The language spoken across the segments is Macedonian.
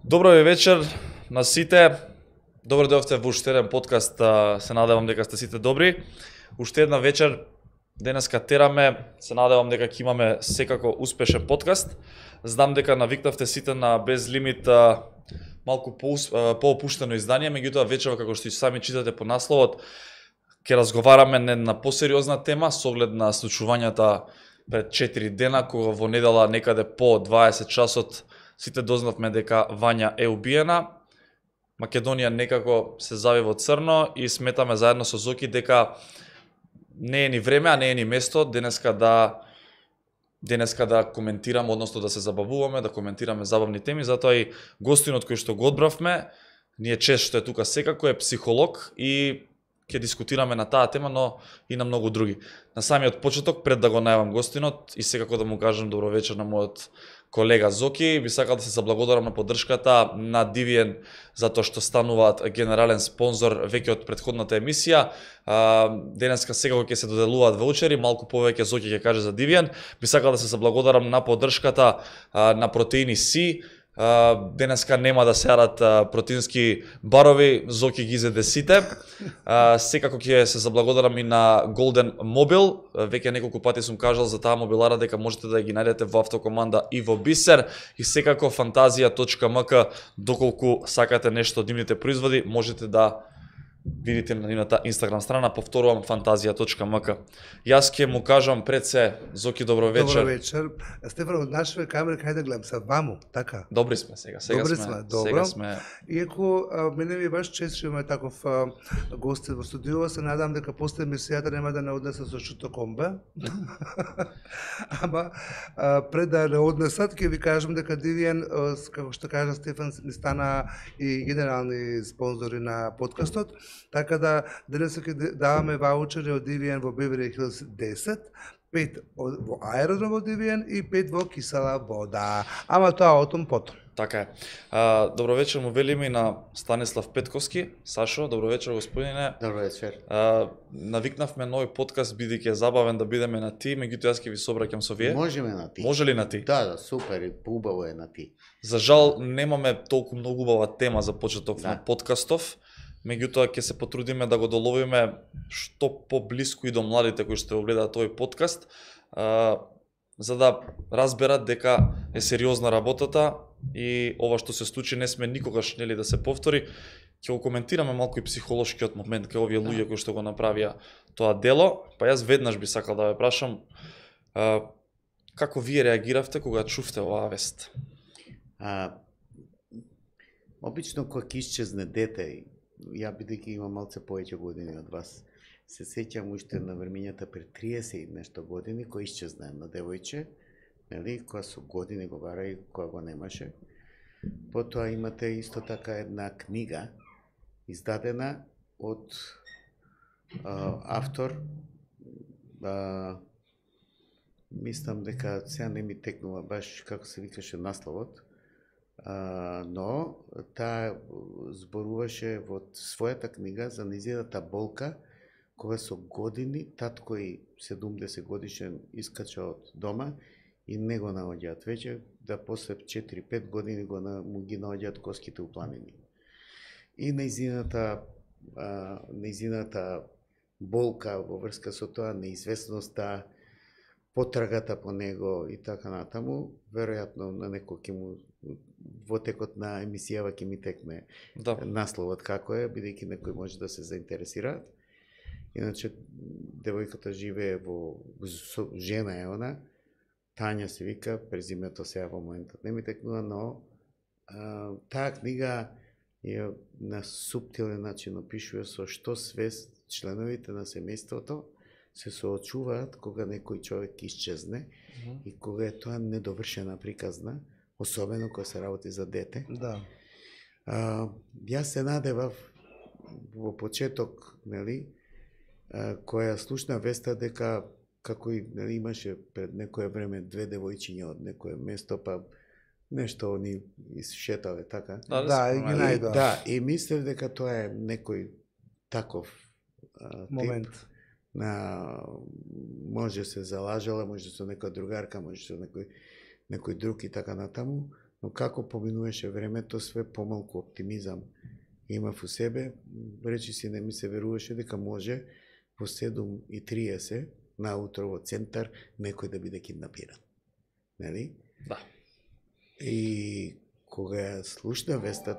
Добро вечер на сите. Добро дојдовте во уште еден подкаст. Се надевам дека сте сите добри. Уште една вечер денеска тераме. Се надевам дека ќе имаме секако успешен подкаст. Знам дека навикнавте сите на без лимит малку поопуштено издание, меѓутоа вечерва како што и сами читате по насловот, ќе разговараме не на посериозна тема со оглед на случувањата пред 4 дена, кога во недела некаде по 20 часот сите дознавме дека Вања е убиена. Македонија некако се зави во црно и сметаме заедно со Зоки дека не е ни време, а не е ни место денеска да коментираме, односно да се забавуваме, да коментираме забавни теми, затоа и гостинот кој што го одбравме, ние чест што е тука секако, е психолог и ќе дискутираме на таа тема, но и на многу други. На самиот почеток, пред да го најавам гостинот и секако да му кажам добро вечер на мојот колега Зоки, би сакал да се заблагодарам на поддршката на Дивиен затоа што стануваат генерален спонзор веќе од претходната емисија. Денеска секако ќе се доделуваат ваучери, малку повеќе Зоки ќе каже за Дивиен. Би сакал да се заблагодарам на поддршката на Протеини Си. Денеска нема да се јадат протеински барови, Зоки ги изеде сите. Секако ќе се заблагодарам и на Golden Mobile. Веќе неколку пати сум кажал за таа мобилара дека можете да ги најдете во Автокоманда и во Бисер. И секако fantazia.mk, доколку сакате нешто од нивните производи, можете да видите на нивната Инстаграм страна, повторувам fantazia.mk. Јас ќе му кажам пред се, Зоки, добро вечер. Добро вечер. Стефан, од нашите камери кај да гледам са ваму, така? Добри сме сега. Добри сме, добро. Сега сме. Иако мене ми баш чест што имаме таков гости во студио, се надам дека после емисијата нема да не однесат со шуто комбе. Ама пред да не однесат, ќе ви кажам дека Дивиен, како што кажа Стефан, ни стана и генерални спонзори на подкастот. Така да денес ќе даваме ваучери од Дивиен во Беверли Хилс 10, 5 во аеродром во Дивиен и 5 во кисела вода. Ама тоа отом потом. Така е. Добро вечер му велиме и на Станислав Петковски. Сашо, добро вечер господине. Добро вечер. Навикнавме нови подкаст, бидејќи е забавен да бидеме на ти, меѓутоа јас ќе ви собраќам со вие. Можеме на ти. Може ли на ти? Да, супер, убаво е на ти. За жал немаме толку многу убава тема за почеток на подкастов. Меѓутоа ќе се потрудиме да го доловиме што поблиску и до младите кои што го гледаат овој подкаст, за да разберат дека е сериозна работата и ова што се случи не сме никогаш нели да се повтори. Ќе го коментираме малку и психолошкиот момент кај овие луѓе кои што го направија тоа дело. Па јас веднаш би сакал да ве прашам како вие реагиравте кога чувте оваа вест? Обично кога ќе исчезне дете, ја бидејќи имам малце повеќе години од вас, се сеќам уште на времењата пред 30 и нешто години, кој исчезна на девојче, нели, која со години го бара и која го немаше. Потоа имате исто така една книга, издадена од автор, мислам дека сега не ми текнува баш како се викаше насловот, но таа зборуваше во својата книга за нејзината болка, кога со години татко и 70 годишен искача од дома и не го наоѓаат веќе, да после 4-5 години му ги наоѓаат коските упланени. И нејзината болка во врска со тоа, неизвестноста, потрагата по него и така натаму, веројатно на некој ќе му во текот на емисијава ќе ми текне насловот како е, бидејќи некој може да се заинтересира. Иначе девојката живее со жена е она, Тања се вика, презимето сега во моментот не ми текнува, но таа книга е на суптилен начин опишува со што свест членовите на семејството се соочуваат кога некој човек исчезне и кога е тоа недовршена приказна, особено кога се работи за дете. Да. Јас се надевав во почеток, нели, која слушна веста дека како и нели, имаше пред некое време две девојчиња од некое место, па нешто они исшетале така. Да, и ги најдоа. Да, и мислев дека тоа е некој таков момент. Може се залажала, може со некоја другарка, може со некој друг и така натаму, но како поминуваше времето, све помалку оптимизам имав у себе, речи си не ми се веруваше дека може во 7:30 наутро во центар некој да биде киднапиран. Нели? Да. И кога ја слушна веста,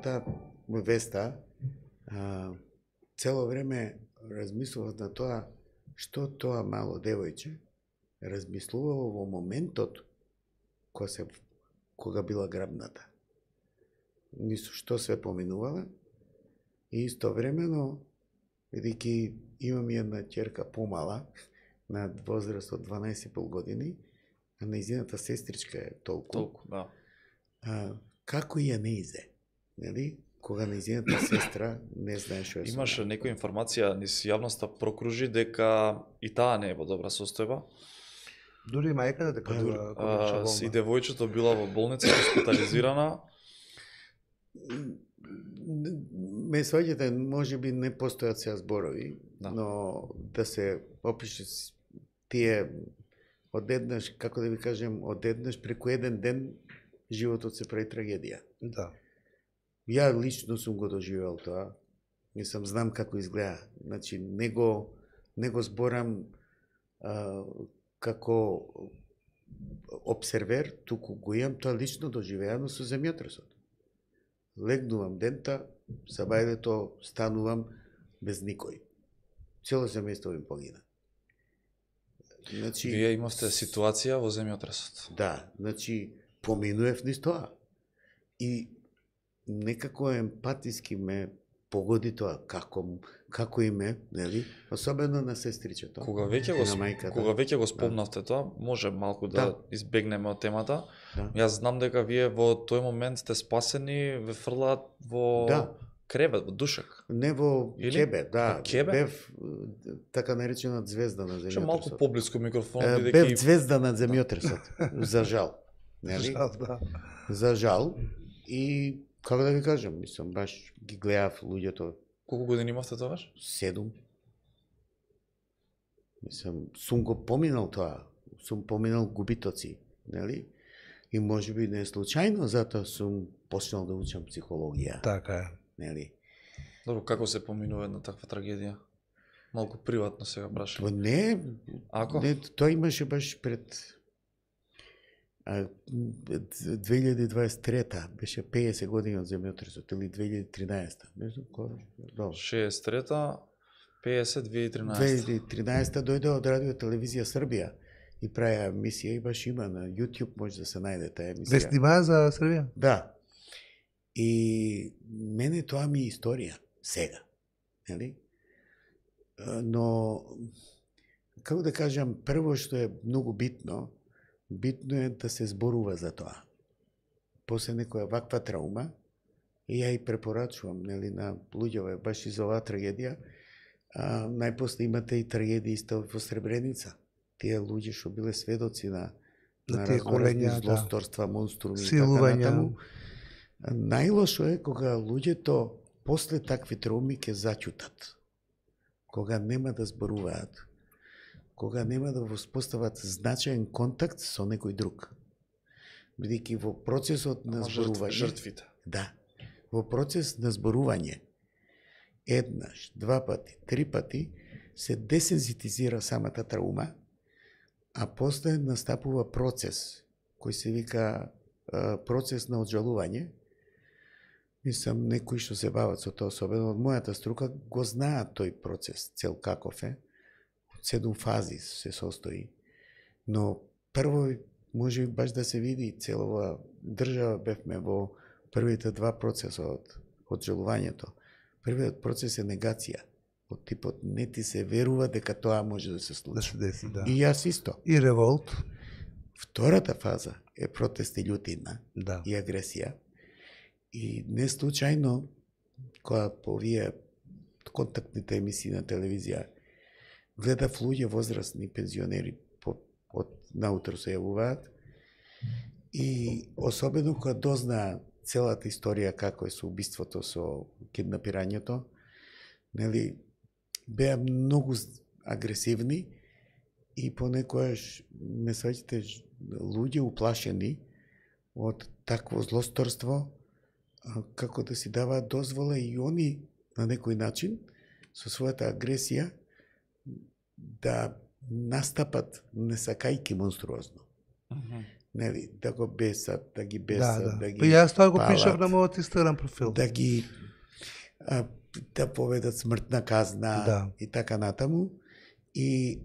цело време размислував на тоа што тоа мало девојче размислувало во моментот кога била грабната. Нису што све поминувала и истовремено, бидејќи имам една ќерка помала на возраст од 12,5 години, а нејзината сестричка е толку, да. Како ја не изе, нели? Кога нејзината сестра не знае што е. Имаше некоја информација низ јавноста прокружи дека и таа не е во добра состојба. Дури мајката дека била болна. И девојчето била во болница, хоспитализирана. Ме сваѓате, може би не постојат сега зборови, да. Но да се опише тие одеднаш, како да ви кажем, одеднаш преку еден ден животот се прави трагедија. Да. Ја лично сум го доживел тоа. Мислам, знам како изгледа. Значи, не го зборам како обсервер, туку го имам тоа лично доживеано со земјотресот. Легнувам дента, сабајдето станувам без никој. Цело семејство им погина. Значи, вие имавте ситуација во земјотресот. Да, значи поминуев низ тоа. И некако емпатиски ме погоди тоа како име, нели? Особено на сестричето. Кога веќе го спомнавте тоа, може малку да избегнеме од темата. Да. Јас знам дека вие во тој момент сте спасени, ве фрлаат во кревет, во душек. Не во ќебе, да. Ќебе? Бев така наречена звезда на земјотресот. Што малку поблиску микрофон бидејќи бев звезда на земјотресот. За жал. Нели? За жал. И како да ви кажам, мислам, баш ги гледав луѓето. Колку години имавте тогаш? 7. Мислам, сум го поминал тоа. Сум поминал губитоци, нели? И може би не случајно, затоа сум почнал да учам психологија. Така е. Нели? Добро, како се поминува една таква трагедија? Малку приватно сега прашам. Тоа не, Ако? Не, тоа имаше баш пред 2023-та, беше 50 години од земјотресот, или 2013-та. Не знам кога. 63-та, 50, 2013. 2013-та дојде од Радио Телевизија Србија и праја емисија и баш има на YouTube, може да се најде таа емисија. Ве снимаа за Србија? Да. И мене тоа ми е историја, сега. Нели? Но, како да кажам, прво што е многу битно е да се зборува за тоа. После некоја ваква траума, и ја и препорачувам, нели, на луѓето баш и за оваа трагедија, најпосле имате и трагедија исто во Сребреница. Тие луѓе што биле сведоци на разноразни злосторства, монструми и така натаму. Најлошо е кога луѓето после такви трауми ќе заќутат. Кога нема да зборуваат. Кога нема да воспостават значаен контакт со некој друг. Бидејќи во процесот на зборување... Жртвите. Да. Во процес на зборување, еднаш, 2 пати, 3 пати, се десензитизира самата траума, а после настапува процес, кој се вика процес на оджалување. Мислам, некои што се бават со тоа, особено од мојата струка, го знаат тој процес, цел каков е. 7 фази се состои. Но прво може би баш да се види целова држава бевме во првите 2 процеса од жалувањето. Првиот процес е негација. Од типот не ти се верува дека тоа може да се случи. Да се деси, да. И јас исто. И револт. Втората фаза е протест и љутина, да. И агресија. И не случајно, кога по овие контактните емисии на телевизија гледав луѓе возрастни пензионери од наутро се јавуваат и особено кога дознаа целата историја како е со убиството, со киднапирањето, нели, беа многу агресивни и понекогаш ме сваќате луѓе уплашени од такво злосторство, како да си даваат дозвола и они на некој начин со својата агресија да настапат не сакајки монструозно. Нели, да го бесат, да ги бесат, да ги Јас тоа го палат, пишав на мојот Инстаграм профил. да ги да поведат смртна казна и така натаму.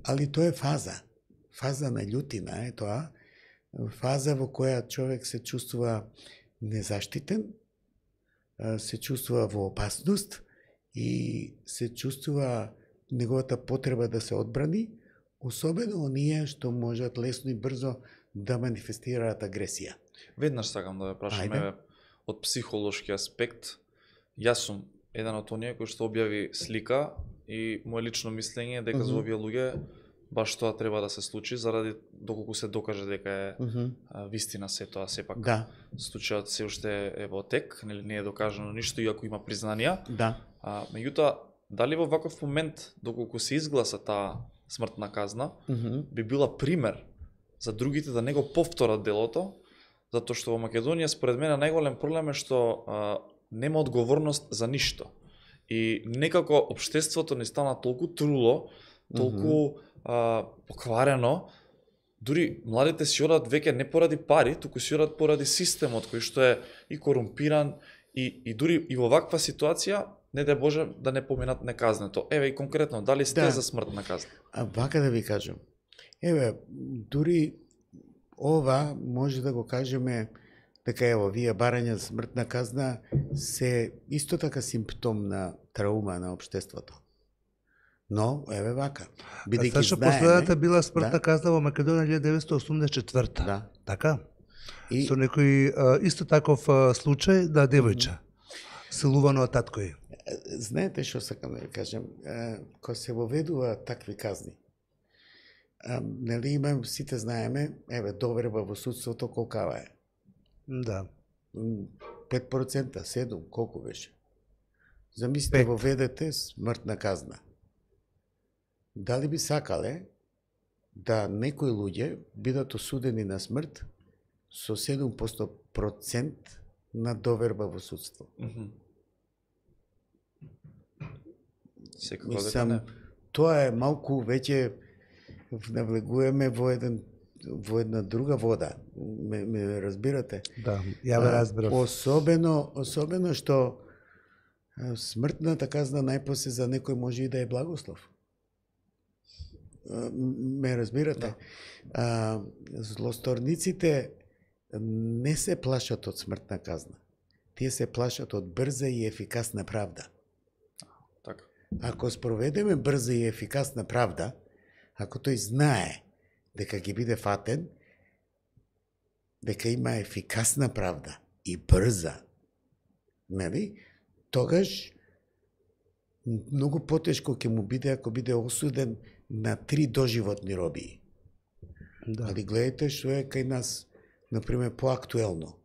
Али тоа е фаза на љутина е тоа, фаза во која човек се чувствува незаштитен, се чувствува во опасност и се чувствува неговата потреба да се одбрани, особено оние што можат лесно и брзо да манифестираат агресија. Веднаш сакам да ве прашам од психолошки аспект. Јас сум еден од оние кој што објави слика и моje лично мислење е дека за овие луѓе баш тоа треба да се случи, заради доколку се докаже дека е вистина се тоа, сепак случајот се уште е во тек, нели не е докажано ништо, иако има признанија. Меѓутоа, дали во ваков момент, доколку се изгласа таа смртна казна, би била пример за другите да не го повторат делото, затоа што во Македонија според мене најголем проблем е што нема одговорност за ништо. И некако општеството не стана толку труло, толку покварено, дури младите си одат веќе не поради пари, туку си одат поради системот кој што е и корумпиран и дури и во ваква ситуација не дај Боже да не поминат неказнето. Еве и конкретно, дали сте за смртна казна? Вака да ви кажам. Еве, дури ова може да го кажеме дека ево, вие барања за смртна казна се исто така симптом на траума на општеството. Но, еве вака. Бидејќи знаеме... Последната била смртна казна во Македонија 1984. Така? Со некој исто таков случај на девојче. Силувано од таткој. Знаете што сакам да ви кажем? Кога се воведува такви казни, нели имам, сите знаеме, еве, доверба во судството колкава е? 5%, 7%, колку беше? Замислите, воведете смртна казна. Дали би сакале да некои луѓе бидат осудени на смрт со 7% на доверба во судство? Мислам, тоа е малку веќе навлегуваме во една друга вода. Ме разбирате? Да, ја ве разбирам. Особено што смртната казна најпосле за некој може и да е благослов. Ме разбирате? Злосторниците не се плашат од смртна казна. Тие се плашат од брза и ефикасна правда. Така. Ако спроведеме брза и ефикасна правда, ако тој знае дека ќе биде фатен, дека има ефикасна правда и брза, нели? Тогаш многу потешко ќе му биде ако биде осуден на 3 доживотни робии. Али гледайте што е кај нас, например, поактуелно.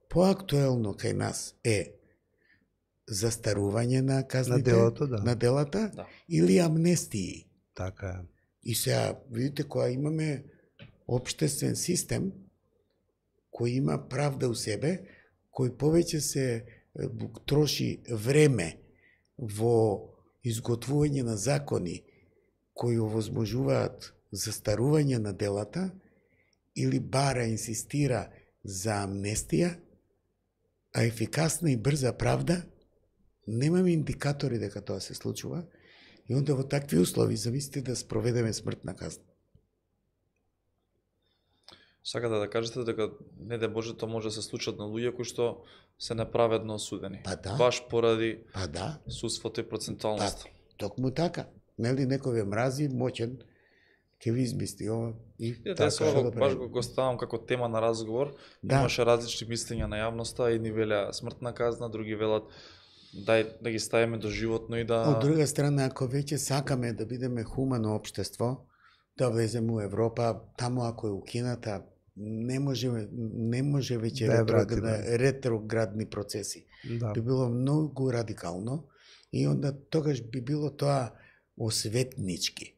Поактуелно кај нас е застарување на казните, на делата, или амнестии. Така е. И сега, видите, кога имаме општествен систем, кој има правда у себе, кој повеќе се троши време во изготвување на закони кои овозможуваат застарување на делата, или бара инсистира за амнестија, а ефикасна и брза правда, немаме индикатори дека тоа се случува, и онда во такви услови замислите да спроведеме смртна казна. Сакате да кажете дека не дај Боже тоа може да се случат на луѓе кои што се неправедно осудени. Баш поради судството и процентуалноста. Токму така. Нели некој ве мрази, моќен, ќе ви измисли ова и така. Баш го ставам како тема на разговор. Имаше различни мислења на јавноста, едни велеа смртна казна, други велат дај да ги ставиме доживотно и да... Од друга страна, ако веќе сакаме да бидеме хумано општество, да влеземе у Европа, таму ако е укината, не може веќе ретроградни процеси. Би било многу радикално и онда тогаш би било тоа осветнички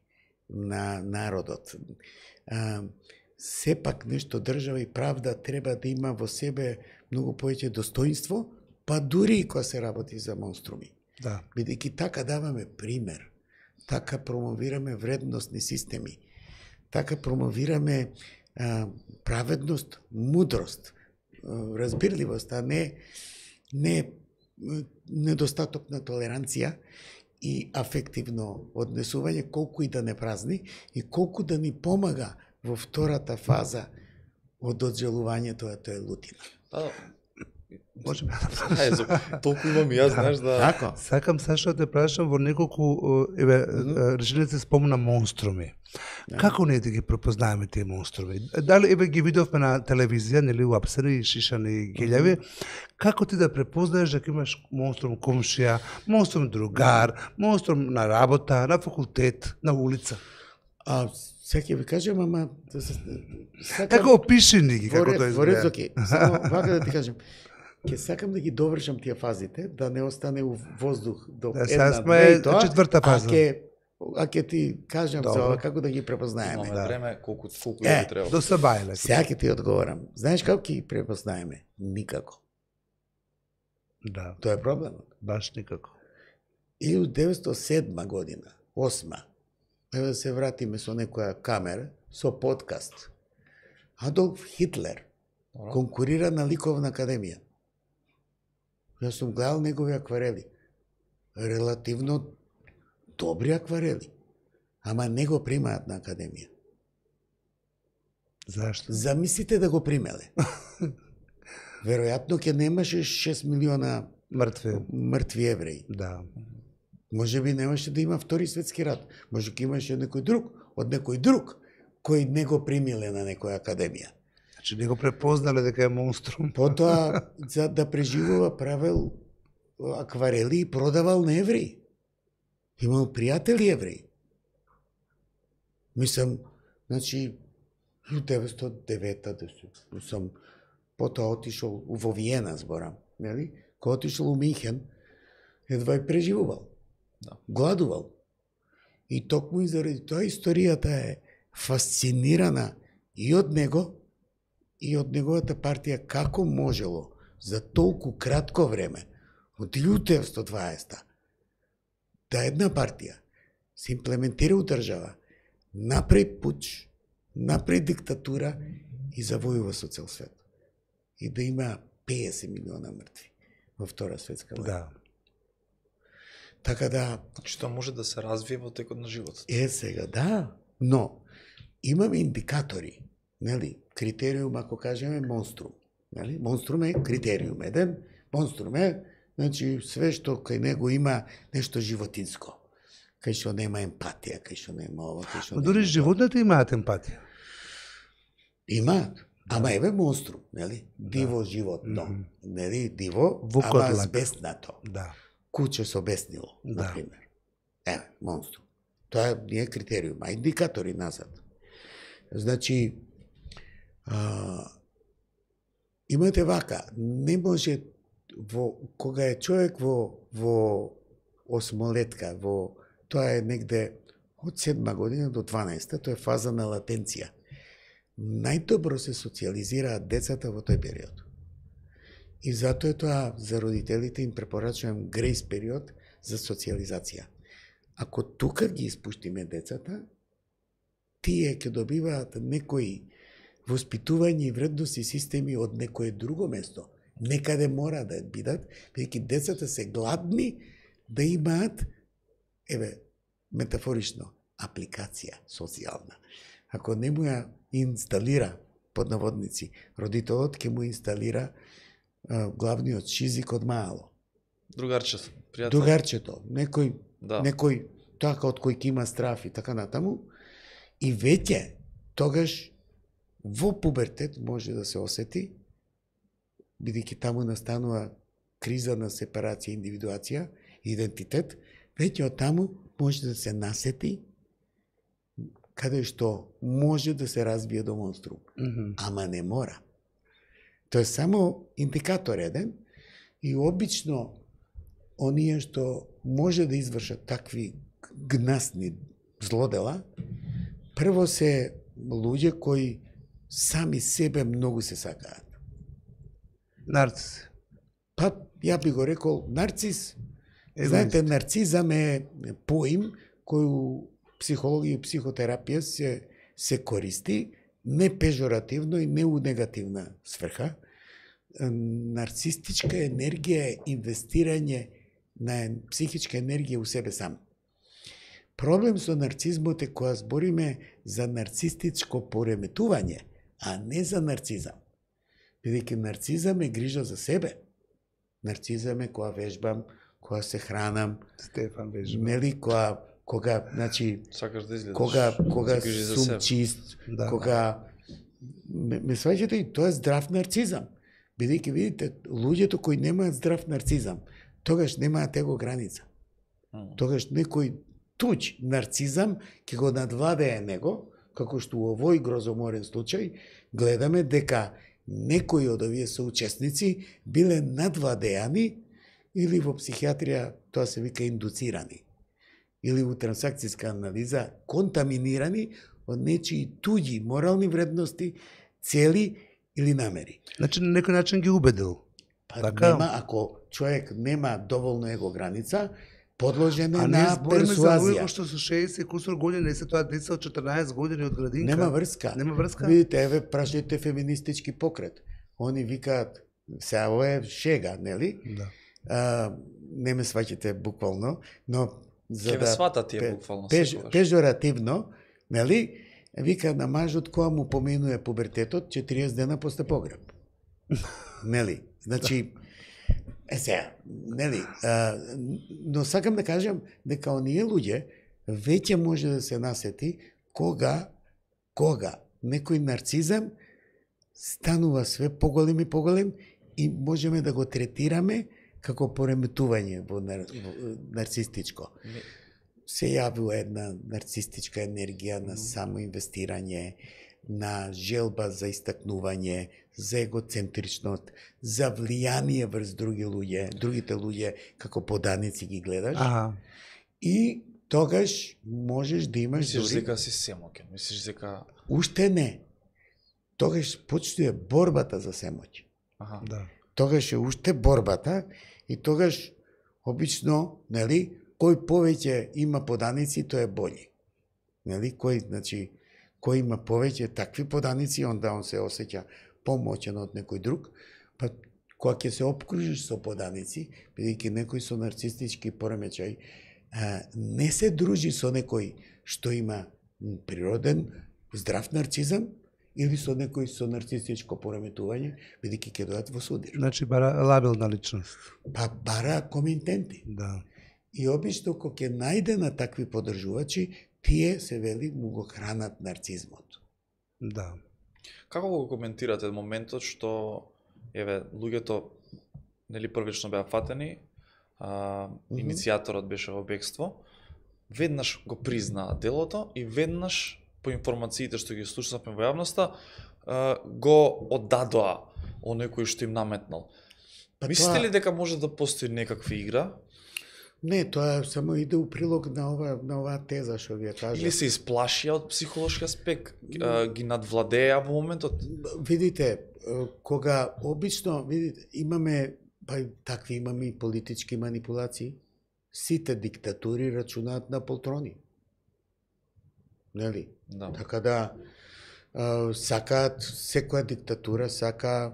на народот. сепак нешто држава и правда треба да има во себе многу повеќе достоинство, па дури и кога се работи за монструми. Да. Бидејќи така даваме пример, така промовираме вредностни системи, така промовираме праведност, мудрост, разбирливост, а не недостаток на толеранција и афективно однесување, колку и да не празни и колку да ни помага во втората фаза од оджелувањето, а тоа е лутина. Можеме Толку имам и јас, знаеш, да... Така. Сакам Сашо да те прашам во неколку реченици спомна монструми. Како ние да ги препознаеме тие монструми? Дали ги видовме на телевизија, нели уапсени, шишани, гелјави? Како ти да препознаеш дека имаш монструм комшија, монструм другар, монструм на работа, на факултет, на улица? Сега ќе ви кажем, ама... Како опиши ни ги, како тоа Во ред, изгледа? окей. Само вака да ти кажем. Ќе сакам да ги довршам тие фазите, да не остане у воздух до Да, сега една, сме две и тоа. четврта фаза. А ќе ти кажам за ова, како да ги препознаеме. Имаме време, колку ја треба. До сабајле. Сега ќе ти одговорам. Знаеш како ќе ги препознаеме? Никако. Да, Тоа е проблемот. баш никако. 1907 година, 8. Еве да се вратиме со некоја камера, со подкаст. Адолф Хитлер конкурира на Ликовна академија. Јас сум гледал негови акварели. Релативно добри акварели. Ама не го примаат на академија. Зашто? Замислите да го примеле. Веројатно ќе немаше 6 милиона мртви евреи. Да. Може би немаше да има втори светски рат. Може ќе имаше некој друг, од некој друг, кој не го примиле на некоја академија. Значи не го препознале дека е монструм. Потоа, за да преживува, правел акварели и продавал на евреи. Имал пријатели евреи. Мислам, значи, 1909 сум потоа отишол во Виена, зборам, нели? Кога отишол у Минхен, едва и преживувал. Да. Гладувал. И токму и заради тоа историјата е фасцинирана и од него, и од неговата партија, како можело за толку кратко време, од 1920 да една партија се имплементира у држава, направи пуч, направи диктатура и завојува со цел свет. И да има 50 милиона мртви во Втора светска војна. Да. Така да, Значи тоа може да се развие во текот на животот. сега, да, но имаме индикатори, нели? Критериум, ако кажеме монструм, нели? Монструм е критериум еден, монструм е, значи, све што кај него има нешто животинско. Кај што нема емпатија, кај што нема ова, кај што Но нема... дури животните имаат емпатија. Имаат. Ама еве монструм, нели? Диво животно. Нели? Диво, Вукодлак. ама збеснато. Да. Куче со беснило, Да. например. Еве, монструм. Тоа не е критериум, а индикатори назад. Значи, имате вака, не може кога е човек во осмолетка, тоа е негде од 7 година до 12, тоа е фаза на латенција. Најдобро се социализираат децата во тој период. И затоа е тоа за родителите им препорачувам грейс период за социализација. Ако тука ги испуштиме децата, тие ќе добиваат некои воспитување и вредности системи од некое друго место. Некаде мора да бидат, бидејќи децата се гладни да имаат, еве, метафорично, апликација социјална. Ако не му ја инсталира, под наводници, родителот ќе му инсталира главниот шизик од мало. Другарче, пријател. Другарчето, некој, Да. некој така од кој ќе има страф и така натаму, и веќе тогаш во пубертет може да се осети, бидејќи таму настанува криза на сепарација, индивидуација, идентитет, веќе од таму може да се насети каде што може да се развие до монструм. Ама не мора. Тоа е само индикатор еден и обично оние што може да извршат такви гнасни злодела, прво се луѓе кои сами себе многу се сакаат. Нарцис. Па, ја би го рекол нарцис. Егоист. Знаете, нарцизам е поим кој у психологија и психотерапија се користи не пежоративно и не у негативна сврха. Нарцистичка енергија е инвестирање на психичка енергија у себе сам. Проблем со нарцизмот е кога збориме за нарцистичко пореметување, а не за нарцизам. Бидејќи нарцизам е грижа за себе. Нарцизам е кога вежбам, кога се хранам, Стефан вежба. нели, кога, значи, Сакаш да изгледаш. кога се грижи за сум себе. чист, Да. кога ме сваќате и тоа е здрав нарцизам. Бидејќи видите, луѓето кои немаат здрав нарцизам, тогаш немаат его граница. Тогаш некој туѓ нарцизам ќе го надвладее него, како што у овој грозоморен случај гледаме дека некои од овие соучесници биле надвладеани или во психијатрија тоа се вика индуцирани, или во трансакцијска анализа контаминирани од нечии туѓи морални вредности, цели или намери. Значи на некој начин ги убедил. Па Така? нема, ако човек нема доволно его граница, подложен е А не на збориме за луѓе персуазија. кои што со 60 кусур години, не се тоа деца од 14 години од градинка. Нема врска. Нема врска? Видите, еве, прашајте феминистички покрет. Они викаат, сега ова е шега, нели? Да. Не ме сваќате буквално, но за Ке ве да свата тие буквално секогаш. пежоративно, нели? Вика на мажот која му поминува пубертетот 40 дена после погреб. Нели? Значи, сега, нели? Но сакам да кажам дека оние луѓе веќе може да се насети кога некој нарцизам станува све поголем и поголем и можеме да го третираме како пореметување во нарцистичко. Се јавува една нарцистичка енергија на самоинвестирање, на желба за истакнување, за егоцентричност, за влијание врз другите луѓе како поданици ги гледаш. Аха. И тогаш можеш да имаш Мислиш дури... дека си семокен, мислиш дека... Уште не. Тогаш почнува борбата за семоќ. Аха. Да. Тогаш е уште борбата и тогаш обично, нели, кој повеќе има поданици, тој е бољи. Нели, кој има повеќе такви поданици, онда он се осеќа помоćен од некој друг, па кога ќе се опкружиш со поданици, бидејќи некој со нарцистички поремечај не се дружи со некој што има природен здрав нарцизам или со некој со нарцистичко пореметување, бидејќи ќе дојдат во судир. Значи бара лабилна личност. Па бара коминтенти. Да. И обично кога ќе најде на такви поддржувачи, тие се вели му го хранат нарцизмот. Да. Како го коментирате моментот што еве луѓето нели првично беа фатени, иницијаторот беше во бегство, веднаш го признаа делото и веднаш по информациите што ги слушнавме во јавноста го оддадоа оној кој што им наметнал. Па Мислите тоа- ли дека може да постои некаква игра? Не, тоа само иде у прилог на оваа теза што ви ја кажа. Или се исплашија од психолошки аспект? Ги надвладеа во моментот? Видите, кога обично, видите, имаме имаме и политички манипулации, сите диктатури рачунаат на полтрони. Нели? Да. Така да сакаат, секоја диктатура сака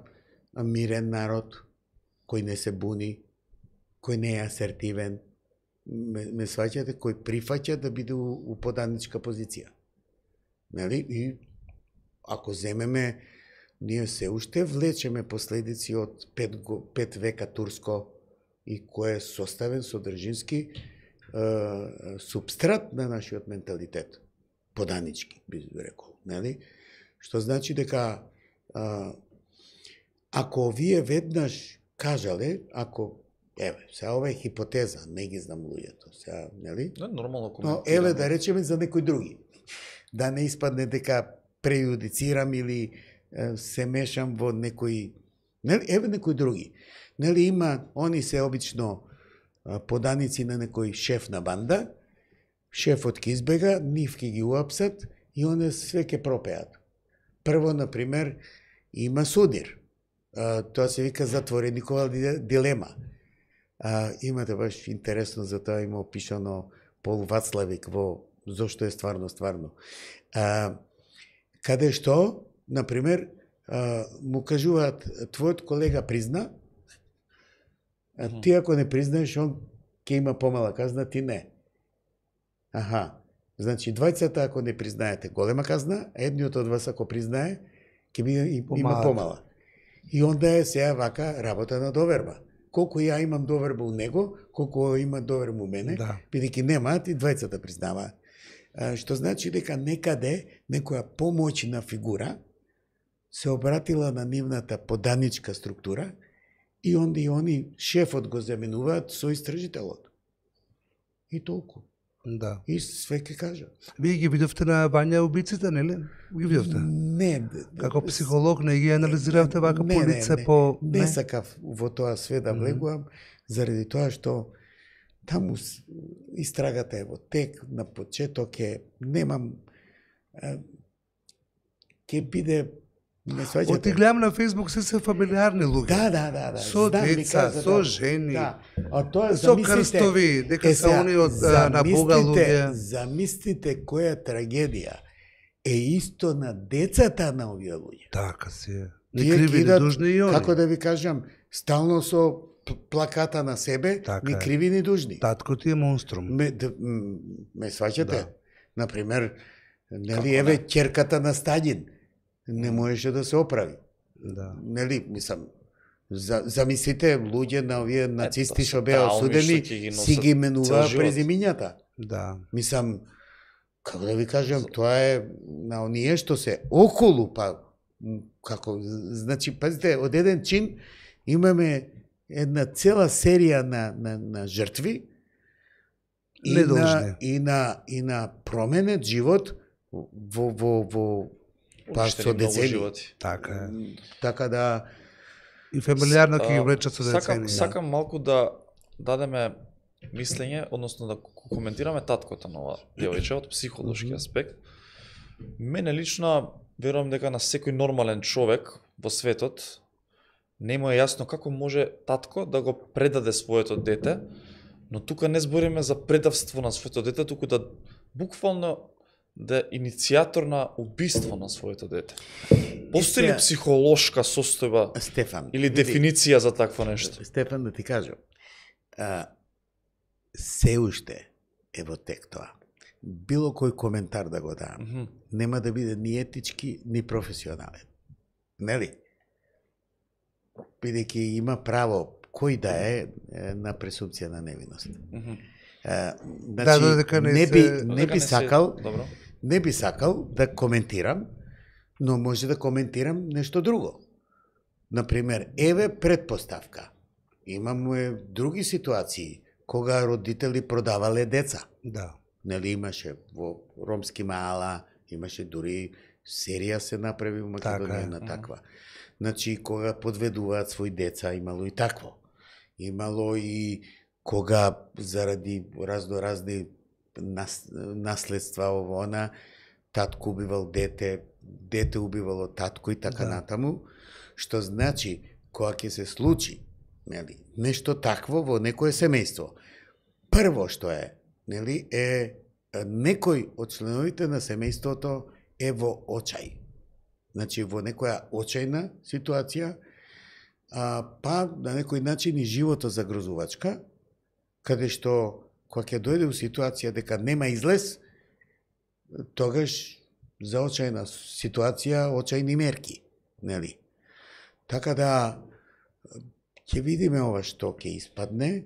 мирен народ, кој не се буни, кој не е асертивен, ме сваќате, кој прифаќа да биде у поданичка позиција. Нели? И ако земеме, ние се уште влечеме последици од 5 века турско и кој е составен содржински субстрат на нашиот менталитет. Поданички, би рекол. Нели? Што значи дека ако вие веднаш кажале, сега ова е хипотеза, не ги знам луѓето, сега, нели? Не, нормално Но коментираме. еве да речеме за некој други. Да не испадне дека прејудицирам или се мешам во некој... Нели, еве некој други. Нели има, они се обично поданици на некој шеф на банда, шефот ќе избега, нив ќе ги уапсат и они све ќе пропеат. Прво, например, има судир. Тоа се вика затвореникова дилема. Имате баш интересно, за тоа има опишано Пол Вацлавик во Зошто е стварно. Каде што, например, му кажуваат, твојот колега призна, ти ако не признаеш, он ќе има помала казна, ти не. Значи, двајцата ако не признаете голема казна, едниот од вас ако признае, ќе има помала. И онда е сега вака работа на доверба. Колку ја имам доверба у него, колку има доверба у мене, бидејќи немаат и двајцата признаваат. Што значи дека некаде некоја помоćна фигура се обратила на нивната поданичка структура и онда и они шефот го заменуваат со истражителот. И толку. Да. И све ќе кажа. Вие ги видовте на Вања убиците, нели? Ги видовте? Не. Како психолог не ги анализиравте вака по лице, по... Не сакав во тоа све да влегувам, заради тоа што таму истрагата е во тек, на почеток е, немам, ќе биде, не сваќате. Оти гледам на Фейсбук се фамилиарни луѓе. Да. Со деца, со жени, тоа со крстови, дека се они од на Бога луѓе. Замислите која трагедија е исто на децата на овие луѓе. Така се. Не криви, не дужни и они. Како да ви кажам, стално со плаката на себе, ни криви, ни дужни. Татко ти е монструм. Ме сваќате? Например, нели, еве ќерката на Стаљин не можеше да се оправи. Нели, мислам, замислите луѓе на овие нацисти што беа осудени, си ги менуваа презимињата. Мислам, како да ви кажам, тоа е на оние што се околу, па како, значи, пазите, од еден чин имаме една цела серија на жртви и на променет живот во па со децени. Така да и фамилиарно ќе ги влечат со децени. Сакам малку да дадеме мислење, односно да коментираме таткото на ова девојче од психолошки аспект. Мене лично верувам дека на секој нормален човек во светот не му е јасно како може татко да го предаде своето дете, но тука не збориме за предавство на своето дете, туку да буквално да е иницијатор на убиство на своето дете. Постои ли психолошка состојба, Стефан, или дефиниција за такво нешто? Стефан, да ти кажам, се уште е во тек тоа. Било кој коментар да го дам, нема да биде ни етички, ни професионален. Нели? Бидејќи има право кој да е на пресумпција на невиност. Значи, не би сакал да коментирам, но може да коментирам нешто друго. Например, еве предпоставка. Имаме други ситуации кога родители продавале деца. Нели имаше во ромски маала, имаше дури серија се направи во Македонија на таква. Значи, кога подведуваат своји деца, имало и такво. Имало и кога заради разни наследства ово она, татко убивал дете, дете убивало татко и така натаму, што значи, кога ќе се случи, нели, нешто такво во некое семејство, прво што е, нели, е некој од членовите на семејството е во очај. Значи, во некоја очајна ситуација, па на некој начин и живото загрозувачка, каде што, кога ќе дојде у ситуација дека нема излез, тогаш за очајна ситуација, очајни мерки, нели? Така да, ќе видиме ова што ќе испадне.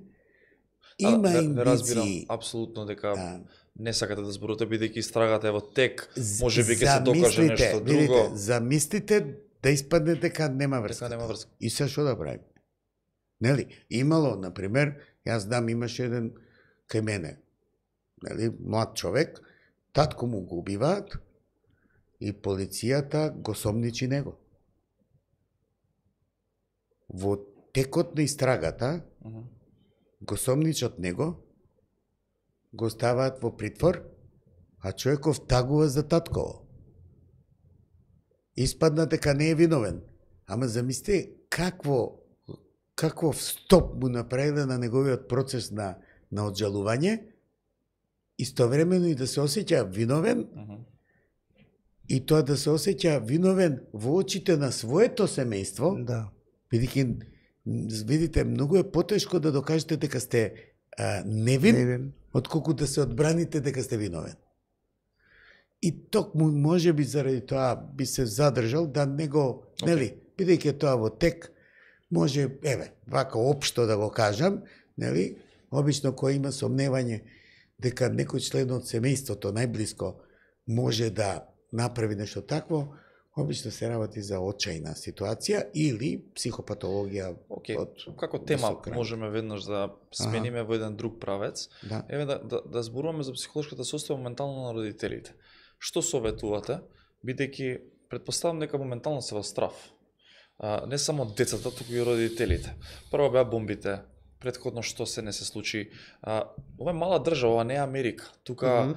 Има индици. Разбирам апсолутно дека не сакате да зборувате, бидејќи истрагата е во тек, може би ќе се докаже нешто друго. Замислите да испадне дека нема врска. И се што да правим? Нели? Имало, например, јас знам, имаше еден кај мене, нели, млад човек, татко му го убиваат и полицијата го сомничи него. Во текот на истрагата, го сомничат него, го ставаат во притвор, а човеков тагува за татково. испадна дека не е виновен. Ама замислите каков стоп му направиле на неговиот процес на оджалување, истовремено и да се осеќа виновен, и тоа да се осеќа виновен во очите на своето семејство, Да. бидејќи, видите, многу е потешко да докажете дека сте невин, отколку да се одбраните дека сте виновен. И токму можеби заради тоа би се задржал да не го, нели, бидејќи тоа во тек, може, вака општо да го кажам, нели, обично кој има сомневање дека некој член од семејството најблиско може да направи нешто такво, обично се работи за очајна ситуација или психопатологија. Како тема можеме веднаш да смениме во еден друг правец. Да. Еве да зборуваме за психолошката состојба моментално на родителите. Што советувате, бидејќи претпоставам дека моментално се во страф. Не само децата, туку и родителите. Прво беа бомбите, претходно што се не се случи. Ова е мала држава, ова не е Америка. Тука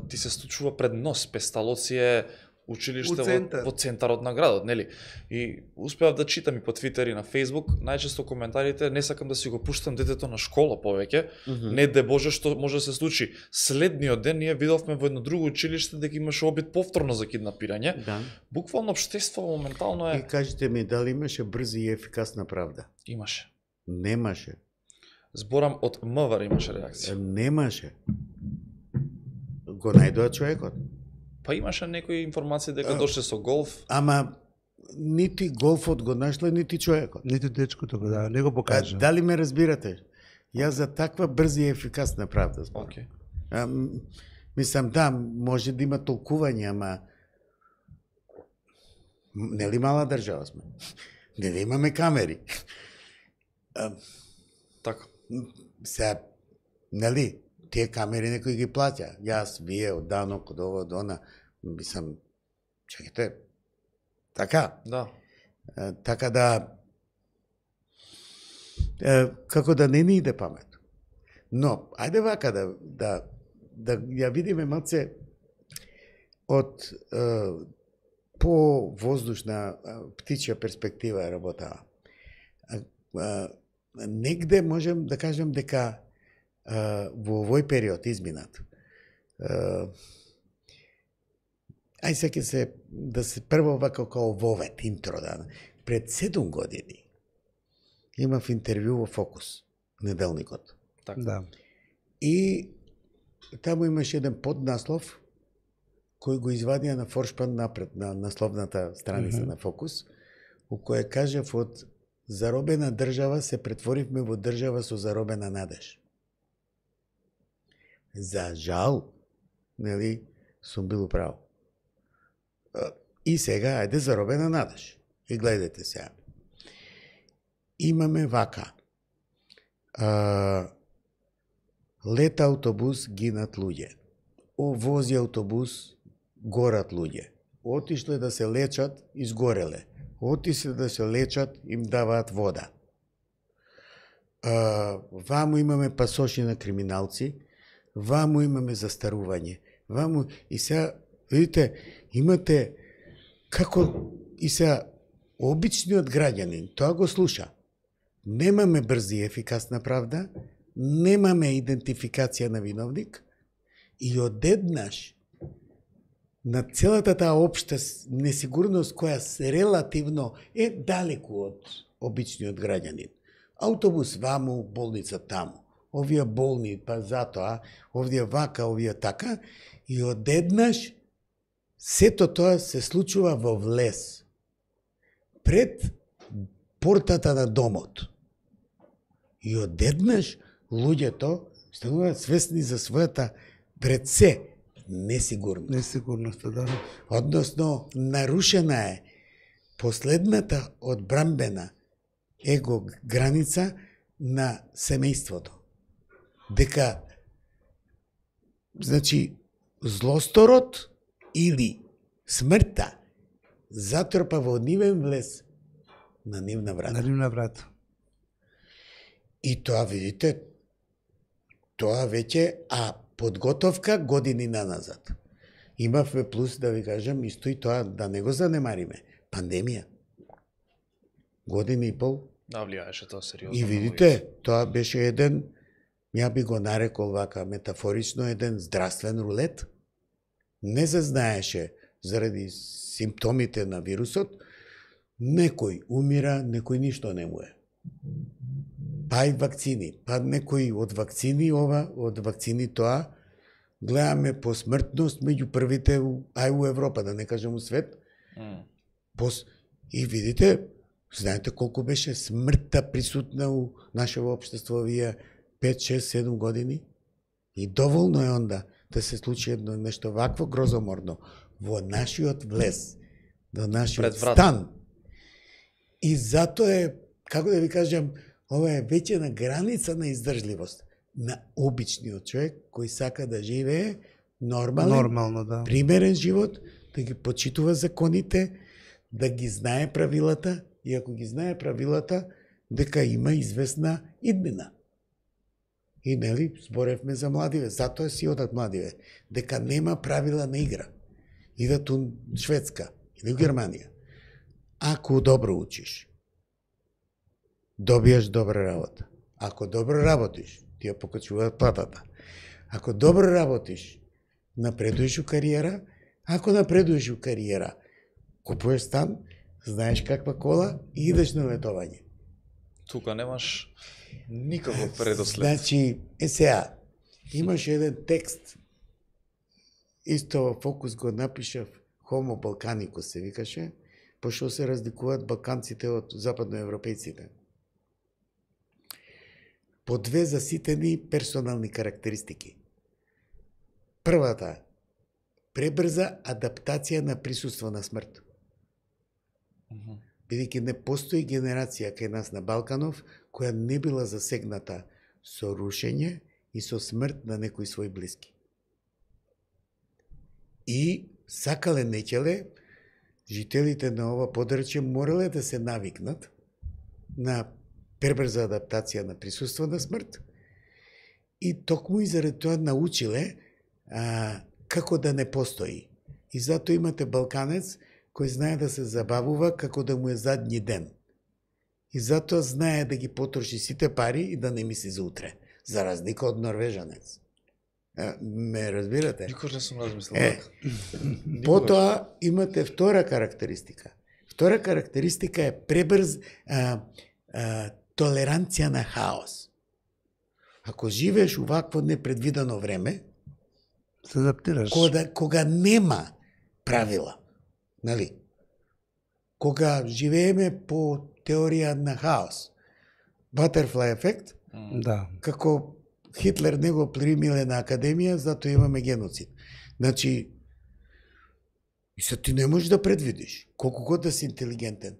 ти се случува пред нос, Песталоци е училиште во центарот на градот, нели? И успеав да читам и по Твитер и на Фейсбук, најчесто коментарите, не сакам да си го пуштам детето на школа повеќе, не де Боже што може да се случи. Следниот ден ние видовме во едно друго училиште дека имаше обид повторно за киднапирање. Да. Буквално општество моментално е... И кажете ми, дали имаше брза и ефикасна правда? Имаше. Немаше. Зборам од МВР имаше реакција. Немаше. Го најдоа човекот. Па имаше некои информации дека дошле со голф. Ама нити голфот го нашле, нити човекот. Нити дечкото го не го покажа. Дали ме разбирате? Јас за таква брза и ефикасна правда зборам. Мислам, да, може да има толкување, ама нели мала држава сме? Нели имаме камери? Така. Сега, нели, тие камери некој ги плаќа. Јас, вие, од данок, од ово, од она, мислам, чекайте, така. Да. Така да, како да не ни иде памет. Но, ајде вака да ја видиме малце од по воздушна птичја перспектива работа. Негде можем да кажем дека во овој период изминат. Ај сега се да се прво вака као вовет интро да. Пред 7 години имав интервју во Фокус, неделникот. Така. Да. И таму имаше еден поднаслов кој го извадија на форшпан напред на насловната страница на Фокус, у која кажав од заробена држава се претворивме во држава со заробена надеж. За жал, нели, сум бил управо. И сега, ајде заробена надеж. И гледате сега. Имаме вака. Лета автобус, гинат луѓе. Вози автобус, горат луѓе. Отишле да се лечат, изгореле. Отишле да се лечат, им даваат вода. Ваму имаме пасоши на криминалци, ваму имаме застарување. Ваму и сега, видите, имате како и сега обичниот граѓанин, тоа го слуша. Немаме брза и ефикасна правда, немаме идентификација на виновник и одеднаш на целата таа општа несигурност која релативно е далеку од обичниот граѓанин. Автобус ваму, болница таму. Овие болни, па затоа, овие вака, овие така, и одеднаш сето тоа се случува во влез. Пред портата на домот. И одеднаш луѓето стануваат свесни за својата пред се несигурност. Несигурноста, да. Односно, нарушена е последната одбрамбена его граница на семејството. Дека, значи, злосторот или смртта затрпа во нивен влез на нивна врата. На нивна врата. И тоа, видите, тоа веќе, подготовка години наназад. Имавме плюс, да ви кажам, исто и тоа, да не го занемариме. Пандемија. Година и пол. Да, влијаеше тоа сериозно. И видите, тоа беше еден, ја би го нарекол вака метафорично, еден здравствен рулет. Не се знаеше заради симптомите на вирусот, некој умира, некој ништо не му е. Па и вакцини, па некој од вакцини ова, од вакцини тоа, гледаме по смртност меѓу првите у Европа, да не кажем у свет. И видите, знаете колку беше смртта присутна у нашето општество овие 5, 6, 7 години? И доволно е онда да се случи едно нешто вакво грозоморно во нашиот влез, во нашиот стан. И затоа е, како да ви кажам, ова е веќе на граница на издржливост на обичниот човек кој сака да живее нормално, да. Примерен живот, да ги почитува законите, да ги знае правилата, и ако ги знае правилата, дека има известна иднина. И нели, зборевме за младиве, затоа си одат младиве, дека нема правила на игра. Идат у Шведска или у Германија. Ако добро учиш, добиеш добра работа. Ако добро работиш, ти ја покачуваат платата. Ако добро работиш, напредуеш у кариера. Ако напредуеш у кариера, купуваш стан, знаеш каква кола и идеш на летовање. Тука немаш никаков предослед. Значи, сега, имаш еден текст, исто во Фокус го напишав, Homo Balkanicus се викаше, пошто се разликуваат балканците од западноевропејците. По две заситени персонални карактеристики. Првата, пребрза адаптација на присуство на смрт. Бидејќи не постои генерација кај нас на Балканов која не била засегната со рушење и со смрт на некои своји блиски. И сакале неќеле, жителите на ова подрачје морале да се навикнат на пребрза адаптација на присуство на смрт и токму и заради тоа научиле како да не постои. И затоа имате балканец кој знае да се забавува како да му е задни ден. И затоа знае да ги потроши сите пари и да не мисли за утре, за разлика од норвежанец. Ме разбирате? Никош не сум размислил. Потоа имате втора карактеристика. Втора карактеристика е пребрз толеранција на хаос. Ако живееш увакво непредвидено време, се адаптираш. Кога нема правила, нали? Кога живееме по теорија на хаос, Butterfly ефект, да. Како Хитлер не го примиле на академија, затоа имаме геноцид. Значи, и се ти не можеш да предвидиш, колку год да си интелигентен.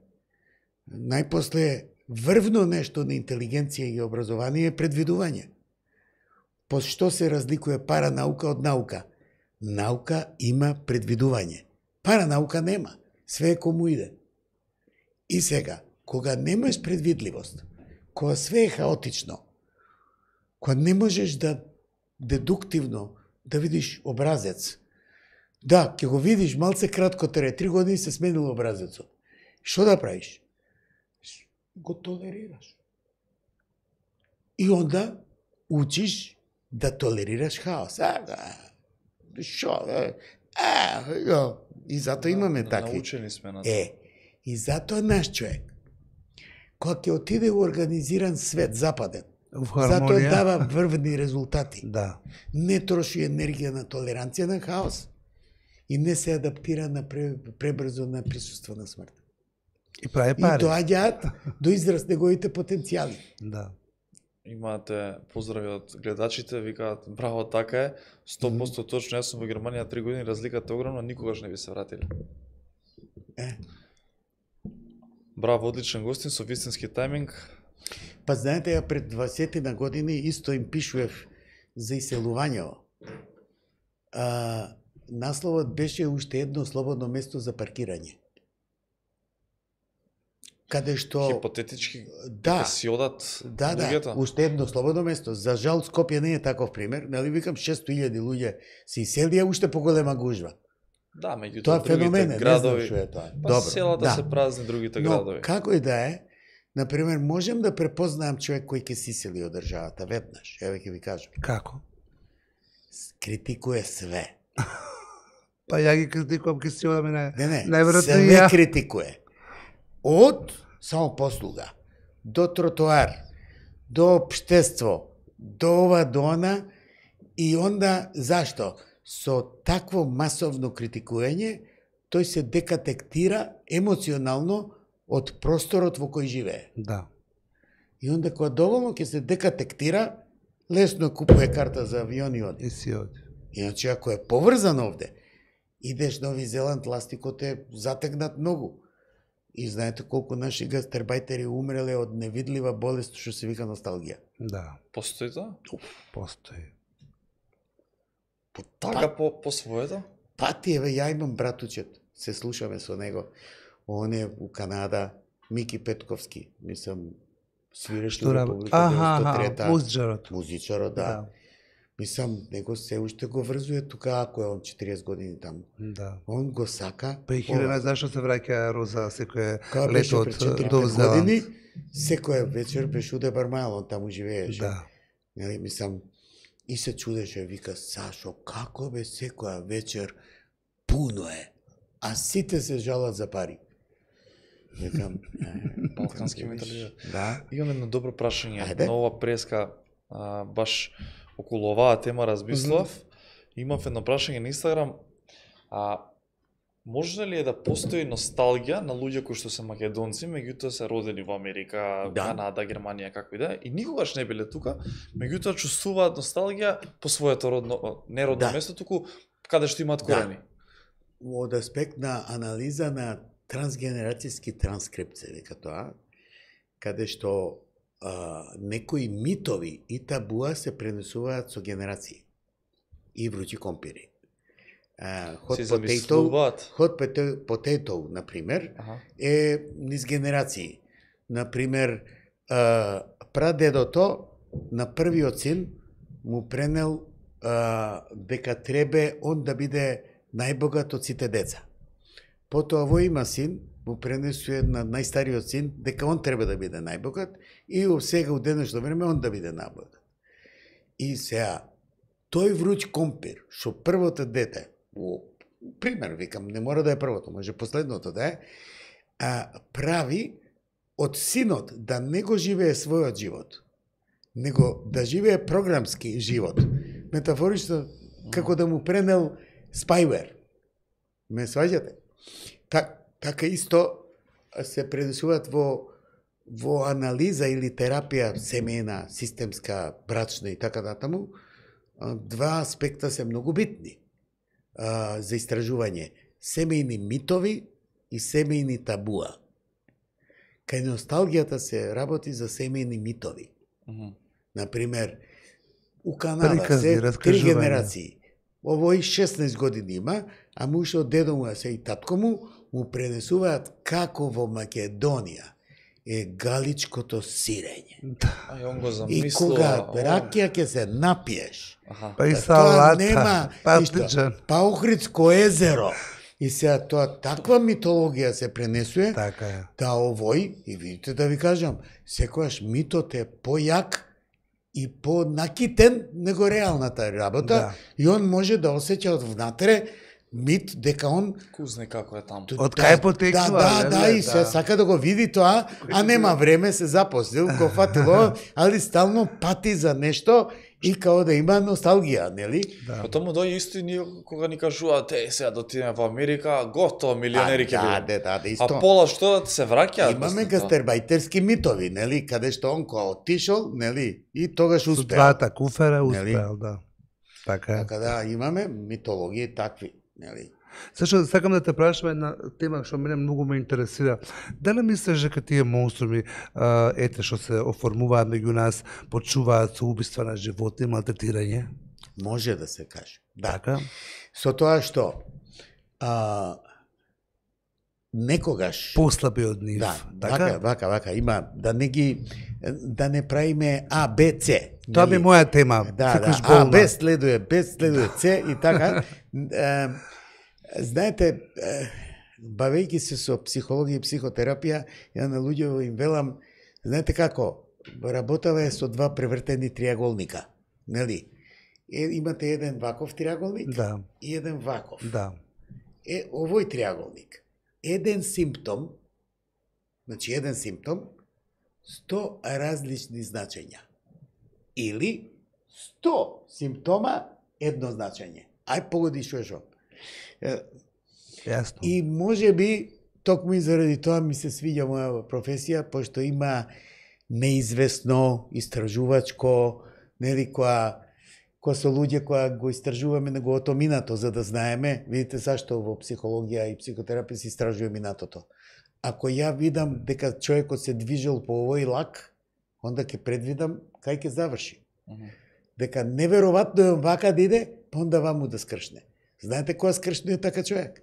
Најпосле врвно нешто на интелигенција и образование е предвидување. По што се разликува паранаука од наука? Наука има предвидување. Паранаука нема. Све е кому иде. И сега, кога немаш предвидливост, кога све е хаотично, кога не можеш да дедуктивно да видиш образец, да, ќе го видиш малце кратко тере, 3 години се сменил образецот. Што да правиш? Го толерираш. И онда учиш да толерираш хаос. Шо? И затоа имаме такви. Научени сме на тоа. И затоа наш човек, кога ќе отиде во организиран свет, западен, затоа дава врвни резултати. Да. Не троши енергија на толеранција на хаос и не се адаптира на пребрзо на присуство на смрт. И прави пари. И доаѓаат до израз неговите потенцијали. Да. Имате поздрави од гледачите, викаат браво, така е, 100% точно, јас сум во Германија 3 години, разликата е огромна, никогаш не би се вратиле. Браво, одличен гостин со вистински тајминг. Па знаете, ја пред 20 на години исто им пишував за иселувањево. Насловот беше уште едно слободно место за паркирање. Каде што Хипотетички си одат луѓето. Да, уште едно слободно место. За жал Скопје не е таков пример, нели викам 600.000 луѓе се иселија, уште поголема гужва. Да, меѓутоа Тоа феномен другите е, градови, не знам што е тоа. па селата се празни, другите Но, градови. како и да е, например, можем да препознаам човек кој ќе се исели од државата веднаш, еве ќе ви кажам. Како? Критикуе све. Па ја ги критикувам, ке си одаме на... Не, најверојатно и све ја. критикуе. Од самопослуга, до тротоар, до општество, до ова, до она, и онда, зашто? Со такво масовно критикување, тој се декатектира емоционално од просторот во кој живее. Да. И онда кога доволно ќе се декатектира, лесно купува карта за авион и оди. И си оди. Иначе, ако е поврзан овде, идеш Нови Зеланд, ластикот е затегнат многу. И знаете колку наши гастербајтери умреле од невидлива болест што се вика носталгија. Да. Постои тоа? Постои. Така по своето? Пати, еве, ја имам братучет, се слушаме со него. Он е у Канада, Мики Петковски, мислам, свиреш Што работи? Музичарот. Музичарот, да. Мислам, него се уште го врзуе тука, ако е он 40 години таму. Да. Он го сака. Па и Хелена, зашто се враќа Роза секое Кога беше лето пред од 4-5 Нов Зеланд? години, секоја вечер беше уде Бармајал, он таму живееше. Да. Нели, мислам, и се чудеше, вика, Сашо, како бе секоја вечер пуно е, а сите се жалат за пари. Викам, Балкански менталитет. Да. Имам едно добро прашање. Ајде. На ова преска, баш околу оваа тема размислав. Имав едно прашање на Инстаграм. Може ли е да постои носталгија на луѓе кои што се македонци, меѓутоа се родени во Америка, Да. Канада, Германија, како и да е, и никогаш не биле тука, меѓутоа чувствуваат носталгија по своето родно, не родно Да. место, туку каде што имаат корени. Од аспект на анализа на трансгенерацијски транскрипт се вика тоа, каде што некои митови и табуа се пренесуваат со генерации и вручи компири. Се замислуваат. Hot potato, например, е низ генерации. Например, прадедото на првиот син му пренел дека требе он да биде најбогат од сите деца. Потоа во има син, му пренесува на најстариот син дека он треба да биде најбогат и сега у денешно време он да биде најбогат. И сега, тој вруч компир, што првото дете, пример, викам, не мора да е првото, може последното да е, прави од синот да не го живее својот живот, него да живее програмски живот. Метафорично, како да му пренел спајвер. Ме сваѓате? Така исто се пренесуваат во анализа или терапија семејна, системска, брачна и така натаму. Два аспекта се многу битни за истражување. Семејни митови и семејни табуа. Кај носталгијата се работи за семејни митови. Например, у Канада се 3 генерации. Овој 16 години има, а му уште од дедо му, се и татко му пренесуваат како во Македонија е галичкото сирење. Он го И замислува. кога ракија ќе се напиеш, Па и тоа салата, нема патиџан. па Охридско езеро. И сега тоа таква митологија се пренесува, Така е. да овој, и видите да ви кажам, секојаш митот е појак и понакитен него реалната работа, Да. и он може да осеќа од внатре мит дека он Кузне како е таму. Од кај потекнува, Да, и се сака да го види тоа, а нема време, се запослил, го фатило, али стално пати за нешто и као да има носталгија, нели? Потоа му дојде исто и ние кога ни кажуваат, сега да отидеме во Америка, готово, милионери ќе бидеме. Да, исто. А пола што се враќаат? Имаме гастербајтерски митови, нели, каде што он кога отишол, нели, и тогаш Со успеал. двата куфера успеал, да. Така е. Така да, имаме митологии такви, нели. Зашто сакам да те прашам една тема што мене многу ме интересира. Дали мислиш дека тие монструми, ете што се оформуваат меѓу нас, почуваат со убиства на животни, малтретирање? Може да се каже. Да. Така? Со тоа што некогаш Послаби од нив. да, Така? вака, има да не правиме А, Б, С. Тоа би моја тема. Да, Секојаш А, болна. Б следуе С и така. Знаете, бавејќи се со психологија и психотерапија, ја на луѓето им велам, знаете како, работава е со два превртени триаголника, нели? Имате еден ваков триаголник и еден ваков. Да. Овој триаголник, еден симптом, 100 различни значења. Или 100 симптома, едно значење. Ај погоди што. Јасно. И може би, токму и заради тоа ми се свиѓа моја професија, пошто има неизвестно, истражувачко, нели, која со луѓе која го истражуваме неговото минато, за да знаеме, видите зашто во психологија и психотерапија се истражува минатото. Ако ја видам дека човекот се движел по овој лак, онда ќе предвидам кај ќе заврши. Дека неверојатно е вака да иде, па онда ваму да скршне. Знаете која скршнува така човек?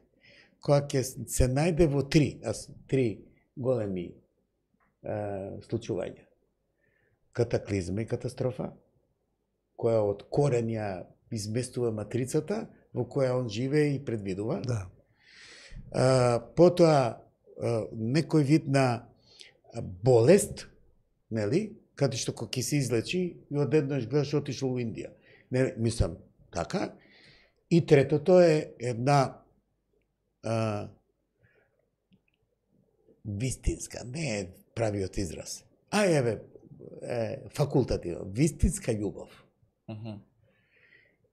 Која ќе се најде во три големи случувања. Катаклизма и катастрофа, која од корен ја изместува матрицата, во која он живее и предвидува. Да. Потоа, некој вид на болест, нели, каде што кога ќе се излечи и одеднаш гледаш отишло во Индија. Не, мислам, така. И третото е една вистинска, не е правиот израз. Факултативно, вистинска љубов.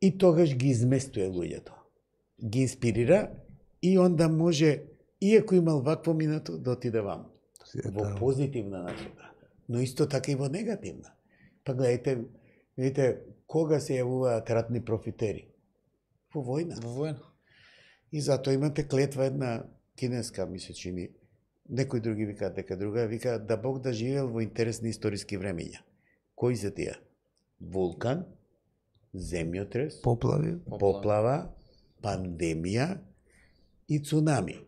И тогаш ги изместува луѓето. Ги инспирира и онда може, иако имал вакво минато, да отиде вам. Во позитивна насока. Но исто така и во негативна. Па гледайте, видите, кога се јавуваат ратни профитери? Во војна. Во војна. И затоа имате клетва една кинеска, ми се чини, некои други викаат дека друга, вика да Бог да живеел во интересни историски времења. Кои се тие? Вулкан, земјотрес, поплава, пандемија и цунами.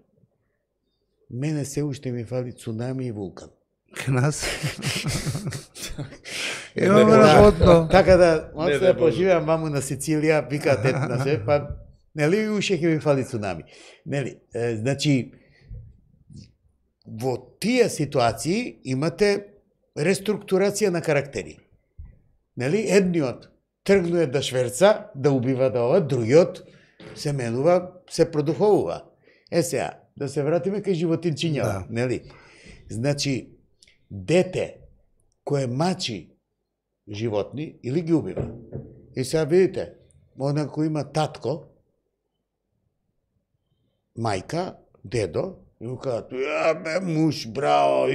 Мене се уште ми фали цунами и вулкан. Нас? Имаме работно. Така да, може да поживеам ваму на Сицилија, викаат на се, па нели уште ќе ми фали цунами. Нели, значи, во тие ситуации имате реструктурација на карактери. Нели, едниот тргнува да шверца, да убива да ова, другиот се менува, се продуховува. Сега, да се вратиме кај животинчињава, нели? Значи, дете кое мачи животни или ги убива. И сега видите, она кој има татко, мајка, дедо, и му кажат, бе, муж, браво,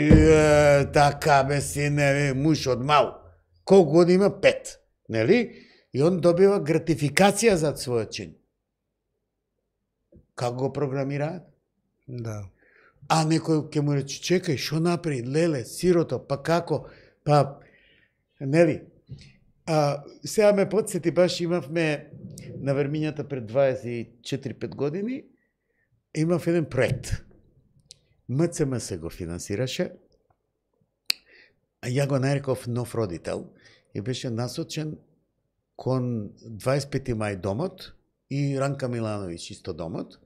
така, бе, сине, муж од мал. Колку години има? 5, нели? И он добива гратификација за својот чин. Како го програмираат? Да. А некој ќе му рече, чекај, шо направи, леле, сирото, па како, па, нели? Сега ме подсети, баш имавме на Вермињата пред 24-5 години, имав еден проект. МЦМС го финансираше, а ја го нареков нов родител и беше насочен кон 25 мај домот и Ранка Милановиќ исто домот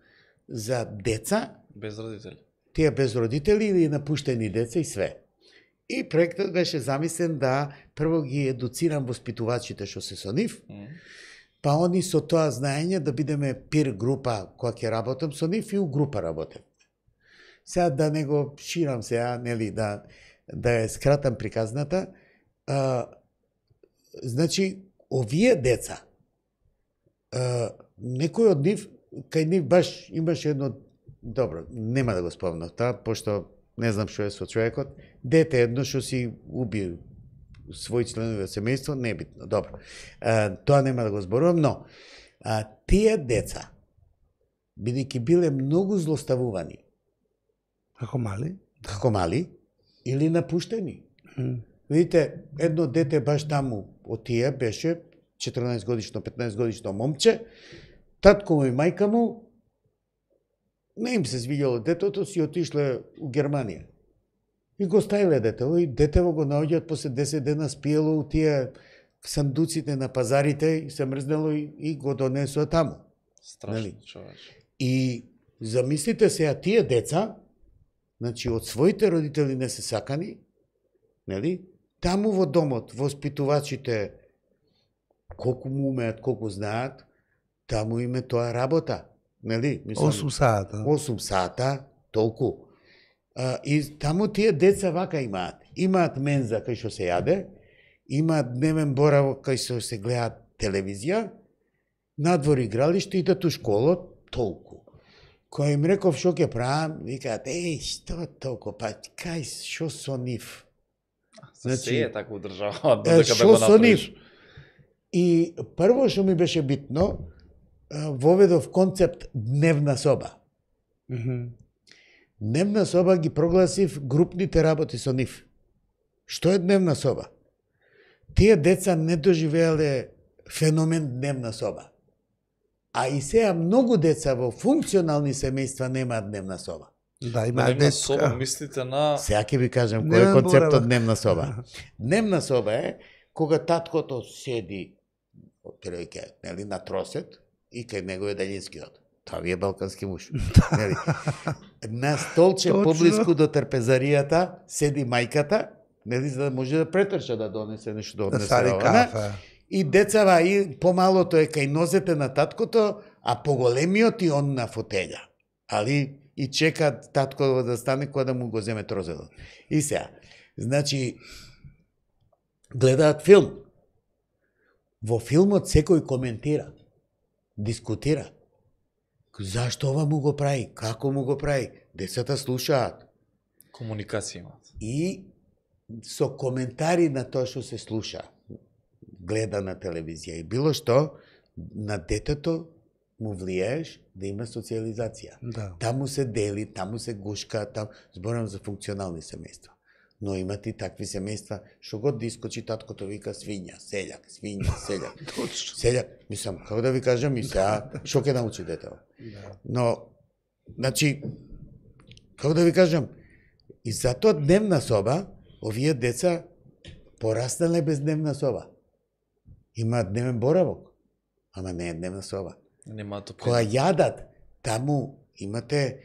за деца без родители. Тие без родители или напуштени деца и све. И проектот беше замислен да прво ги едуцирам воспитувачите што се со нив, па они со тоа знаење да бидеме пир група која ќе работам со нив и у група работам. Сега да не го ширам сега, нели, да ја скратам приказната, значи, овие деца, некој од нив, кај нив баш имаше едно, добро, нема да го спомнам тоа, пошто не знам што е со човекот, дете едно што си уби своји членови од семејство, небитно, добро. Тоа нема да го зборувам, но тие деца, бидејќи биле многу злоставувани, Како мали, или напуштени. Видите, едно дете баш таму од тие беше 14 годишно, 15 годишно момче, татко му и мајка му не им се свиѓало детето, си отишле у Германија. И го ставиле детево, и детево го наоѓаат после 10 дена спиело у тие сандуците на пазарите, и се мрзнело и го донесува таму. Страшно, човече. И замислите се, тие деца, значи од своите родители не се сакани, нели? Таму во домот, воспитувачите, колку му умеат, колку знаат, таму име тоа работа, нели? 8 сата. 8 сата, толку. И таму тие деца вака имаат. Имаат менза кај што се јаде, имаат дневен боравок кај што се гледаат телевизија, надвор игралиште, идат у школа, толку. Кој им реков што ќе правам, викаат, што толку, па кај, што со нив? Значи, се е така држава, додека да го направиш. И прво што ми беше битно, воведов концепт дневна соба. Дневна соба ги прогласив групните работи со нив. Што е дневна соба? Тие деца не доживеале феномен дневна соба. А и сега многу деца во функционални семејства немаат дневна соба. Да, има дневна соба, мислите на... Сега ќе ви кажам кој е концептот дневна соба. Дневна соба е кога таткото седи нели, на тросет и кај него е далинскиот. Тоа ви е балкански муж. Нели? На столче поблиску до трпезаријата седи мајката, нели, за да може да претрча да донесе нешто да однесе. И децава и помалото е кај нозете на таткото, а поголемиот и он на фотеља. Али и чека татко да стане кога да му го земе трозедот. И сега, значи, гледаат филм. Во филмот секој коментира, дискутира. Зашто ова му го прави? Како му го прави? Децата слушаат. Комуникација имаат. И со коментари на тоа што се слуша, гледа на телевизија и било што, на детето му влијаеш да има социализација. Да. Таму се дели, таму се гушка, зборам за функционални семејства. Но имат и такви семејства, што год да искочи таткото вика свиња, селјак, свиња, селјак. Точно. Селјак, мислам, како да ви кажам и сега, што ќе научи детето? Да. Но, значи, како да ви кажам, и затоа дневна соба, овие деца пораснале без дневна соба. Имаат дневен боравок, ама не е дневна соба. Немаат Кога јадат, таму имате,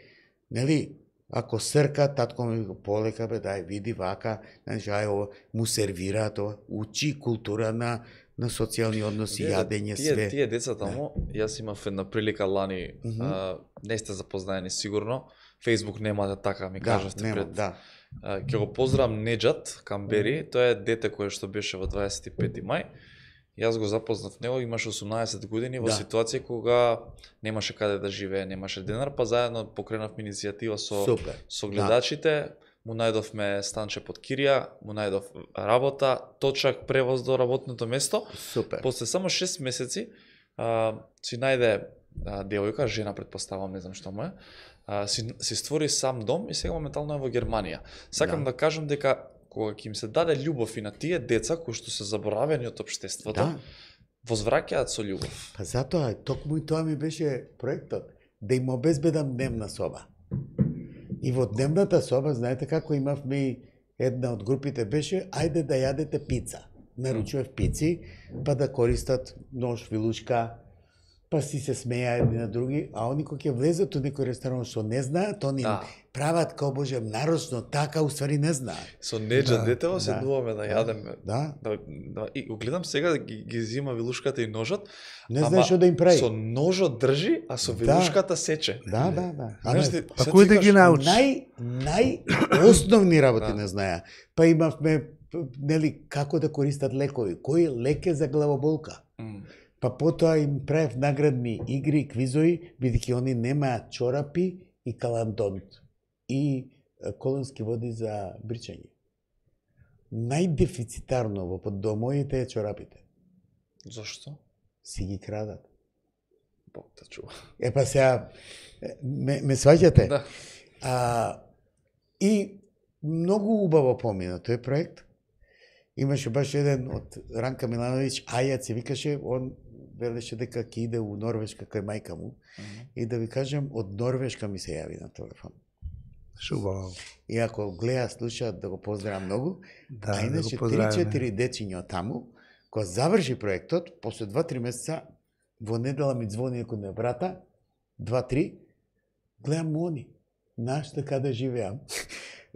нели, ако срка, татко ми го полека, бе, дај, види вака, значи, ај, ова, му сервира тоа, учи култура на социјални односи, јадење, све. Тие деца таму, јас имав една прилика лани, не сте запознаени сигурно, Facebook нема да така ми кажавте пред. Да. Ќе го поздравам Неџат Камбери, тоа е дете кое што беше во 25 мај. Јас го запознав него, имаше 18 години во ситуација кога немаше каде да живее, немаше денар, па заедно покренавме иницијатива со гледачите, му најдовме станче под кирија, му најдов работа, точак превоз до работното место. Супер. После само 6 месеци си најде девојка, жена предпоставам, не знам што му е, си створи сам дом и сега моментално е во Германија. Сакам да кажам дека кога ќе им се даде љубов и на тие деца кои што се заборавени од општеството, возвраќаат со љубов. Па затоа, токму и тоа ми беше проектот, да им обезбедам дневна соба. И во дневната соба, знаете како имавме, една од групите беше, ајде да јадете пица. Наручував пици, па да користат нож, вилушка, па си се смеја едни на други, а они кои ќе влезат у некој ресторан што не знаат, они прават као Боже нарочно, така уствари не знаат. Со Неџа детево се дуваме да јадеме. Да. И го гледам сега ги зима вилушката и ножот. Не знаеш што да им прави. Со ножот држи, а со вилушката сече. Да. Па кој да ги научи? Најосновни работи не знаеа. Па имавме, нели, како да користат лекови. Кој лек е за главоболка? Па потоа им правев наградни игри, квизови, бидејќи они немаат чорапи и каландонт и колонски води за бричање. Најдефицитарно во домовите е чорапите. Зошто? Си ги крадат. Бог да чува. Па сега, ме сваќате? Да. И многу убаво помина тој проект. Имаше баш еден од Ранка Милановиќ, Ајац се викаше, он велеше дека ќе иде у Норвешка кај мајка му. И да ви кажем, од Норвешка ми се јави на телефон. Шубаво. И ако гледа, слушаат, да го поздравам многу. Да, а иначе 3-4 дечиња таму, кога заврши проектот, после 2-3 месеца, во недела ми звони некој на брата, 2-3, гледам они, нашта каде живеам,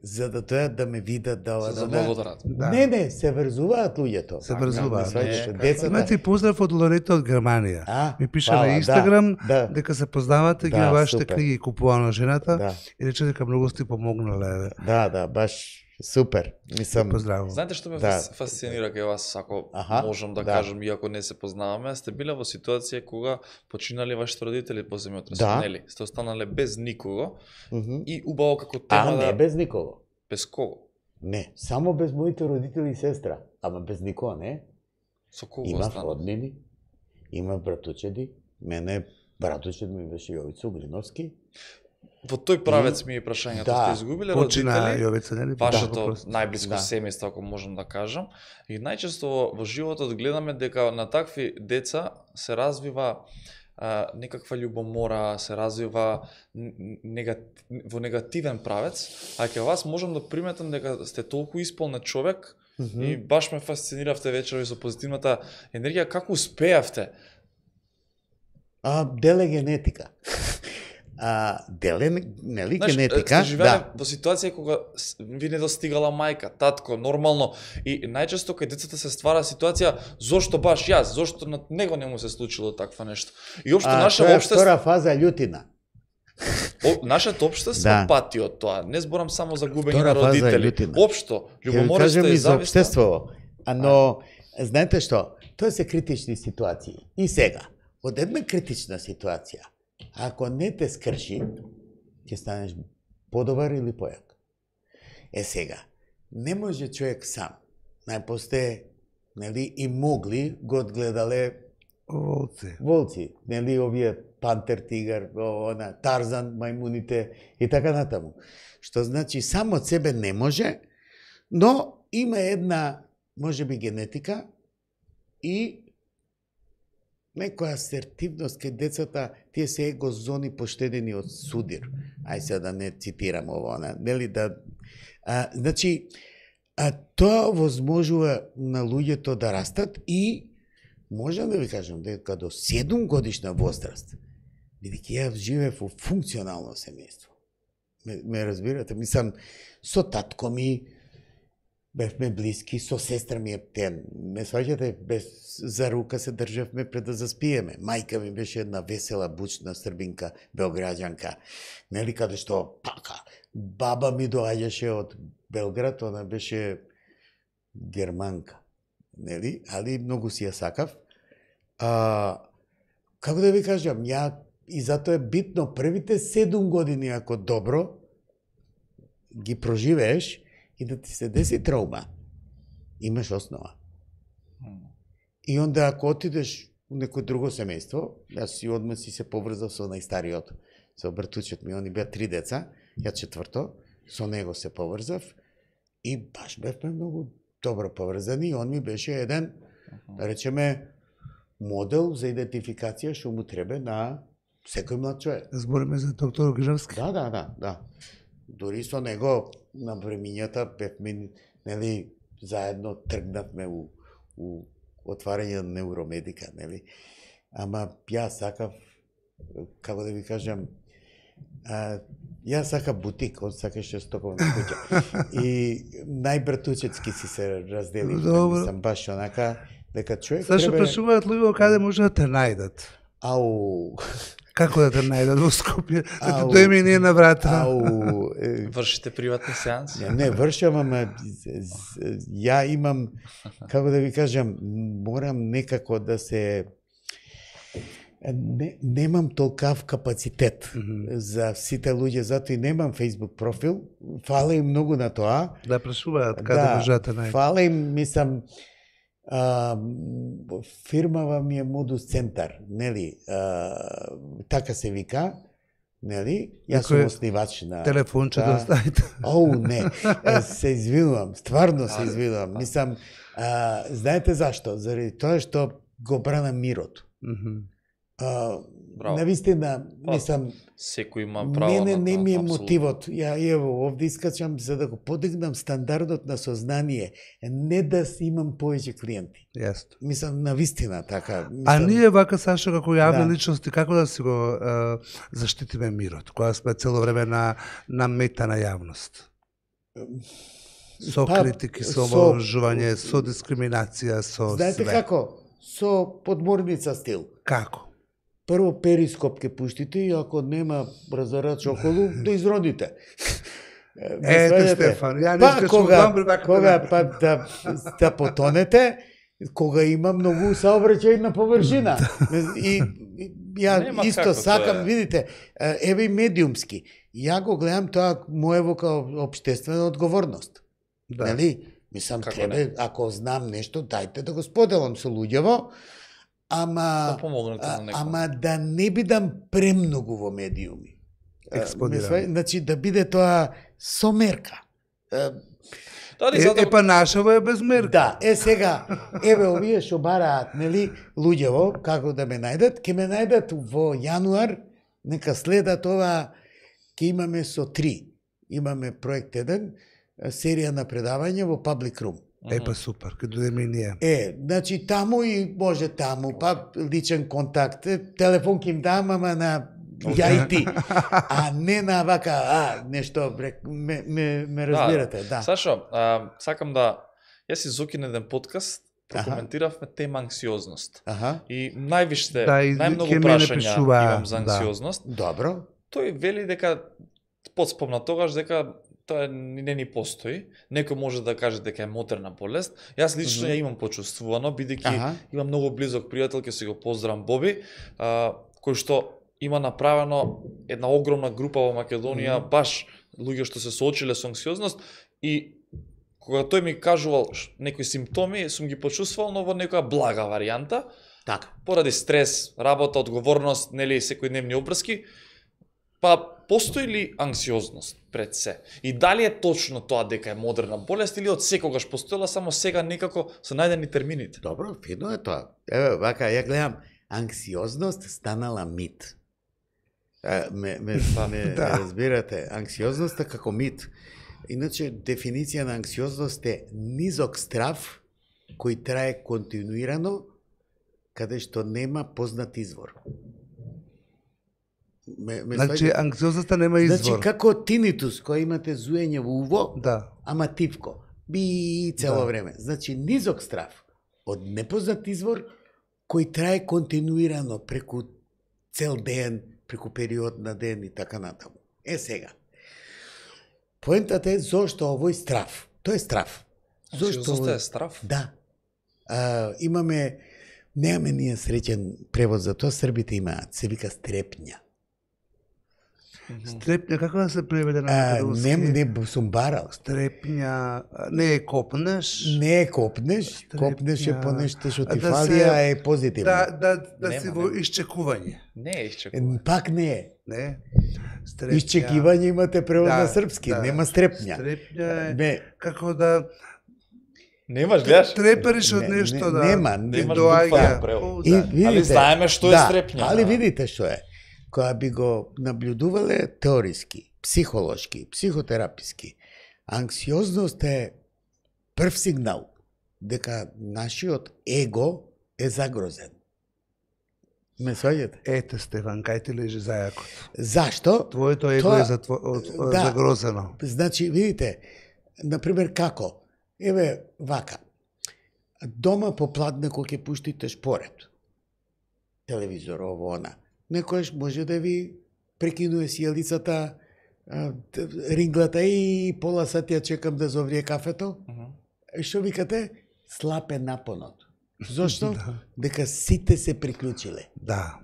за да тоа да ме видат, да Се заблагодарат. Да. Не, се врзуваат луѓето. Се врзуваат. Децата. Имате поздрав од Лорета од Германија. Ми пише фала, на Инстаграм да. дека се познавате, ги Да, на вашите супер. книги купува на жената Да. и рече дека многу сте помогнале. Да, баш супер. Мислам, Поздравувам. Знаете што ме Да. фасцинира кај вас, ако Аха, можам да да. кажам, иако не се познаваме, сте биле во ситуација кога починали вашите родители по земјотресот, Да. нели? Сте останале без никого мгм. и убаво како тема не да... без никого. Без кого? Не, само без моите родители и сестра, ама без никого не. Со кого Има останали? роднини, има братучеди. Мене братучед ми беше Јовица Угриновски. Во тој правец ми е прашањето, Да. сте изгубиле Почина родители? Јовица, нели? Вашето Да. најблиско Да. семејство, ако можам да кажам. И најчесто во животот гледаме дека на такви деца се развива некаква љубомора, се развива во негативен правец, а кај вас можам да приметам дека сте толку исполнет човек и баш ме фасциниравте вечерови со позитивната енергија. Како успеавте? Деле генетика. Деле, нели, генетика? Сте живееле во ситуација кога ви не достигала мајка, татко, нормално, и најчесто кај децата се ствара ситуација зошто баш јас, зошто на него не му се случило таква нешто. И општо наше тоа е општество, втора фаза љутина. нашето општество Да. пати од тоа. Не зборам само за губење Втора на фаза е родители. љутина. Општо, Ќе ви љубомората кажам и и за зависта. општеството. Но, знаете што? Тоа се критични ситуации. И сега, од една критична ситуација, ако не те скрши, ќе станеш подобар или појак. Сега, не може човек сам. Најпосте, нели, и могли го одгледале волци, нели, овие пантер, тигар, Тарзан, мајмуните и така натаму. Што значи, само од себе не може, но има една, може би, генетика и некоја асертивност кај децата, тие се его зони поштедени од судир. Ај се да не цитирам ово, нели, да... Значи, тоа возможува на луѓето да растат и можам да ви кажам дека до 7 годишна возраст, бидејќи ја живеев во функционално семејство. Ме разбирате? Мислам, со татко ми бевме блиски, со сестра ми ме сваќате, без за рука се државме пред да заспиеме. Мајка ми беше една весела, бучна србинка, белграѓанка, нели, каде што така. Баба ми доаѓаше од Белград, она беше германка, нели, али многу си ја сакав. Како да ви кажам, и затоа е битно првите 7 години, ако добро ги проживееш, и да ти се деси траума, имаш основа. И онда ако отидеш у некој друго семејство, јас си одма си се поврзав со најстариот, со братучет ми, они беа 3 деца, ја 4-то, со него се поврзав и баш бевме многу добро поврзани и он ми беше еден, да речеме, модел за идентификација што му треба на секој млад човек. Збориме за доктор Угриновски. Да. Дори со него на времињата бевме, нели, заедно тргнавме у отварање на Невромедика, нели. Ама јас сакав, како да ви кажам, јас сакав бутик, он сакаше стоковна куќа. И најбратучетски си се разделивме, мислам, баш онака, дека човек треба... Зашто прашуваат луѓе каде може да те најдат? Ау... Како да те најдат во Скопје? Да ти дојме и ние на врата. Вршите приватни сеанси? Не, вршам, ама ја имам, како да ви кажам, морам некако да се... Немам толкав капацитет за сите луѓе, затоа и немам Facebook профил. Фала им многу на тоа. Да прашуваат каде може да те најдат. Фала им, мислам, фирмава ми е Модус Центар, нели? Така се вика, нели? Јас сум оснивач на... Телефонче да оставите. Не, се извинувам, стварно се извинувам. Мислам, знаете зашто? Заради тоа што го брана мирот. Браво. Навистина, Па, мислам, Секој има право мене на не ми е апсолутно. мотивот. Ја ево овде искачам за да го подигнам стандардот на сознание, не да имам повеќе клиенти. Јасно. Мислам навистина така. А ние вака, Сашо, како јавни Да. личности, како да си го заштитиме мирот, кога сме цело време на мета на јавност? Со Па, критики, со со- омалжување, со дискриминација, со Знаете све. како? Со подморница стил. Како? Прво перископ ке пуштите и ако нема разарач околу, да изродите. Ете, сваѓате? Стефан, ја не Па искаш кога, добро вака кога да- па да потонете, кога има многу саобраќајна површина. И ја Нема исто како, сакам, тоа е. видите, еве и медиумски. Ја го гледам тоа моево као општествена одговорност. Да. Нели? Мислам, Како треба, ако знам нешто, дајте да го споделам со луѓево, ама... Да помогнете на некој. Ама да не бидам премногу во медиуми. Експониран. Значи, да биде тоа со мерка. Дали Па нашево е без мерка. Да, сега, еве овие што бараат, нели, луѓево, како да ме најдат, ќе ме најдат во јануар, нека следат ова, ќе имаме со 3. Имаме проект 1, серија на предавања во Public Room. Па супер, ке дојдеме и ние. Значи таму и може таму, па личен контакт, телефон ќе им дам, ама на ја и ти, а не на вака, нешто, ме разбирате, да. Сашо, сакам да... Јас и Зокин еден подкаст прокоментиравме тема анксиозност. Аха, И највише, Да, и најмногу ке мене прашања пишуваа, имам за да. анксиозност. добро. Тој вели дека подспомна тогаш дека тоа не ни постои. Некој може да каже дека е моторна болест. Јас лично ја имам почувствувано, бидејќи Аха. имам многу близок пријател, ќе си го поздравам Боби, кој што има направено една огромна група во Македонија, баш луѓе што се соочиле со анксиозност и кога тој ми кажувал некои симптоми, сум ги почувствувал, но во некоја блага варијанта, Така. поради стрес, работа, одговорност, нели секојдневни обврски, па постои ли анксиозност пред се? И дали е точно тоа дека е модерна болест или од секогаш постоела, само сега некако се најдени термините? Добро, фино е тоа. Еве, вака, ја гледам, анксиозност станала мит. Ме Да. разбирате, анксиозноста како мит. Иначе, дефиниција на анксиозност е низок страв кој трае континуирано, каде што нема познат извор. Значи, сваѓате? анксиозноста нема извор. Значи, како тинитус, кој имате зуење во уво, Да. ама тивко. Би цело Да. време. Значи, низок страв од непознат извор, кој трае континуирано преку цел ден, преку период на ден и така натаму. Сега. Поентата е зошто овој страв. Тој е страв. Анксиозноста е страв? Да. Немаме ние среќен превод за тоа, србите имаат, се вика стрепња. Стрепња, како да се преведе на македонски? Не сум барал. Стрепња, не е копнеш. Не е копнеш, копнеш е Стрепња. по нешто што А ти да фали, се- а е позитивно. Да си Нема, во нема. исчекување. Не е исчекува. Пак не е. Не? Стрепња. Исчекивање имате превод Да, на српски, да. нема стрепња. Стрепња е Не, како да Немаш, гледаш? трепериш од Не, нешто, да. нема, ти немаш доаѓа. буквален превод. О, И да. видите, знаеме што е стрепња, Али да. видите што е. Кога би го наблюдувале теориски, психолошки, психотераписки, анксиозност е прв сигнал дека нашиот его е загрозен. Ме сваѓате? Ете, Стефан, кај ти лежи зајакот. Зашто? Твоето его Тоа- е Да. загрозено. Значи, видите, например, како? Еве, вака. Дома попладне кога ќе пуштите шпоред. Телевизор, ово, она. Некојаш може да ви прекинуе сијалицата, ринглата и пола сат ја чекам да зоврие кафето. И што викате? Слаб е напонот. Зошто? Дека сите се приклучиле. Да.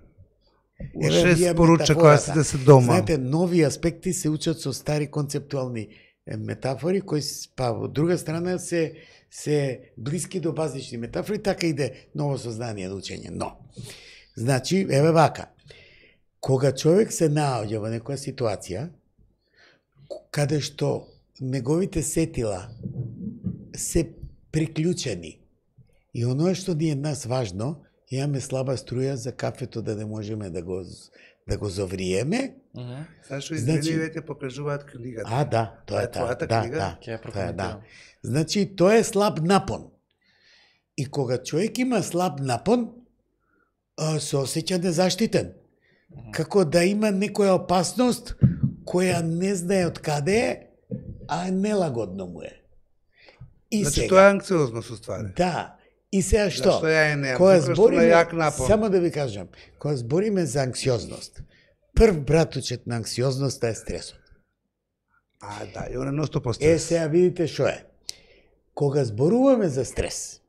Еве, Уште вие споруча кога метафората. сите се дома. Знаете, нови аспекти се учат со стари концептуални метафори, кои па од друга страна се блиски до базични метафори, така иде ново сознание на учење. Но, значи, еве вака, кога човек се наоѓа во некоја ситуација, каде што неговите сетила се приклучени, и оно што ни е нас важно, имаме слаба струја за кафето да не можеме да го завриеме. Сашо, Значи- извини, веќе покажуваат книгата. Да, тоа е твојата да, книга? да, Ќе ја тоа е, прокоментирам. Значи, тоа е слаб напон. И кога човек има слаб напон, се осеќа незаштитен. Како да има некоја опасност која не знае од каде е, а нелагодно му е. И Значи, сега, тоа е анксиозност, уствари. да, и сега што? Зашто ја е немам? Кога Затоа што збориме, на јак напон. само да ви кажам, кога збориме за анксиозност, прв братучет на анксиозноста е стресот. Да, и она носто по стрес. Сега видите што е. Кога зборуваме за стрес,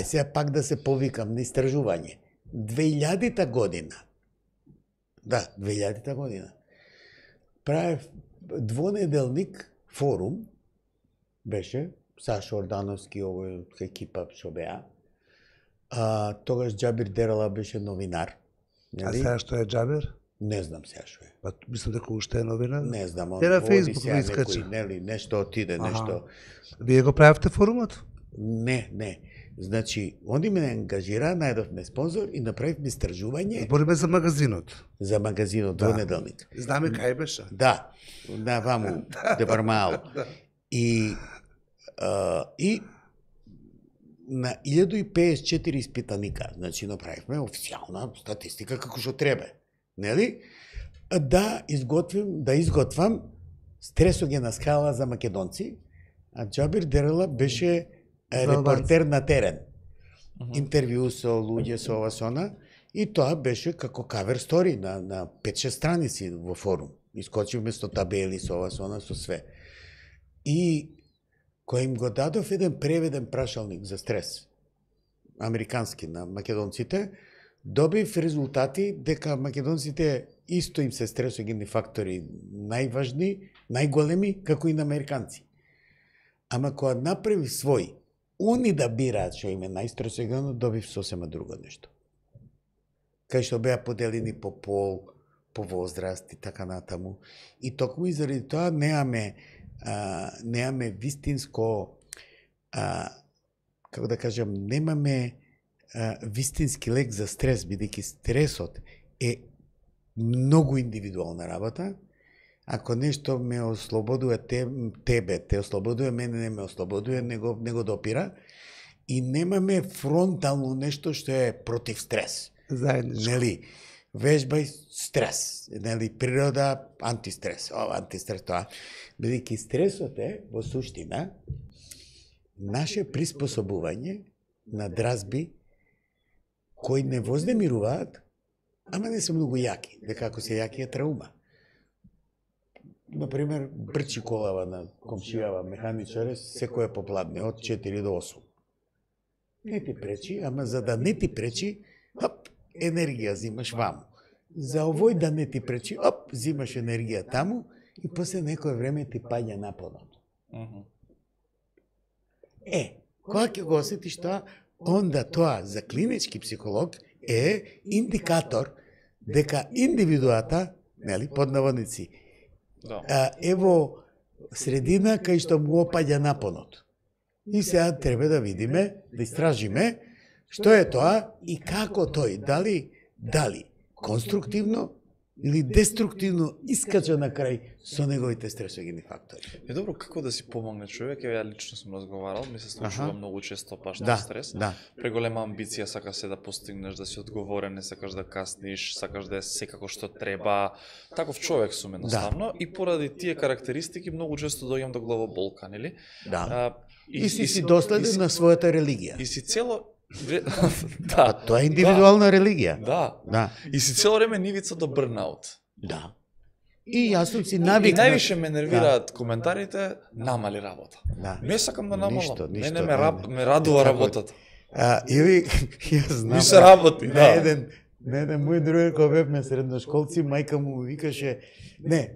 сега пак да се повикам на истражување, 2000-та година, 2000-та година, правев двонеделник форум, беше, Сашо Ордановски, овој екипа што беа, тогаш Џабир Дерала беше новинар. А сега што е Џабир? Не знам сега што е. Па мислам дека уште е новина. Не знам, он Те на води Фејсбук сега ви искача. некој, нели, нешто отиде, нешто... Вие го правите форумот? Не. Значи, они ме ангажира, најдовме спонзор и направивме истражување Збориме за магазинот. за магазинот двонеделник. Знаме кај беше. Да, на ваму, Депармаал. И на 1054 испитаника, значи направивме официјална статистика како што треба, нели? Да изготвам стресогена скала за македонци, а Џабир Дерала беше репортер на терен. Интервју со луѓе со ова сона, и тоа беше како кавер стори на 5-6 страници во форум. Искочивме со табели со ова сона, со све. И кој им го дадов еден преведен прашалник за стрес, американски на македонците, добив резултати дека македонците исто им се стресогени фактори најважни, најголеми, како и на американци. Ама кога направи свој, они да бираат што им е најстресогено, добив сосема друго нешто. Кај што беа поделени по пол, по возраст и така натаму. И токму и заради тоа немаме вистинско, како да кажам, немаме вистински лек за стрес, бидејќи стресот е многу индивидуална работа. Ако нешто ме ослободува тебе, те ослободува мене, не ме ослободува, не го допира. И немаме фронтално нешто што е против стрес. Заедничко. Нели, вежбај стрес, нели, природа антистрес, антистрес тоа. Бидејќи стресот е во суштина наше приспособување на дразби кои не вознемируваат, ама не се многу јаки, дека ако се јаки е траума. Например, брчи колава на комшијава механичаре, секој е попладне, од 4 до 8. Не ти пречи, ама за да не ти пречи, енергија зимаш ваму. За овој да не ти пречи, зимаш енергија таму и после некој време ти паѓа напонот. Кога ќе го осетиш тоа, онда тоа за клинички психолог е индикатор дека индивидуата, нели, под наводници, е во средина кај што му опаѓа напонот. И сега треба да видиме, да истражиме што е тоа и како тој, дали конструктивно или деструктивно искача на крај со неговите стресогени фактори. Добро, како да си помогне човек? Ја лично сум разговарал, ми се случува многу често паш Да, стрес. да. Преголема амбиција, сакаш се да постигнеш, да си одговорен, не сакаш да касниш, сакаш да е секако што треба. Таков човек сум едноставно и поради тие карактеристики многу често доаѓам до главоболка, нели? Да. И си доследен на својата религија. И си цело Да, тоа е индивидуална религија. Да. И си цело време нивица до брнаут. Да. И јас сум си И навикнат. највише ме нервираат коментарите, намали работа. Да. Не сакам да намалам. Ништо, Мене не. ме радува работата. Јас знам. Ми се работи, на да. еден мој другар кој бевме средношколци, мајка му викаше,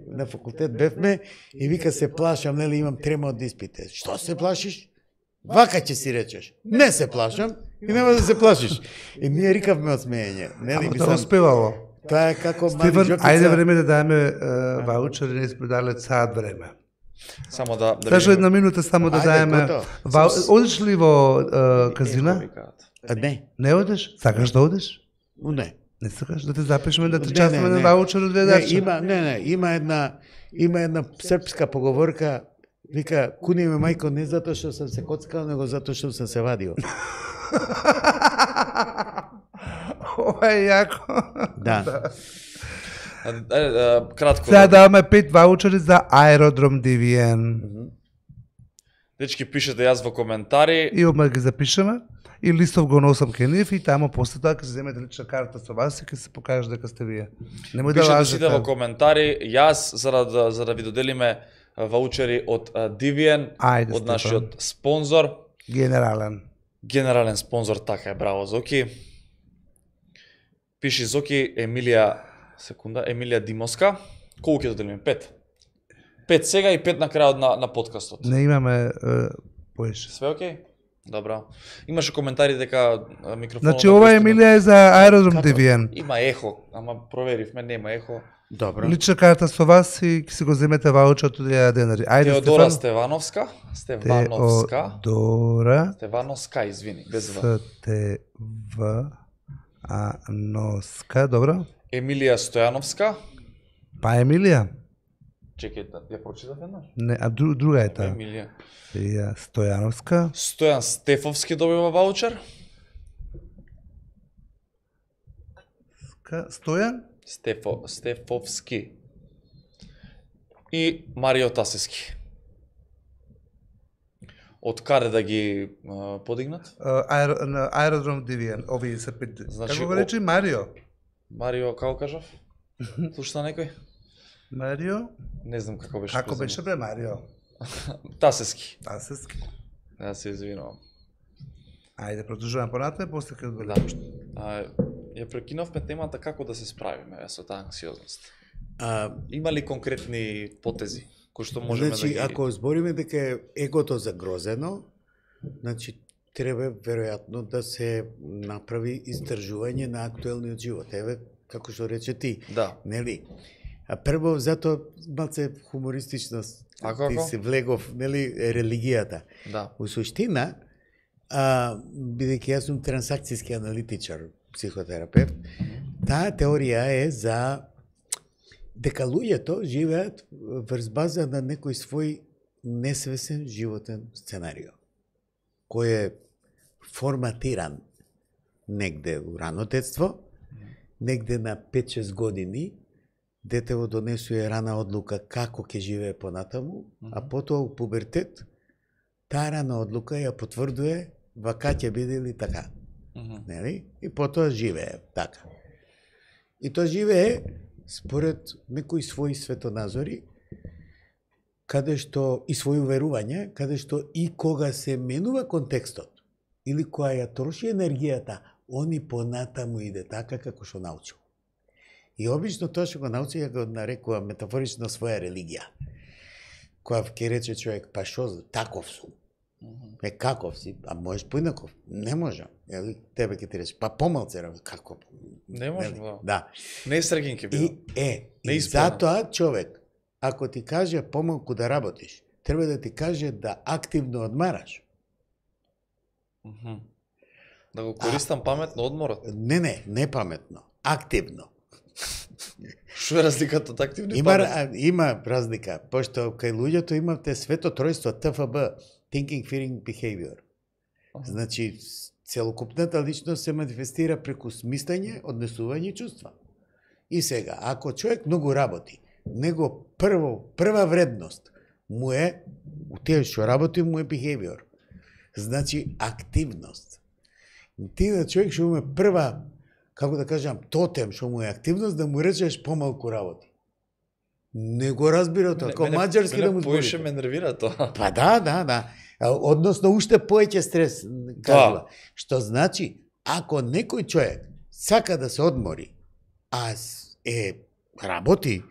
на факултет бевме и вика се плашам, нели имам трема од испите. Што се плашиш? Вака ќе си речеш. Не се плашам и нема да се плашиш. И ние рикавме од смеење. Нели Ама тоа успевало. Тоа е како мали Стефан, жопица. ајде време да даеме ваучер, не сме дали саат време. Само да Сашо, една минута само да Ајде, даеме. готово. Одиш ли во казина? Не, Не одиш? Сакаш да одиш? не. Не сакаш да те запишеме да те Не, частаме не, на не. ваучер од ведача? Има една српска поговорка, вика, куни ме мајко не затоа што сам се коцкал, него затоа што сам се вадил. Ова е јако. Да. Кратко. Сега даваме 5 ваучери за аеродром Дивиен. Дечки, пишете јас во коментари. И одма ги запишеме. И листов го носам кај нив и тамо после тоа ќе се земете лична карта со вас и ќе се покаже дека сте вие. Немој да Пишете сите во лажете. коментари. Јас за да ви доделиме ваучери од Дивиен, Ајде, од Стефан. нашиот спонзор, Генерален. генерален спонзор, така е, браво Зоки. Пиши Зоки, Емилија Димоска. Колку ќе доделиме? 5. 5 сега и 5 на крајот на подкастот. Не имаме поише. Све окей? Добро. Имаше коментари дека микрофонот... Значи ова Емилија е за аеродром Како? Дивиен. Има ехо, ама проверивме, нема ехо. Добро. Лична карта со вас и ќе си го земете ваучер од 1000 денари. Ајде Теодора Стефан. Стевановска, Теодора Стевановска, извини, без В. Стевановска, добро. Емилија Стојановска. Па Емилија. Чекај, ја прочитав еднаш. Не, а друга е таа. Емилија. Ја Стојановска. Стојан Стефовски добива ваучер. Стојан? Стефовски. И Марио Тасески. Од каде да ги подигнат? На аеродром Дивиен. Овие се 5. Значи, Како го рече Марио? Марио, како кажав? Слушна некој? Марио? Не знам како беше. Како презиме. беше бре Марио? Тасески. Тасески. Ја се извинувам. Ајде, продолжуваме понатаму, после ќе Да. Ја прекинавме темата како да се справиме со таа анксиозност. Има ли конкретни потези кои што можеме Значи, да ги... ако збориме дека е егото загрозено, значи треба веројатно да се направи истражување на актуелниот живот. Еве, како што рече ти, Да. нели? А прво, зато малце хумористичност ти се влегов, нели, религијата. Да. У суштина, бидејќи јас сум трансакцијски аналитичар, психотерапевт, таа теорија е за дека луѓето живеат врз база на некој свој несвесен животен сценарио, кој е форматиран негде у рано детство, негде на 5-6 години, детево донесува рана одлука како ќе живее понатаму, а потоа у пубертет, таа рана одлука ја потврдува вака ќе биде или така. Нели? И потоа живее така. И тоа живее според некои своји светоназори, каде што и своји уверувања, каде што и кога се менува контекстот или која ја троши енергијата, они понатаму иде така како што научил. И обично тоа што го научи ја го нарекува метафорично своја религија. Која ќе рече човек, па шо, таков сум. Каков си? А можеш поинаков? Не можам. Јали тебе ќе ти рече, па помалце работи. Како? Не можам, да. Да. Не Срегин ќе биде. И затоа човек, ако ти каже помалку да работиш, треба да ти каже да активно одмараш. Да го користам паметно одморот. Не паметно, активно. Што е разликата од активно и паметно? Има разлика, пошто кај луѓето имате свето тројство ТФБ, Thinking, Feeling, Behavior. Значи, целокупната личност се манифестира преку смислење, однесување и чувства. И сега, ако човек многу работи, него прва вредност му е, у тие што работи му е behavior. Значи, активност. Ти на човек што му е прва, како да кажам, тотем што му е активност, да му речеш помалку работи. Не го разбира тоа, како маđарски да му зборите. Поише ме нервира тоа. Па да. Односно, уште поеќе стрес, кажува. Што значи, ако некој човек сака да се одмори, а работи,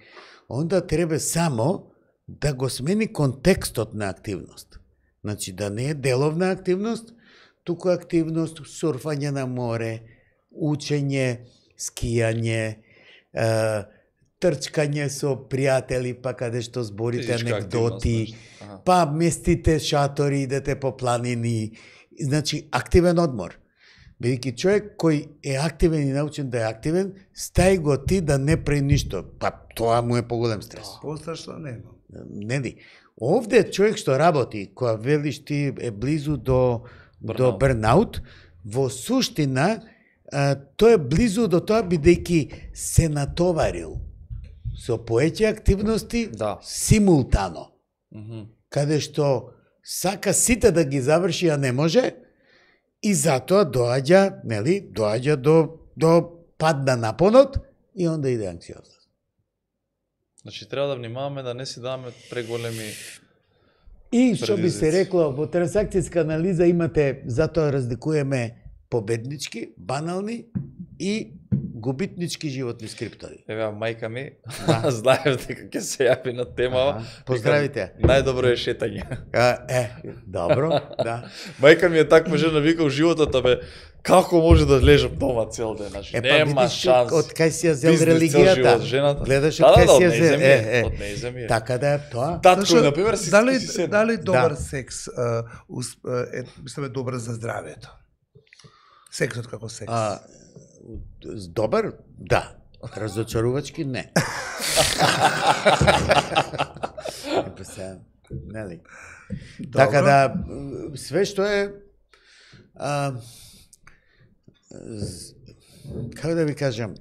онда треба само да го смени контекстот на активност. Значи, да не е деловна активност, туку активност, сурфање на море, учење, скијање, трчкање со пријатели, па каде што зборите анекдоти, па местите шатори, идете по планини, значи активен одмор. Бидејќи човек кој е активен и научен да е активен, стај го ти да не прави ништо. Па тоа му е поголем стрес. Пострашно нема. Не. Овде човек што работи, која велиш ти е близу до бернаут, во суштина тој е близу до тоа бидејќи се натоварил со поеќе активности симултано. Каде што сака сите да ги заврши, а не може, и затоа доаѓа до пад на напонот и онда иде анксиозност. Значи треба да внимаваме да не си даваме преголеми. И што би се рекло, во трансакцијска анализа имате, затоа разликуваме победнички, банални и губитнички животни скриптори. Еве, мајка ми, знаев дека ќе се јави на темава. Поздравите. Најдобро е шетање. Добро, да. Мајка ми е таква жена, вика, животот, бе, како може да лежам дома цел ден, значи нема шанс. Од кај си ја зел религијата? Гледаш од кај си ја зел? Од нејземје. Така да е тоа. Татко, например, си дали добар секс мислиме добар за здравјето? Сексот како секс. Добар? Да. Разочарувачки? Не. Нели? Така да, све што е како да ви кажам,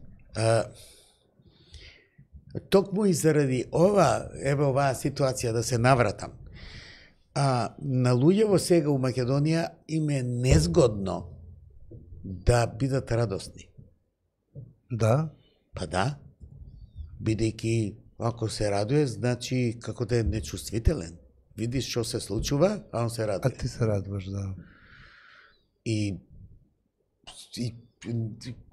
токму и заради оваа ситуација да се навратам, на луѓево сега у Македонија им е незгодно да бидат радосни. Да? Па да. Бидејќи ако се радуе, значи како да е нечувствителен. Видиш што се случува, а он се радуе. А ти се радуваш, да. И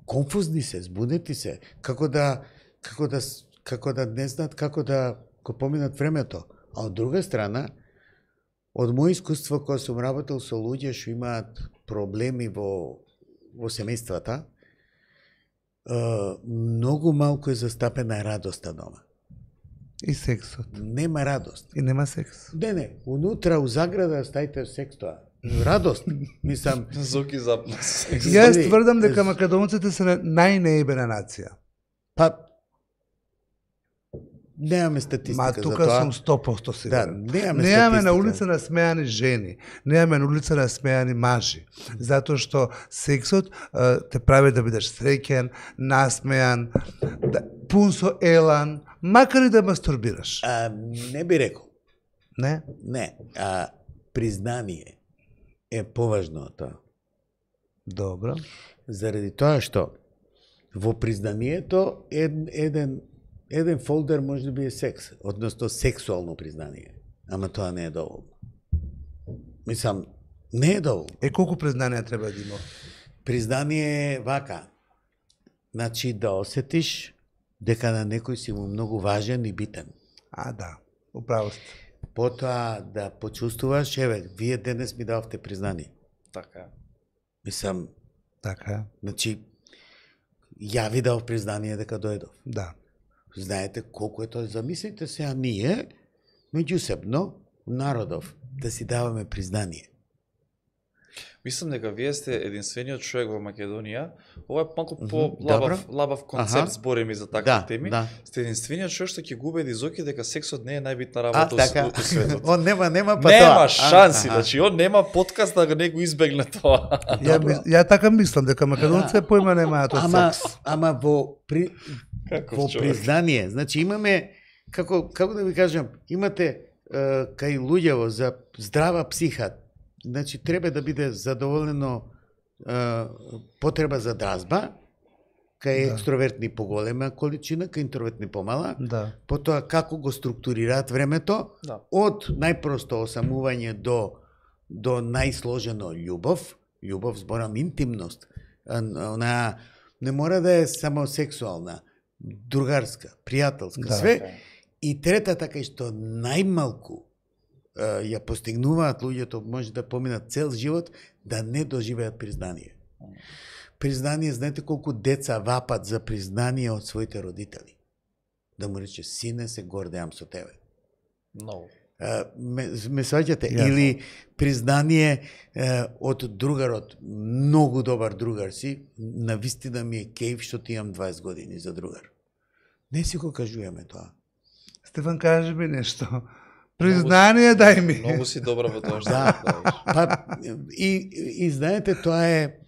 конфузни се, збунети се, како да не знаат како да го поминат времето. А од друга страна, од мој искуство кога сум работел со луѓе што имаат проблеми во семејствата, многу малку е застапена радоста дома. И сексот. Нема радост. И нема секс. Не, унутра у заграда стајте секс тоа. Радост. Мислам, Зоки запна. Јас тврдам дека македонците се најнеебена нација. Па немаме статистика за тоа. Тука сум 100% сигурен. Да, немаме на улица насмеани жени, немаме на улица насмеани мажи, затоа што сексот те прави да бидеш среќен, насмеан, пун со елан, макар и да мастурбираш. Не би рекол. Не? Не. Признание е поважно од тоа. Добро. Заради тоа што во признанието еден фолдер може би е секс, односно сексуално признание. Ама тоа не е доволно. Мислам, не е доволно. Колку признание треба да има? Признание е вака. Значи да осетиш дека на некој си му многу важен и битен. Да, управо сте. Потоа да почувствуваш, вие денес ми дававте признание. Така. Мислам, така. Значи, ја ви дав признание дека дојдов. Да. Знаете колку е тоа? Замислите се, ние, меѓусебно, народов, да си даваме признание. Мислам дека вие сте единствениот човек во Македонија. Ова е малку по-лабав концепт, зборим и за такви теми. Сте единствениот човек што ќе го убеди Зоки дека сексот не е најбитна работа у светот. Он нема нема шанси, значи он нема подкаст да не го избегне тоа. Ја така мислам дека македонците појма немаат од секс. Ама во признание, значи имаме како да ви кажам, имате кај луѓево за здрава психа. Значи, треба да биде задоволено потреба за дразба, кај екстровертни поголема количина, кај интровертни помала. Потоа, како го структурираат времето, од најпросто осамување до најсложено љубов. Љубов, зборам, интимност. Она не мора да е само сексуална, другарска, пријателска, све. И третата, кај што најмалку ја постигнуваат луѓето, може да поминат цел живот, да не доживеат признание. Признание, знаете колку деца вапат за признание од своите родители. Да му рече, сине, се гордеам со тебе. No. Ме сваќате? Или признание од другарот, многу добар другар си, навистина ми е кејф што ти имам 20 години за другар. Не си го кажуваме тоа. Стефан, кажи ми нешто. Признание дај ми. Многу си добра во тоа што Да. правиш. Па, и знаете, тоа е...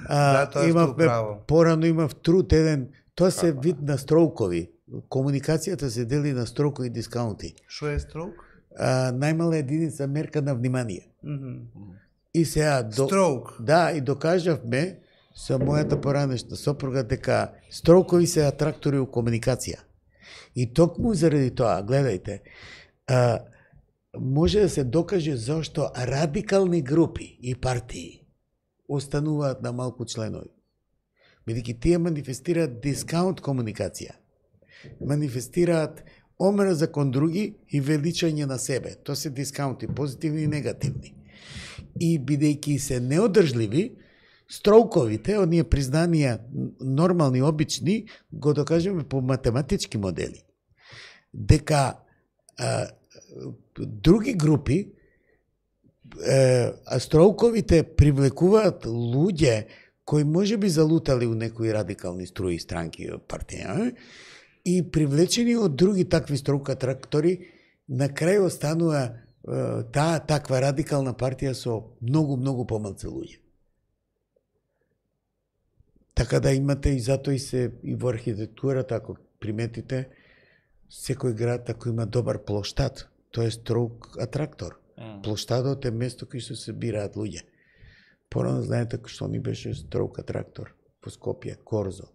Да, тоа сте управо. Порано имав труд еден, тоа се вид на строукови. Комуникацијата се дели на строукови и дискаунти. Што е строк? Најмала единица мерка на внимание. И сега... Строк. Да, и докажавме со мојата поранешна сопруга дека строукови се атрактори у комуникација. И токму заради тоа, гледајте, може да се докаже зашто радикални групи и партии остануваат на малку членови. Бидејќи тие манифестираат дискаунт комуникација. Манифестираат омраза кон други и величање на себе. Тоа се дискаунти, позитивни и негативни. И бидејќи се неодржливи, строуковите, оние признанија нормални, обични, го докажеме по математички модели. Дека други групи, строуковите привлекуваат луѓе кои може би залутали у некои радикални струи странки партија, и привлечени од други такви строука трактори, на крај останува таа таква радикална партија со многу помалку луѓе. Така да имате и затоа и се и во архитектурата, ако приметите, секој град ако има добар плоштад, тоа е строук атрактор. Плоштадот е место кај што се бираат луѓе. Порано знаете што ни беше строук атрактор по Скопје, Корзо,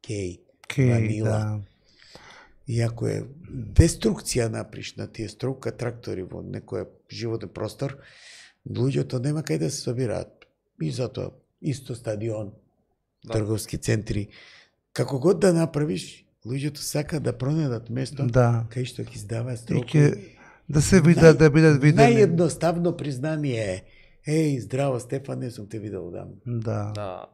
Кеј, Ванила. Да. Иако е деструкција наприш на тие строук атрактори во некој животен простор, луѓето нема кај да се собираат. И затоа исто стадион, трговски центри, како год да направиш, луѓето сака да пронајдат место кај што ќе издаваат строукови. Да се видат, да бидат видени. Наједноставно признание е: здраво Стефан, не сум те видел дам. Да.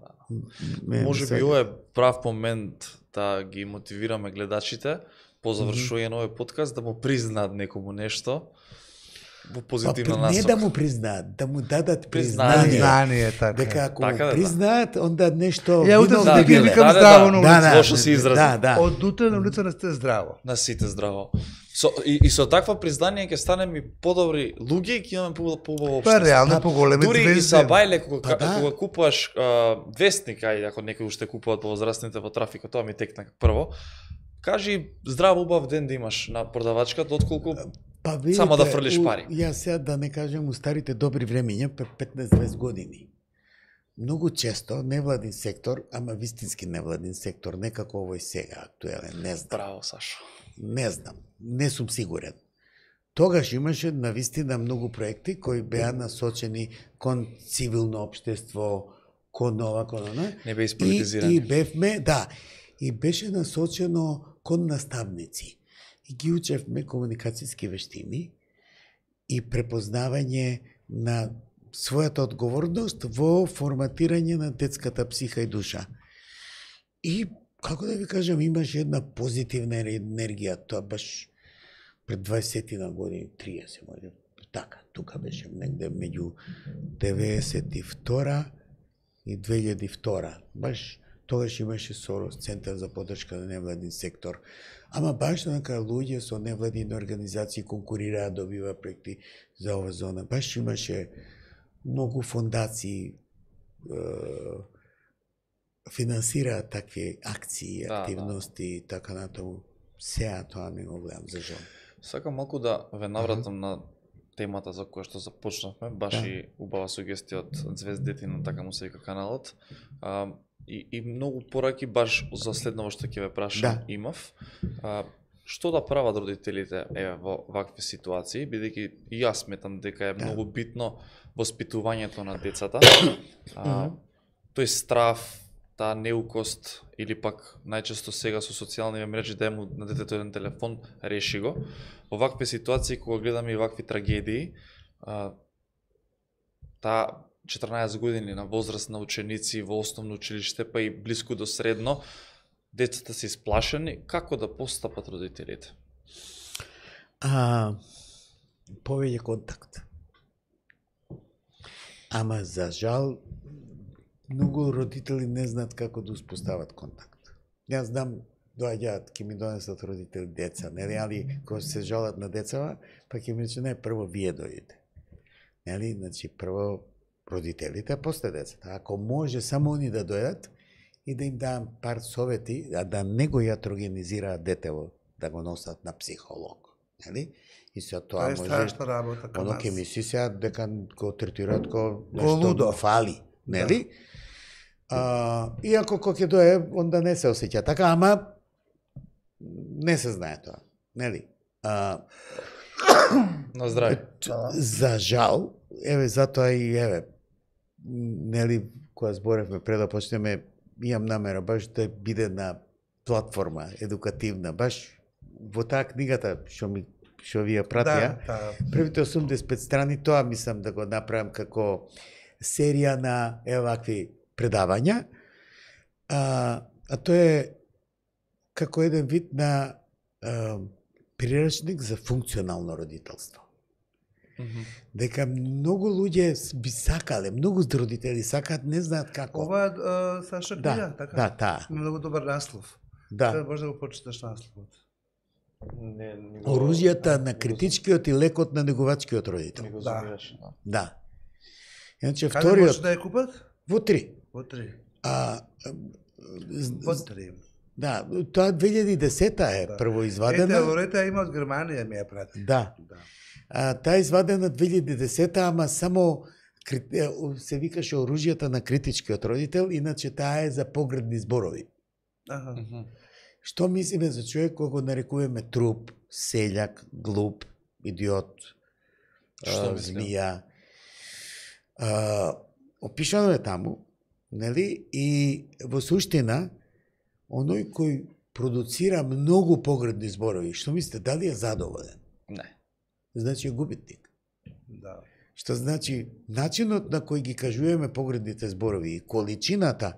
Може би ова е прав момент да ги мотивираме гледачите по завршување на овој подкаст да му признаат некому нешто во позитивна насока. Не да му признаат, да му дадат признание. Признание, така. Дека ако му признаат, онда нешто... Ја утре да ги викам здраво на улица. Лошо се изрази. Од утре на улица не сте здраво. На сите здраво. И со таква признание ќе станеме и подобри луѓе и ќе имаме поубаво општество. Па реално поголеми звезди. Дури и са бајле кога купуваш вестник, ако некој уште купуваат повозрастните во трафикот, тоа ми текна прво. Кажи здраво убав ден да имаш на продавачката, отколку само да фрлиш пари. Јас сега да не кажем у старите добри времиња, 15-20 години. Многу често невладин сектор, ама вистински невладин сектор, некако овој сега актуелен, не знам. Браво, Сашо. Не знам, не сум сигурен. Тогаш имаше навистина многу проекти кои беа насочени кон цивилно општество, кон ова, кон она. Не бе исполитизирани. И бевме, да, и беше насочено кон наставници. И ги учевме комуникацијски вештини и препознавање на својата одговорност во форматирање на детската психа и душа. И, како да ви кажам, имаше една позитивна енергија, тоа баш пред 20 на години, 30 може. Така, тука беше негде меѓу 92 и 2002. Баш тогаш имаше СОРОС, Центар за поддршка на невладин сектор. Ама баш така луѓе со невладини организации конкурираат, добива проекти за ова зона. Баш имаше многу фондации финансираат такви акции, активности и така натаму. Сеа тоа не го гледам, за жал. Сакам малку да ве навратам на темата за која што започнавме, баш и убава сугестија од Звездите на така му се вика каналот. И многу пораки баш за следново што ќе ве прашам имав. Што да прават родителите во вакви ситуации, бидејќи и јас сметам дека е многу битно воспитувањето на децата. Тој страв, таа неукост или пак најчесто сега со социјални мрежи да му на детето еден телефон, реши го. Во вакви ситуации кога гледаме и вакви трагедии, таа 14 години на возраст на ученици во основно училиште, па и блиску до средно, децата се исплашени, како да постапат родителите? повеќе контакт. Ама за жал многу родители не знаат како да успостават контакт. Јас знам, доаѓаат, ќе ми донесат родители деца, нели, али кога се жалат на децава, па ќе ми рече не, прво вие дојдете. Нели, значи прво родителите, а после децата. Ако може само они да дојдат и да им дам пар совети, а да не го јатрогенизираат детево, да го носат на психолог, нели? И се тоа може. Страшна работа кај Оно нас. ќе ми си дека го третираат ко лудо. нешто фали, нели? Иако кога ќе дое, онда не се осеќа така, ама не се знае тоа, нели? На здраве. За жал, еве затоа и еве, нели, кога зборевме пред да почнеме, имам намера баш да биде на платформа едукативна, баш во таа книгата што ви ја пратија. Првите 85 страни тоа мислам да го направам како серија на вакви предавања. А тоа е како еден вид на прирачник за функционално родителство. Дека многу луѓе би сакале, многу родители сакаат, не знаат како. Ова е Саша книга, така? Да, таа. Многу добар наслов. Да. Може да го прочиташ насловот. Оружјата на критичкиот и лекот на неговачкиот родител. Да. Иначе Каде може вториот да ја купат? во 3. Во 3. Во 3. Да, тоа 2010 е прво извадена. Ете, Лорета има од Германија ми ја прати. Да. Таа извадена 2010, ама само се викаше оружјата на критичкиот родител, иначе таа е за погредни зборови. Што мислиме за човек кога го нарекуваме труп, селјак, глуп, идиот, змија? Опишано е таму, нели? И во суштина, оној кој продуцира многу погредни зборови, што мислите, дали е задоволен? Не. Значи е губитник. Да. Што значи, начинот на кој ги кажуваме погредните зборови и количината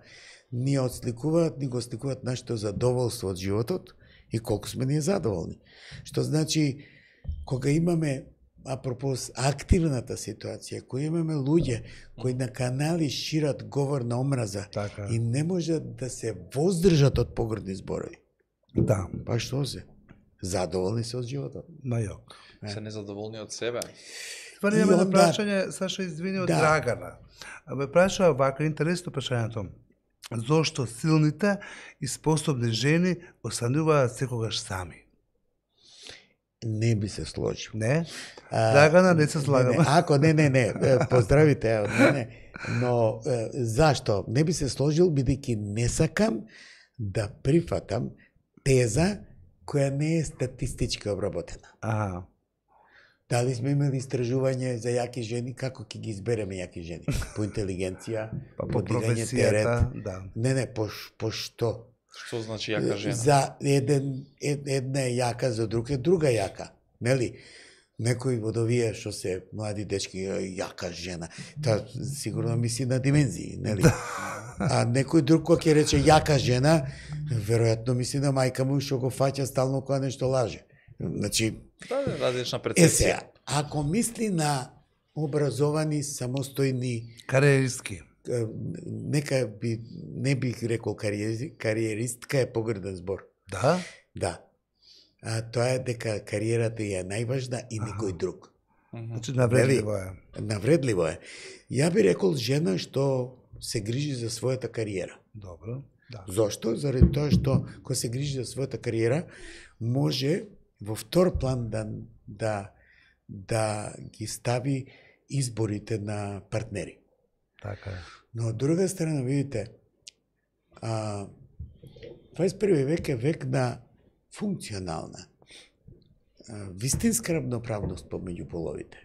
ни отсликуваат, ни го сликуваат нашето задоволство од животот и колку сме ние задоволни. Што значи, кога имаме, апропос активната ситуација, која имаме луѓе кои на канали шират говор на омраза Така. и не можат да се воздржат од погредни зборови. Да. Па што се? Задоволни се од животот. На јок. Се незадоволни од себе. Ствари имаме на прашање, Саша, извини, од Драгана. Ме праша вака интересно прашањето. Зошто силните и способни жени остануваат секогаш сами? Не би се сложил. Не? Драгана, не се слагаме. Ако не, поздравите од мене. Но зашто? Не би се сложил, бидејќи не сакам да прифатам теза која не е статистички обработена. Дали сме имали истражување за јаки жени, како ќе ги избереме јаки жени? По интелигенција, по дигање терет. Да. Не, по што? Што значи јака жена? За една е јака, за друг е друга јака. Нели? Некои од овие што се млади дечки, јака жена, та сигурно мисли на димензии, нели? А некој друг кој ќе рече јака жена, веројатно мисли на мајка му што го фаќа стално кога нешто лаже. Значи, различна перцепција. Ако мисли на образовани, самостојни, кариеристки, нека не бих рекол кариеристка е погреден збор. Да? Да. Тоа е дека кариерата е најважна и никој друг. Значи навредливо е. Навредливо е. Ја би рекол жена што се грижи за својата кариера. Добро. Да. Зошто? Заради тоа што кога се грижи за својата кариера, може во втор план да ги стави изборите на партнери. Така е. Но од друга страна, видите, 21 век е век на функционална, вистинска равноправност помеѓу половите.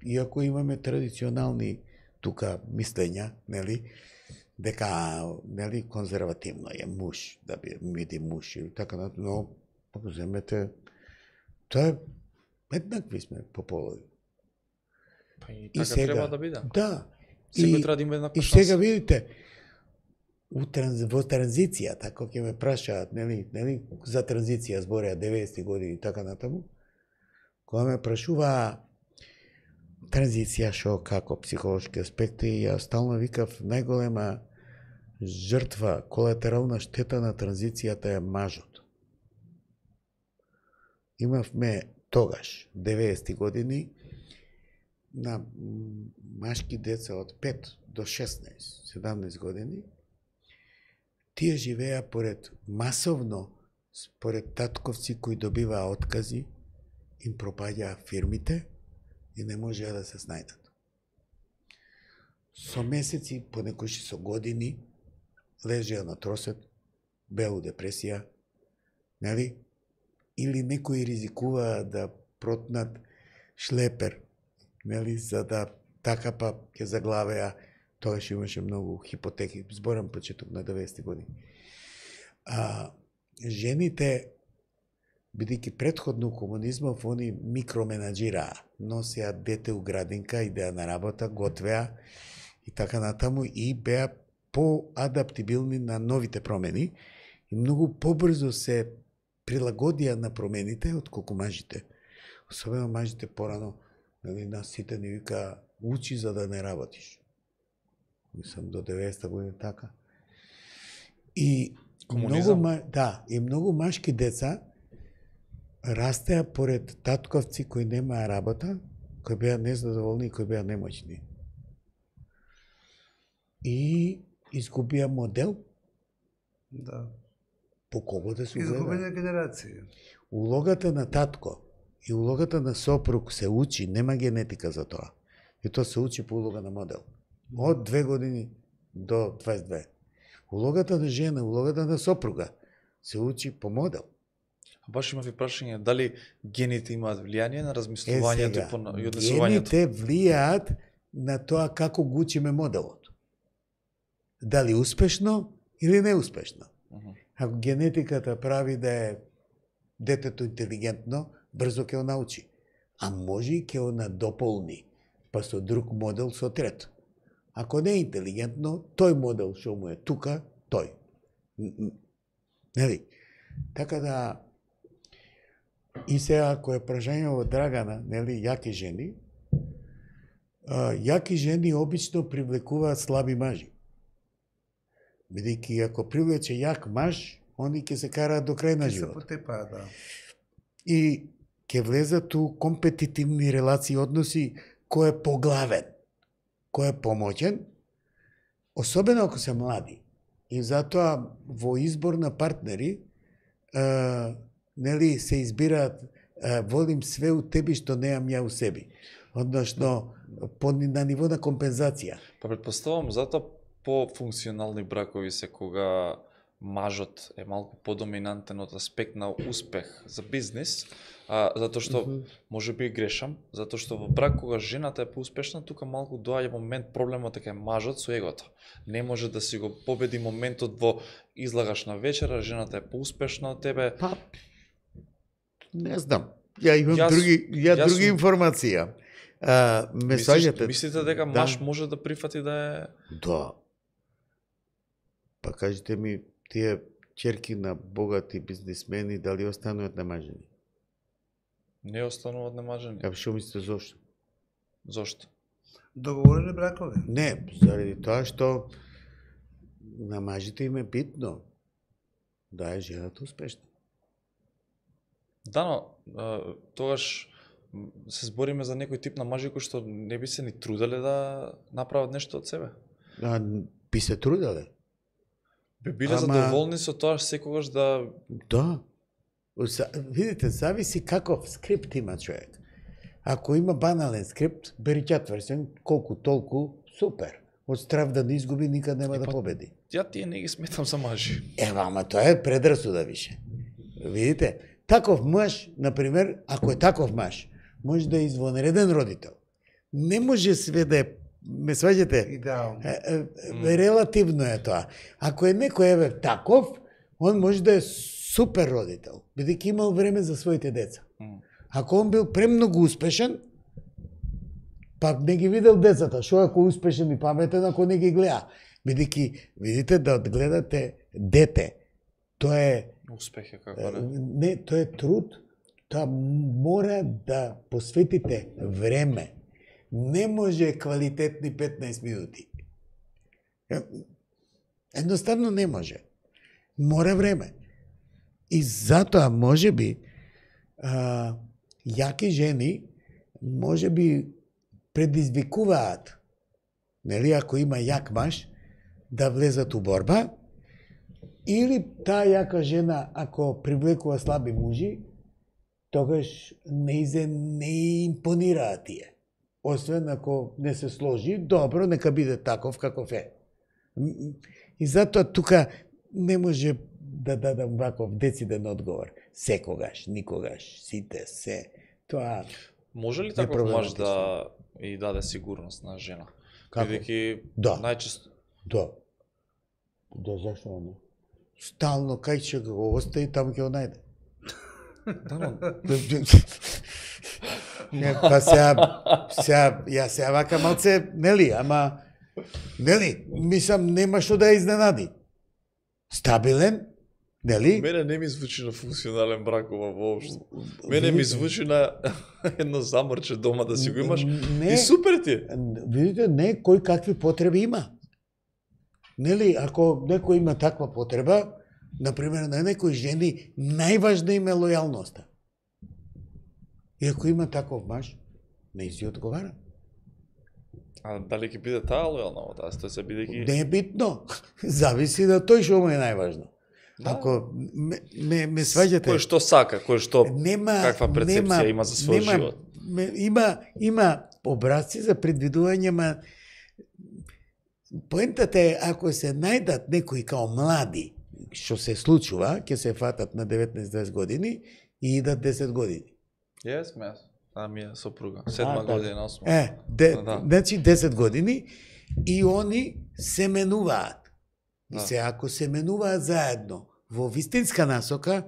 Иако имаме традиционални тука мислења, нели, дека, нели, конзервативно е муж, да биде муж или така, но ако земете, тоа е еднакви сме по полови. Па и така сега, треба да биде. Да. Секој треба да има еднаква шанса. И сега видите, во транзицијата, кога ќе ме прашаат, нели, за транзиција збореа 90 години и така натаму, Кога ме прашува транзиција шо како психолошки аспекти, ја стално викав најголема жртва, колатерална штета на транзицијата е мажот. Имавме тогаш, 90-ти години, на машки деца од 5 до 16-17 години, тие живеа масовно според татковци кои добиваа откази, им пропаѓаа фирмите и не можеа да се снајдат. Со месеци, понекогаш со години, лежеа на тросет, беа у депресија, нели? Или некои ризикуваа да протнат шлепер, нели, за да така па ќе заглавеа. Тогаш имаше многу хипотеки, зборам почеток на 90-ти години. Жените, бидејќи предходно комунизмов, они микроменаџираа, носеа дете у градинка, идеа на работа, готвеа и така натаму, и беа поадаптибилни на новите промени и многу побрзо се прилагодија на промените отколку мажите. Особено мажите порано, нали, нас сите ни вика учи за да не работиш. Мислам до 90-та година така. И многу машки деца растеа поред татковци кои немаа работа, кои беа незадоволни и кои беа немоćни. И изгубија модел. Да. По кого да се гледа? Изгубена генерација. Улогата на татко и улогата на сопруг се учи, нема генетика за тоа. И тоа се учи по улога на модел. Од 2 години до 22. Улогата на жена, улогата на сопруга се учи по модел. Баш имав и прашање, дали гените имаат влијание на размислувањето и однесувањето? Гените влијаат на тоа како го учиме моделот. Дали успешно или неуспешно. Ако генетиката прави да е детето интелигентно, брзо ќе го научи. А може и ќе го надополни, па со друг модел со трет. Ако не е интелигентно, тој модел што му е тука, тој. Нели? Така да, и сега, ако е прашање од Драгана, нели, јаки жени, јаки жени обично привлекуваат слаби мажи. Бидејќи ако привлече јак маж, они ќе се караат до крај на живот. Ќе се потепаат, да. И ќе влезат у компетитивни релации, односи, кој е поглавен, кој е помоќен, особено ако се млади. И затоа во избор на партнери, нели, се избираат волим све у теби што неам ја у себе. Односно, на ниво на компензација. Па предпоставам, затоа по-функционални бракови се кога мажот е малку подоминантен од аспект на успех за бизнис, затоа што може би грешам, затоа што во брак кога жената е поуспешна, тука малку доаѓа момент проблемот дека мажот со егото. Не може да си го победи моментот во излагаш на вечера, жената е поуспешна од тебе. Па, не знам. Ја имам други информации. Мислите дека маж може да прифати да е... Да. Па кажете ми, тие ќерки на богати бизнисмени, дали остануваат немажени? Не остануваат немажени. Што мислите зошто? Зошто? Договорени бракови? Не, заради тоа што на мажите им е битно да е жената успешна. Да, но тогаш се збориме за некој тип на мажи кои што не би се ни труделе да направат нешто од себе. Би се труделе. Би биле задоволни со тоа секогаш да... Да. Видите, зависи каков скрипт има човек. Ако има банален скрипт, бери четврсен, колку толку, супер. Од страв да не изгуби, никад нема да победи. Ја тие не ги сметам за мажи. Ама тоа е предрасуда више. Видите, таков маж, например, ако е таков маж, може да е извонреден родител. Не може све да е, ме сваѓате? Идеално. Релативно е тоа. Ако е некој таков, он може да е супер родител, бидејќи имал време за своите деца. Ако он бил премногу успешен, па не ги видел децата, шо ако успешен и паметен ако не ги гледа. Бидејќи, видите, да одгледате дете, тоа е... Успех е како не? Не, тоа е труд Тоа мора да посветите време. Не може квалитетни 15 минути. Едноставно не може. Мора време. И затоа, може би, јаки жени, може би, предизвикуваат, нели, ако има јак маж, да влезат у борба, или таа јака жена, ако привлекува слаби мужи, тогаш не импонираат тие. Освен ако не се сложи, добро, нека биде таков каков е. И затоа тука не може да дадам ваков дециден одговор. Секогаш, никогаш, сите, се. Тоа може ли таков маж да и даде сигурност на жена? Како? Бидејќи Да. најчесто Да. Да, зашто не? Стално кај ќе го остави, таму ќе го најде. Па сега, ја вака малце, нели, ама, нели, мислам, нема што да ја изненади. Стабилен, нели? Мене не ми звучи на функционален брак ова воопшто. Мене ми звучи на едно заморче дома да си го имаш Не. и супер ти е. Видите, не, кој какви потреби има. Нели, ако некој има таква потреба, например, на некои жени, најважна им е лојалноста. И ако има таков маж, не си одговара. А дали ќе биде таа лојална во таа ситуација, бидејќи Не е битно. Зависи да тој што му е најважно. Да. Ако ме сваѓате... кој што сака, кој што Нема, каква перцепција има за својот живот. Има образци за предвидување, ма поентата е, ако се најдат некои као млади, што се случува, ќе се фатат на 19-20 години и идат 10 години. Јас, ми е сопруга, 7 година, 8. Да. Значи 10 години и они се менуваат. И Да. се ако се менуваат заедно во вистинска насока,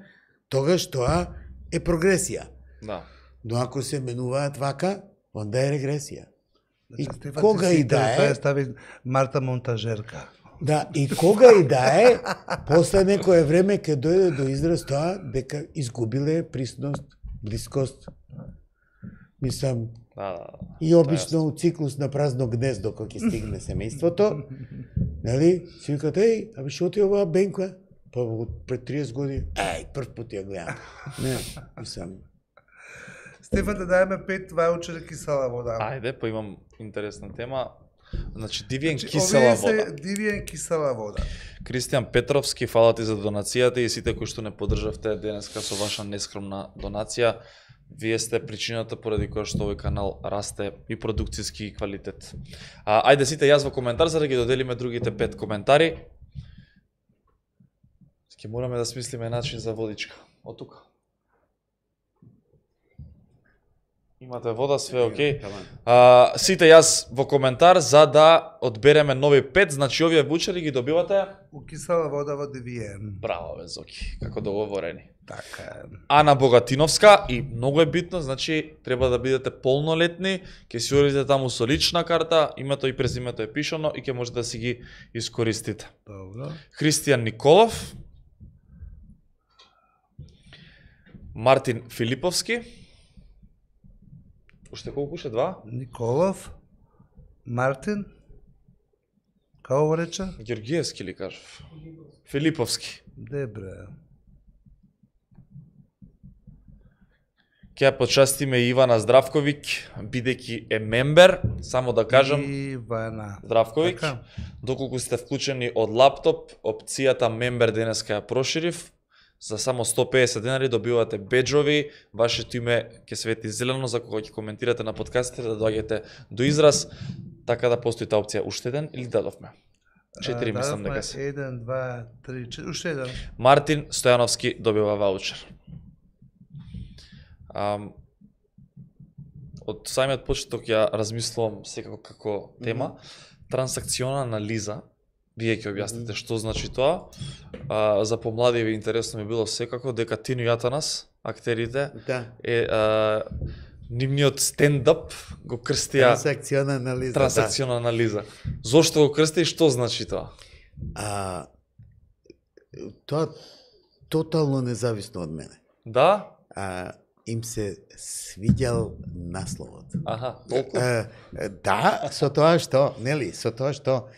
тогаш тоа е прогресија. Да. Но ако се менуваат вака, онда е регресија. И Стефан, кога ти си и да е, тоа стави Марта Монтажерка. да, и кога и да е, после некое време ќе дојде до израз тоа дека изгубиле присност, блискост. Мислам, Да. и обично у циклус на празно гнездо кога ќе стигне семејството, нели? Си викат, еј, абе шо ти оваа Бенка? Па пред 30 години, прв пат ја гледам. Не, мислам. Стефан, да даеме 5 ваучери кисела вода. Ајде, па имам интересна тема. Значи, Дивиен Значи, кисела овие вода. се Дивиен кисела вода. Кристијан Петровски, фала ти за донацијата и сите кои што не поддржавте денеска со ваша нескромна донација. Вие сте причината поради која што овој канал расте и продукцијски квалитет. Ајде сите јас во коментар за да ги доделиме другите 5 коментари. Ќе мораме да смислиме начин за водичка. Од тука. Имате вода, све окей. Сите јас во коментар за да одбереме нови 5, значи овие вучери ги добивате. У кисела вода во Дивиен. Браво бе, Зоки, како договорени. Така е. Ана Богатиновска и многу е битно, значи треба да бидете полнолетни, ќе си одите таму со лична карта, името и презимето е пишано и ќе можете да си ги искористите. Добро. Христијан Николов, Мартин Филиповски, уште колку ше 2? Николов, Мартин, како го рече? Георгиевски ли кажав? Филиповски. Дебре. Ќе ја почастиме Ивана Здравковиќ, бидејќи е мембер, само да кажам, Ивана. Здравковиќ, Така. доколку сте вклучени од лаптоп, опцијата мембер денеска ја проширив, за само 150 денари добивате беџови, вашето име ќе свети зелено за кога ќе коментирате на подкастите да доаѓате до израз, така да постои таа опција. Уште еден или дадовме? 4 мислам дека се. 1, 2, 3, 4, уште еден. Мартин Стојановски добива ваучер. Од самиот почеток ја размислувам секако како тема, трансакционална анализа. Вие ќе објасните што значи тоа. За помладиви интересно ми било секако дека Тино Јатанас, актерите, Да. нивниот стендап го крстија Трансакционална анализа. трансакционална анализа. Зошто го крсти и што значи тоа? Тоа тотално независно од мене. Да? им се свиѓал насловот. Аха, толку. Да, со тоа што, нели, со тоа што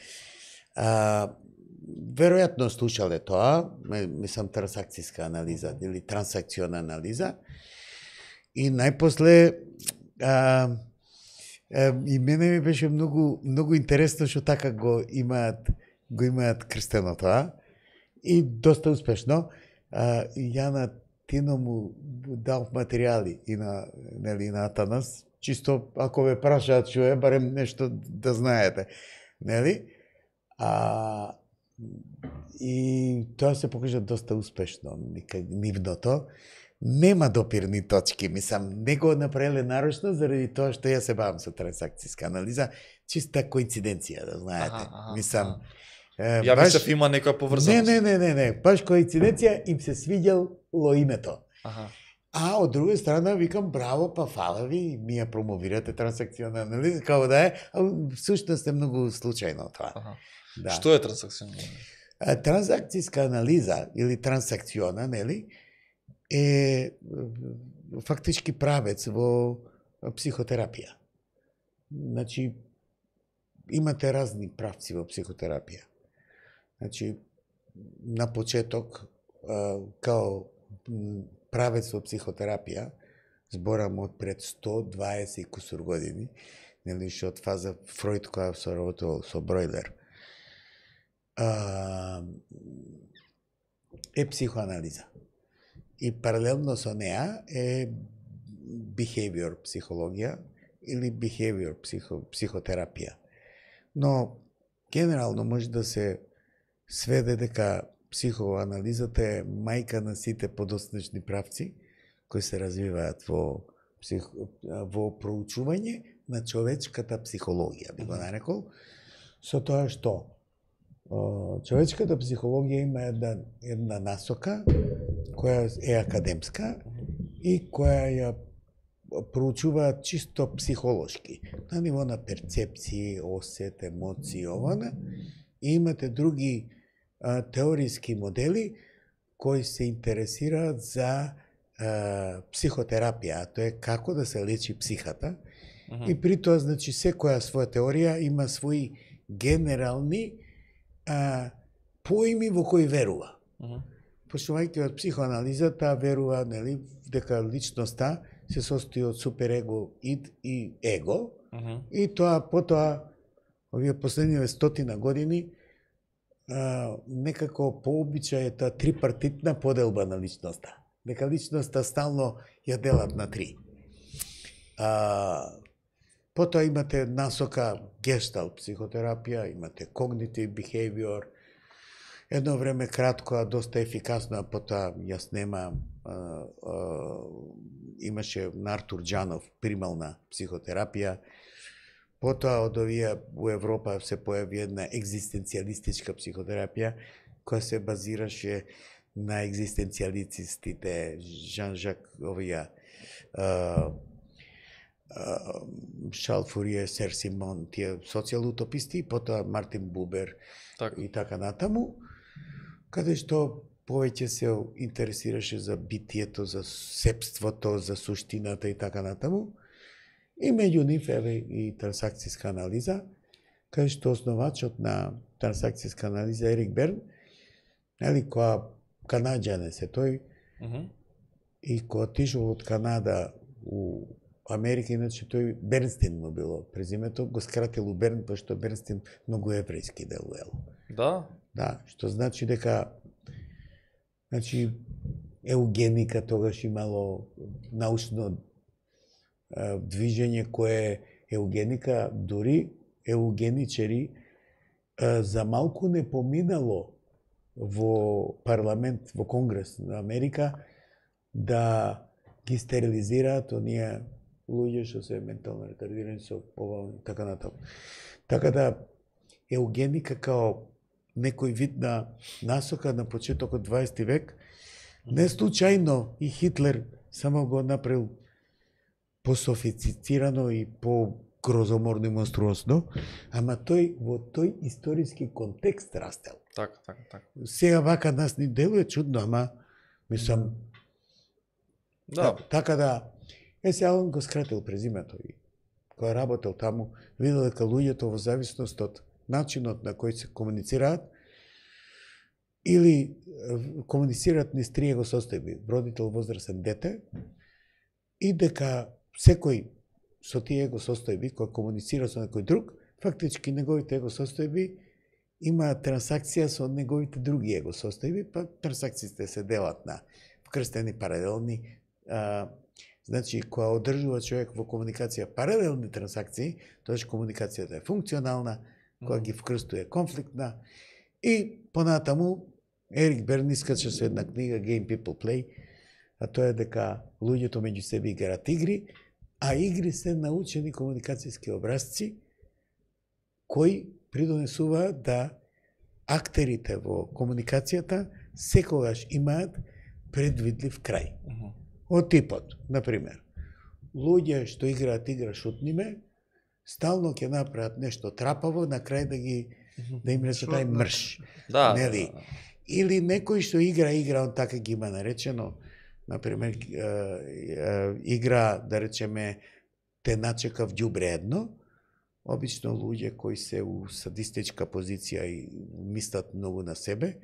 веројатно слушале тоа, мислам трансакцијска анализа или трансакциона анализа, и најпосле и мене ми беше многу интересно што така го имаат крстено тоа и доста успешно. Ја на Тино му дал материјали и на Атанас, чисто ако ве прашаат што е, барем нешто да знаете, нели? И тоа се покажа доста успешно, нивното. Нема допирни точки, мислам, не го направиле нарочно заради тоа што ја се бавам со трансакцијска анализа, чиста коинциденција, да знаете. Мислам, ја мислев има некоја поврзаност. Не, баш коинциденција им се свиѓало името. А од друга страна викам браво, па фала ви, ми ја промовирате трансакциона анализа, како да е, а всушност е многу случајно тоа. Да. Што е трансакциона анализа? Трансакцијска анализа или трансакциона, нели, е фактички правец во психотерапија. Значи, имате разни правци во психотерапија. Значи, на почеток, као правец во психотерапија, зборам од пред 120 и кусур години, нели, што од фаза Фројд која се работувал со Бройлер, е психоанализа. И паралелно со неа е behavior психологија или behavior психотерапија. Но генерално може да се сведе дека психоанализата е мајка на сите подоцнечни правци кои се развиваат во проучување на човечката психологија, би го нарекол, со тоа што човечката психологија има една насока која е академска и која ја проучува чисто психолошки, на ниво на перцепции, осет, емоции, ована, и имате други теориски модели кои се интересираат за психотерапија, тоа е како да се лечи психата, и при тоа, значи, секоја своја теорија има своји генерални поими во кои верува. Почнувајќи од психоанализата, верува, нели, дека личноста се состои од суперего, ид и его, и тоа потоа овие последниве 100 години некако пообичај е таа трипартитна поделба на личноста. Дека личноста стално ја делат на три. Потоа имате насока гешталт психотерапија, имате когнитив behavior, едно време кратко, а доста ефикасно, а потоа ја снема, имаше на Артур Џанов примална психотерапија. Потоа од овие во Европа се појави една екзистенцијалистичка психотерапија, која се базираше на екзистенцијалистите, Жан-Жак, овие Шарл Фурие, Сер Симон, тие социјал-утописти, потоа Мартин Бубер и така натаму, каде што повеќе се интересираше за битието, за сепството, за суштината и така натаму. И меѓу нив еве и трансакцијска анализа, каде што основачот на трансакцијска анализа Ерик Берн, нели, која канаѓанин се тој, и кој отишол од Канада у Америка, иначе тој Бернстин му било презимето, го скратил у Берн, пошто Бернстин многу еврејски делуел. Да? Да, што значи дека еугеника тогаш имало научно движење кое еугеника, дури еугеничери за малку не поминало во парламент, во Конгрес на Америка, да ги стерилизираат оние луѓе што се ментално ретардирани со ова, така натаму. Така да, еугеника као некој вид на насока на почетокот 20 век, не случајно и Хитлер само го направил пософицирано и по-грозоморно и монструозно, ама тој во тој историски контекст растел. Така. Сега вака нас ни делува чудно, ама мислам Да. Така да, сега он го скратил презимето и кој работел таму, видел дека луѓето во зависност од начинот на кој се комуницираат или комуницираат низ три его состојби, родител, возрастен, дете, и дека секој со тие его состојби кој комуницира со некој друг, фактички неговите его состојби има трансакција со неговите други его состојби, па трансакциите се делат на вкрстени, паралелни. Значи, кога одржува човек во комуникација паралелни трансакции, тоаш комуникацијата е функционална, кога ги вкрстува конфликтна, и понатаму Ерик Берн искача со една книга Game People Play, а тоа е дека луѓето меѓу себе играат игри, а игри се научени комуникацијски образци кои придонесуваат да актерите во комуникацијата секогаш имаат предвидлив крај. Од типот, например, луѓе што играат игра шутниме, стално ќе направат нешто трапаво, на крај да им рече тај мрш. Да. Нели? Или некој што игра, он така ги има наречено, например, игра, да речеме, те начекав ѓубре едно, обично луѓе кои се у садистичка позиција и мислат многу на себе,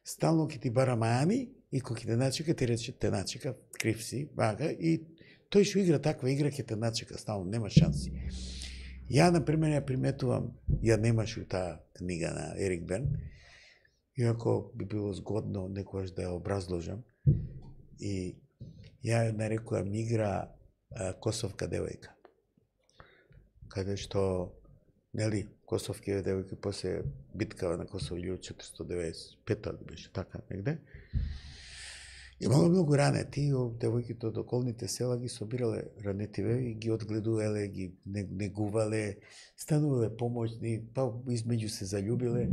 стално ќе ти бара мајани и кога ќе те начека, ти рече те начека, крив си, бага, и тој што игра таква игра ќе те начека, стално, нема шанси. Ја, например, ја приметувам, ја немаш у таа книга на Ерик Берн, иако би било згодно некојаш да ја образложам, и ја нарекувам игра Косовка девојка. Каде што, нели, косовки девојки после биткава на Косово 1495 беше така негде. Имало многу ранети, девојките од околните села ги собирале ранетиве и ги одгледувале, ги негувале, станувале помоćни, па измеѓу се заљубиле.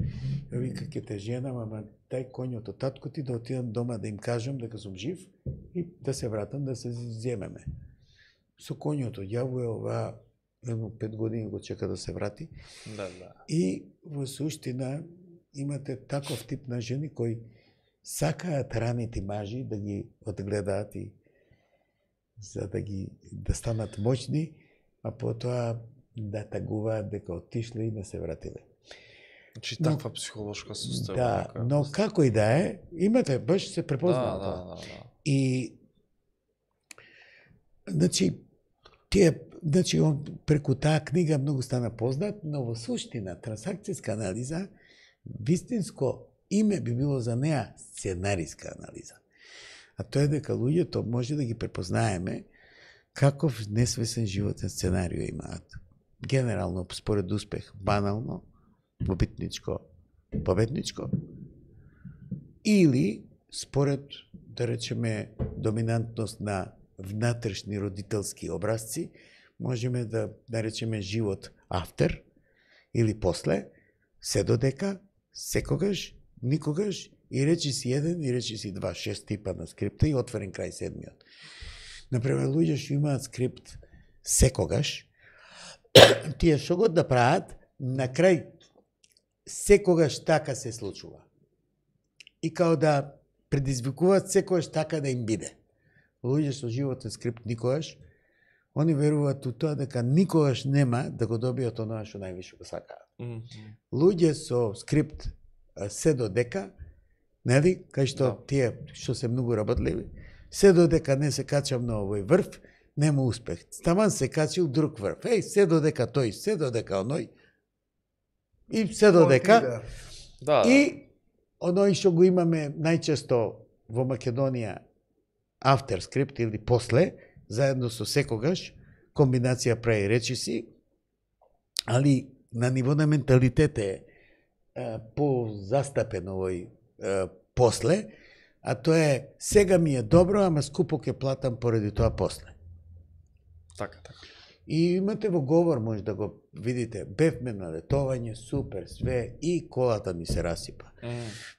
Ја вика, ке те женам, ама дај коњот од татко ти да отидам дома да им кажам дека сум жив и да се вратам да се земеме. Со коњот одјавува ова, едно 5 години го чека да се врати. Да. И во суштина имате таков тип на жени кои сакаат раните мажи да ги одгледаат и за да станат моćни, а потоа да тагуваат дека отишле и не се вратиле. Значи таква психолошка состојба. Да, но како и да е, имате, баш се препознава тоа. Да. И значи он преку таа книга многу стана познат, но во суштина трансакцијска анализа, вистинско име би било за неа сценариска анализа. А тоа е дека луѓето може да ги препознаеме каков несвесен животен сценарио имаат. Генерално, според успех, банално, побитничко, победничко, или според, да речеме, доминантност на внатрешни родителски образци, можеме да речеме живот автер или после, се додека, секогаш, никогаш, и речи си еден, и речи си два, 6 типа на скрипта и отворен крај седмиот. Например, луѓе што имаат скрипт секогаш, тие што го да прават, на крај секогаш така се случува. И као да предизвикуваат секогаш така да им биде. Луѓе со животен скрипт никогаш, они веруваат у тоа дека никогаш нема да го добијат оноа што највише го сакаат. Луѓе со скрипт се додека, нели, кај што тие што се многу работливи, се додека не се качам на овој врв, нема успех. Таман се качил друг врв. Се додека тој, се додека оној, и се додека. Да. И оној што го имаме најчесто во Македонија, автер скрипт или после, заедно со секогаш, комбинација прави речиси, али на ниво на менталитет е по-застапен овој после, а тоа е сега ми е добро, ама скупо ќе платам поради тоа после. Така. И имате во говор, може да го видите, бевме на летовање, супер, све, и колата ми се расипа.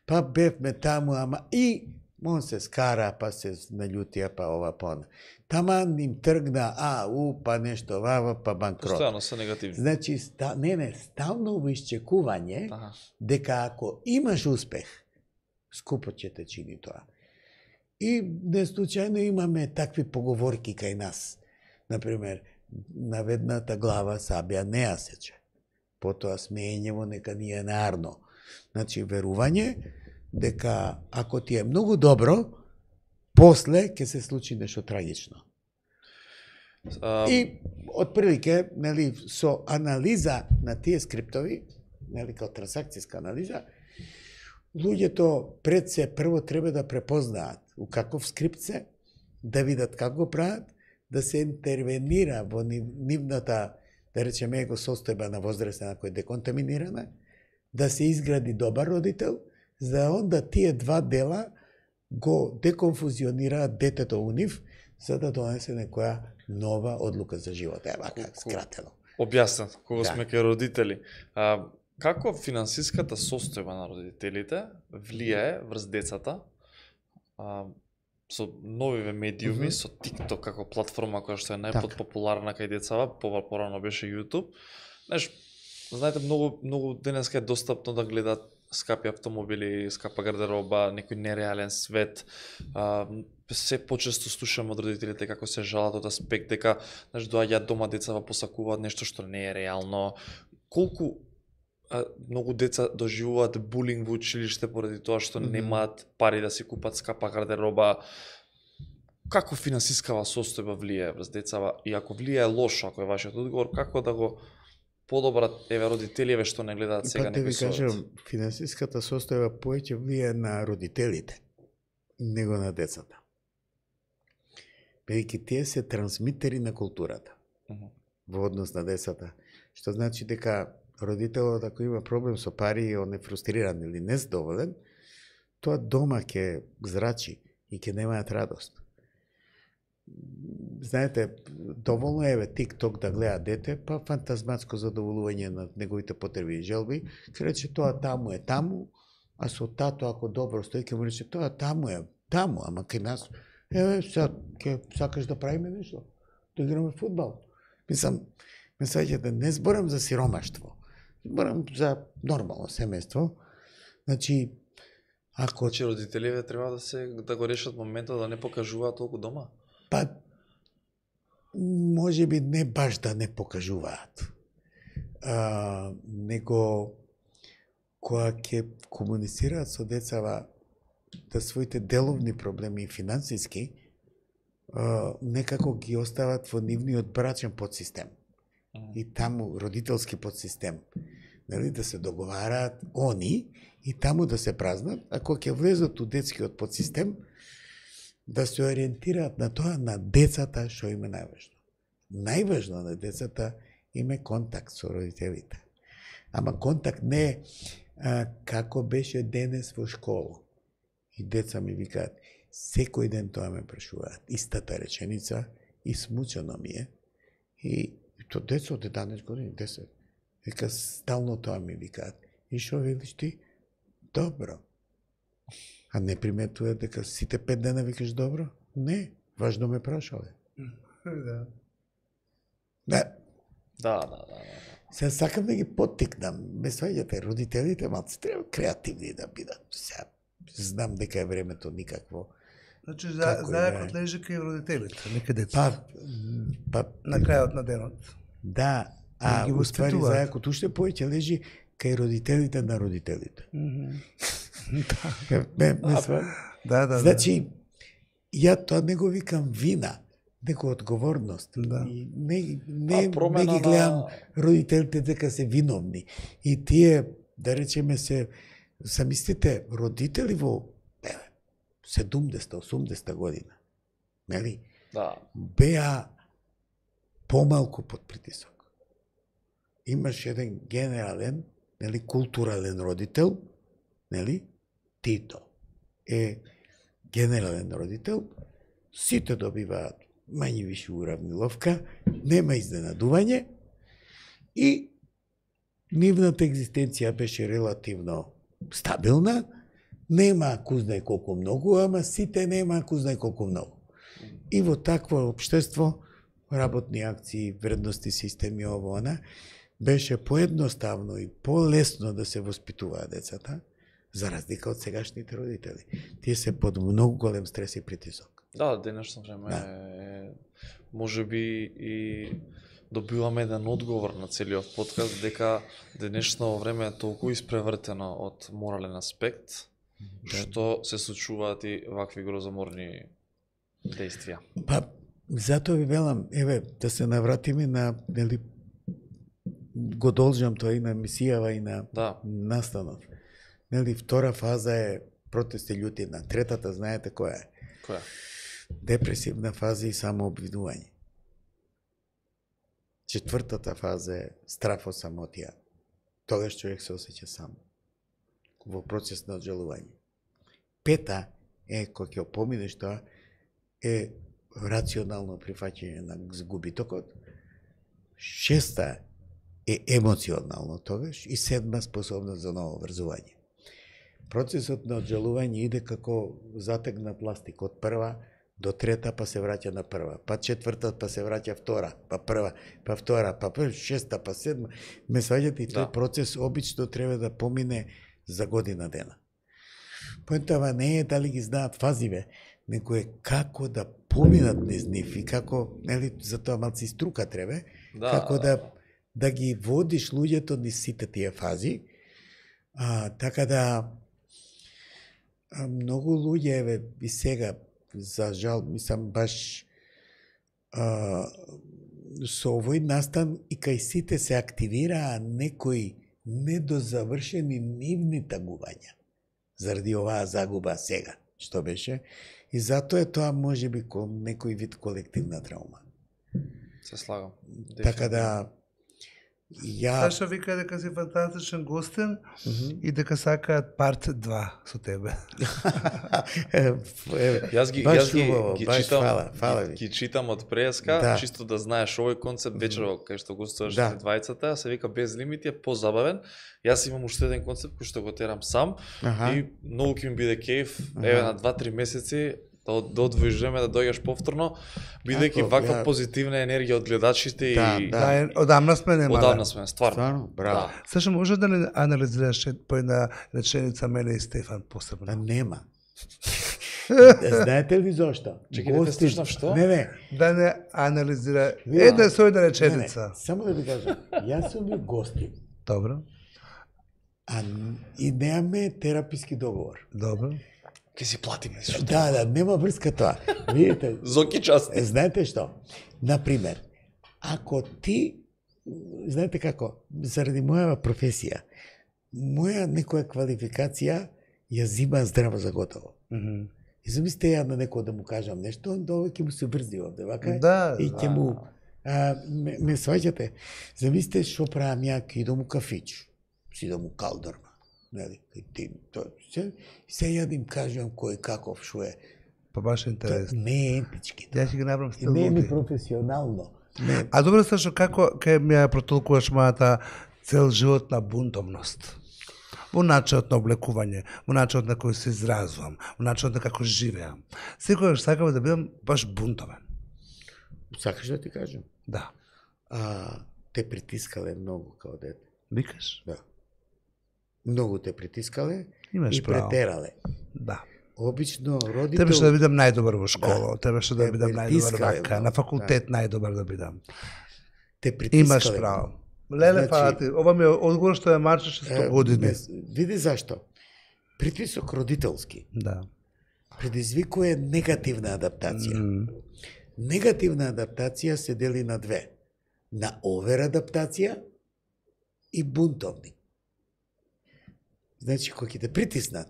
Па бевме таму, ама и он се скара, па се наљутија, па ова, па она. Таман им тргна, па нешто вава, па банкрот. Постојано се негативни. Значи, стално во исчекување, дека ако имаш успех, скупо ќе те чини тоа. И неслучајно имаме такви поговорки кај нас. Например, наведната глава сабја не ја сече. Потоа смеењево нека ни е нарно. Значи, верување дека ако ти е многу добро, после ќе се случи нешто трагично. И отприлике, нели, со анализа на тие скриптови, нели, као трансакцијска анализа, луѓето пред се прво треба да препознаат у каков скрипт се, да видат како го прават, да се интервенира во нивната, да речеме, его состојба на возрастена која е деконтаминирана, да се изгради добар родител, за онда тие два дела го деконфузионираат детето у нив, за да донесе некоја нова одлука за живот. Ева, как скратено. Објаснат, кога сме кај родители. Како финансиската состојба на родителите влијае врз децата со новиве медиуми, со TikTok како платформа која што е најпопуларна кај децава, порано беше YouTube. Знаеш, знаете, многу денеска е достапно да гледат скапи автомобили, скапа гардероба, некој нереален свет. Се почесто слушам од родителите како се жалат од аспект дека, знаеш, доаѓаат дома децава посакуваат нешто што не е реално. Колку многу деца доживуваат булинг во училиште поради тоа што немаат пари да си купат скапа гардероба. Како финансискава состојба влијае врз децава и ако влијае лошо, ако е вашиот одговор, како да го подобрат родителиве што не гледаат сега некој совет? Да ви кажам, финансиската состојба повеќе влијае на родителите, него на децата. Бидејќи тие се трансмитери на културата во однос на децата, што значи дека родителот ако има проблем со пари и он е фрустриран или незадоволен, тоа дома ќе зрачи и ќе немаат радост. Знаете, доволно е TikTok да гледа дете, па фантазматско задоволување на неговите потреби и желби, ќе рече тоа таму е таму, а со тато ако добро стои ќе му рече тоа таму е таму, ама кај нас сега ќе сакаш да правиме нешто, да играме фудбал. Мислам, да не зборам за сиромаштво, зборам за нормално семејство. Значи, ако родителите треба да го решат моментот да не покажуваат толку дома? Па, може би не баш да не покажуваат, него кога ќе комуницираат со децава да своите деловни проблеми и финансиски, некако ги остават во нивниот брачен подсистем. И таму родителски подсистем. Нели, да се договараат они и таму да се празнат, а кога ќе влезат у детскиот подсистем, да се ориентираат на тоа на децата што им е најважно. Најважно на децата им е контакт со родителите. Ама контакт не е како беше денес во школа. И деца ми викаат, секој ден тоа ме прашуваат, истата реченица, и смучено ми е. И то деца од 11 години, 10. Вика, стално тоа ми викаат. И шо велиш ти? Добро. А не приметува дека сите 5 дена викаш добро? Не, важно ме прашале. Да. Сега сакам да ги поттикнам. Ме сваѓате, родителите малци треба креативни да бидат. Сега знам дека е времето никакво. Значи, зајакот лежи кај родителите, не кај деца. На крајот на денот. Да, а уствари зајакот уште повеќе лежи кај родителите на родителите. Да. Значи, ја тоа не го викам вина, него одговорност. И не ги гледам родителите дека се виновни. И тие, да речеме се, замислите, родители во 70-80 година, нели? Да. Беа помалку под притисок. Имаш еден генерален, нели, културален родител, нели? Тито е генерален родител, сите добиваат мање више уравниловка, нема изненадување и нивната екзистенција беше релативно стабилна, нема кузнај колку многу, ама сите нема кузнај колку многу. И во такво општество, работни акции, вредности системи, ово она, беше поедноставно и полесно да се воспитуваат децата, за разлика од сегашните родители. Тие се под многу голем стрес и притисок. Да, денешно време може би и добиваме еден одговор на целиот подкаст дека денешно време е толку испревртено од морален аспект, што се случуваат и вакви грозоморни действија. Па, затоа ви велам, еве, да се навратиме на, нели, го должам тоа и на мисијава и на настанот. Нели, втора фаза е протести љутина. Третата, знаете која е? Која? Депресивна фаза и самообвинување. Четвртата фаза е страф од самотија. Тогаш човек се осеќа сам во процес на оджалување. Пета е, кога ќе поминеш тоа, е рационално прифаќање на губитокот. Шеста е емоционално тогаш и седма способност за ново врзување. Процесот на оджалување иде како затегна пластик од прва до трета, па се враќа на прва, па четврта, па се враќа втора, па прва, па втора, па шеста, па седма. Ме сваѓате и тој процес обично треба да помине за година дена. Поентава не е дали ги знаат фазиве, него е како да поминат низ нив и како, нели, за тоа малци струка треба, како да ги водиш луѓето низ сите тие фази. Така да многу луѓе, еве, и сега, за жал, мислам, баш со овој настан и кај сите се активираа некои недозавршени нивни тагувања заради оваа загуба сега, што беше, и затоа е тоа можеби некој вид колективна травма. Се слагам. Така да Саша вика дека си фантастичен гостен и дека сакаат парт 2 со тебе. Јас ги читам од преска, чисто да знаеш овој концепт вечерва кај што гостуваш двајцата, се вика без лимити е позабавен. Јас имам уште еден концепт кој што го терам сам и многу ќе ми биде кејф, еве на 2-3 месеци да одвоиш време да дојдеш повторно, бидејќи ваква позитивна енергија од гледачите и одамна сме нема. Одамна сме, стварно. Браво. Саша, може да не анализираш по една реченица мене и Стефан посебно? Нема. Знаете ли зошто? Чекајте, те слушнав што? Не. Да не анализира една со една реченица. Само да ви кажам, јас сум ви гостин. Добро. И немаме тераписки договор. Добро. Ке си платиме. Да, нема врска тоа. Видите? Зоки части. Знаете што? Например, ако ти, знаете како, заради моја професија, моја некоја квалификација ја зима здраво за готово. И замислите ја на некој да му кажам нешто, onda овој ќе му се врзи овде, вака? И ќе му ме сваќате. Замислите што правам ја, ќе идам у кафич, си идам у калдорма. Нели, се ја да им кажувам кој каков шо е. Па баш интересно. Не е етички. Ја ќе ги направам стил. Не е професионално. А добро, Сашо, како ќе ми ја протолкуваш мојата цел животна бунтовност? Во начинот на облекување, во начинот на кој се изразувам, во начинот на како живеам. Секогаш сакам да бидам баш бунтовен. Сакаш да ти кажам? Да. Те притискале многу као дете. Викаш? Да. Многу те притискале и претерале. Да. Обично родител... Требаше да бидам најдобар во школа, требаше да бидам најдобар вака, на факултет најдобар да бидам. Те притискале. Имаш право. Леле, пати, ова ми е одговор што ја марчеше 100 години. Види зашто. Притисок родителски. Да. Предизвикува негативна адаптација. Негативна адаптација се дели на две. На овер адаптација и бунтовни. Значи, кога ќе те притиснат,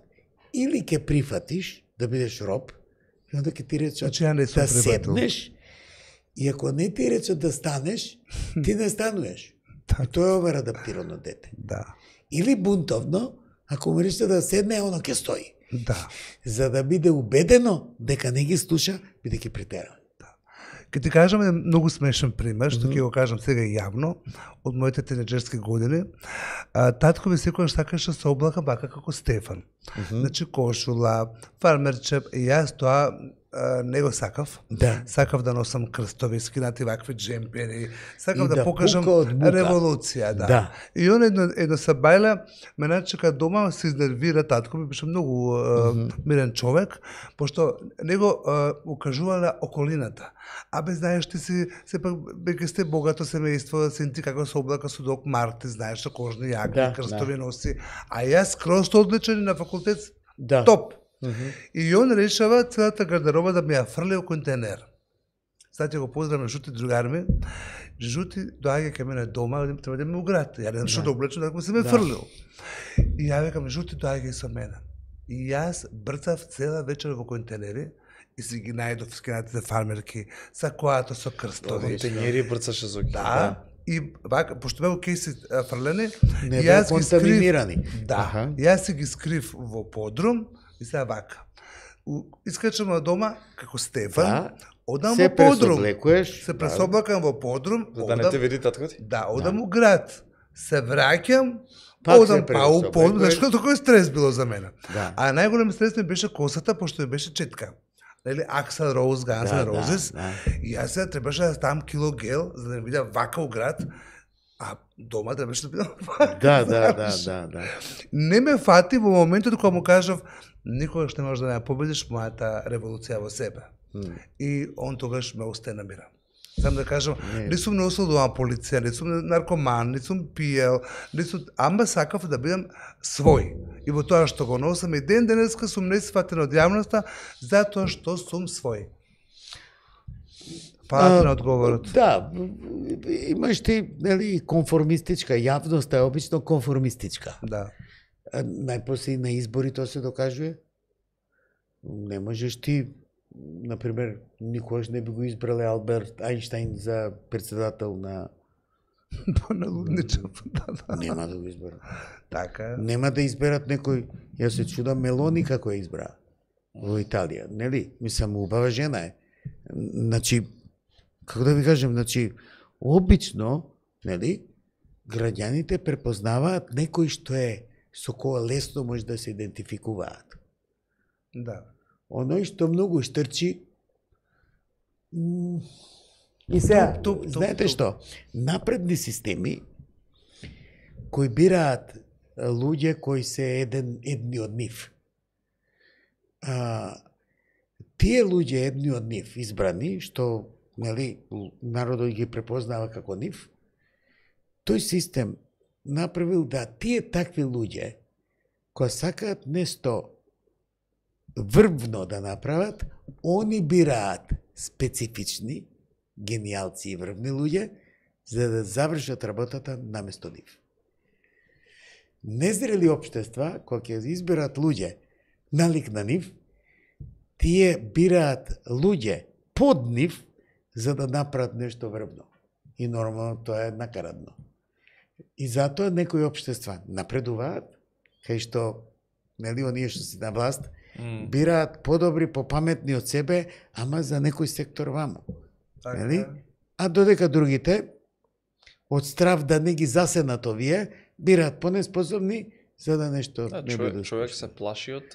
или ќе прифатиш да бидеш роб, и онда ќе ти речат да седнеш, и ако не ти речат да станеш, ти не стануеш. И тоа е овер адаптирано дете. Да. Или бунтовно, ако му речат да седне, оно ќе стои. Да. За да биде убедено дека не ги слуша, бидејќи притера. Ке ти кажам еден многу смешен пример, што ќе го кажам сега јавно, од моите тинеџерски години. Татко ми секогаш сакаше се облака бака како Стефан. Значи кошула, фармерчеп, и јас тоа не го сакав. Да. Сакав да носам крстови, скинати вакви джемпери. Сакав И да да покажам пука од мука. револуција, да. Да. И он едно сабајла ме начека дома, се изнервира, татко ми беше многу мирен човек, пошто него укажувала околината. Абе, знаеш, ти си, сепак, беќе сте богато семејство, син ти како се облака со Док Марти, знаеш, со кожни јакни, Да, крстови носи, а јас скроз одличен и на факултет, Да. топ. И он решава целата гардероба да ми ја фрли у контейнер. Сега ќе го поздравам Жути другар ми. Жути доаѓа кај мене дома, треба да ме уград. Ја не знам што да облечам, да се ме фрлил. И ја викам, Жути доаѓа со мене. И јас брцав цела вечер во контейнери и си ги најдов скинатите фармерки, со коато со крстови. Контейнери брцаше со ги. Да. И вака, пошто беа кейси фрлени, Не и беа јас ги скрив. контаминирани. Да. Аха. Јас си ги скрив во подрум и сега вака. Искачам од дома како Стефан, Да. одам Се во подрум. пресоблекуваш. Се пресоблакам во подрум, За да не те види татко ти? да, одам у град. Се враќам, Пак се одам па у пресоблакуваш. подрум, зашто такој стрес било за мене. Да. А најголем стрес ми беше косата, пошто ми беше четка. Нели, Аксел Роуз, Ганс Да, Н' Роузес. да. И јас сега требаше да ставам кило гел, за да не видя вака у град. А дома требаше да бидам вака. Да, да, да, знаеш. да. Не ме фати во моментот кога му кажав никогаш не можеш да ја победиш мојата револуција во себе. И он тогаш ме остана мира. Сам да кажам, не сум носил дома полиција, не сум наркоман, не сум пиел, не сум, ама сакав да бидам свој. И во тоа што го носам и ден денеска сум несфатен од јавноста затоа што сум свој. Фала на одговорот. Да, имаш ти, нели, конформистичка, јавноста е обично конформистичка. Да. Најпосле на избори тоа се докажува. Не можеш ти, например, никогаш не би го избрале Алберт Ајнштајн за председател на... Поналудничав. Нема да го изберат. Така. Нема да изберат некој, јас се чудам Мелони како ја избра во Италија, нели? Мислам, убава жена е. Значи, како да ви кажем, значи, обично, нели, граѓаните препознаваат некој што е со која лесно може да се идентификуваат. Да. Оној што многу штрчи и сега, знаете што, напредни системи кои бираат луѓе кои се едни од нив. Тие луѓе едни од нив избрани, што, нели, народот ги препознава како нив, тој систем направил да тие такви луѓе кои сакаат нешто врвно да направат, они бираат специфични гениалци и врвни луѓе за да завршат работата наместо нив. Незрели општества, кога ќе изберат луѓе налик на нив, тие бираат луѓе под нив за да направат нешто врвно. И нормално тоа е накарадно. И затоа некои општества напредуваат, кај што, нели, оние што се на власт, бираат подобри, попаметни од себе, ама за некој сектор ваму. Нели? А додека другите, од страв да не ги засенат овие, бираат понеспособни за да нешто не биде. Човек се плаши од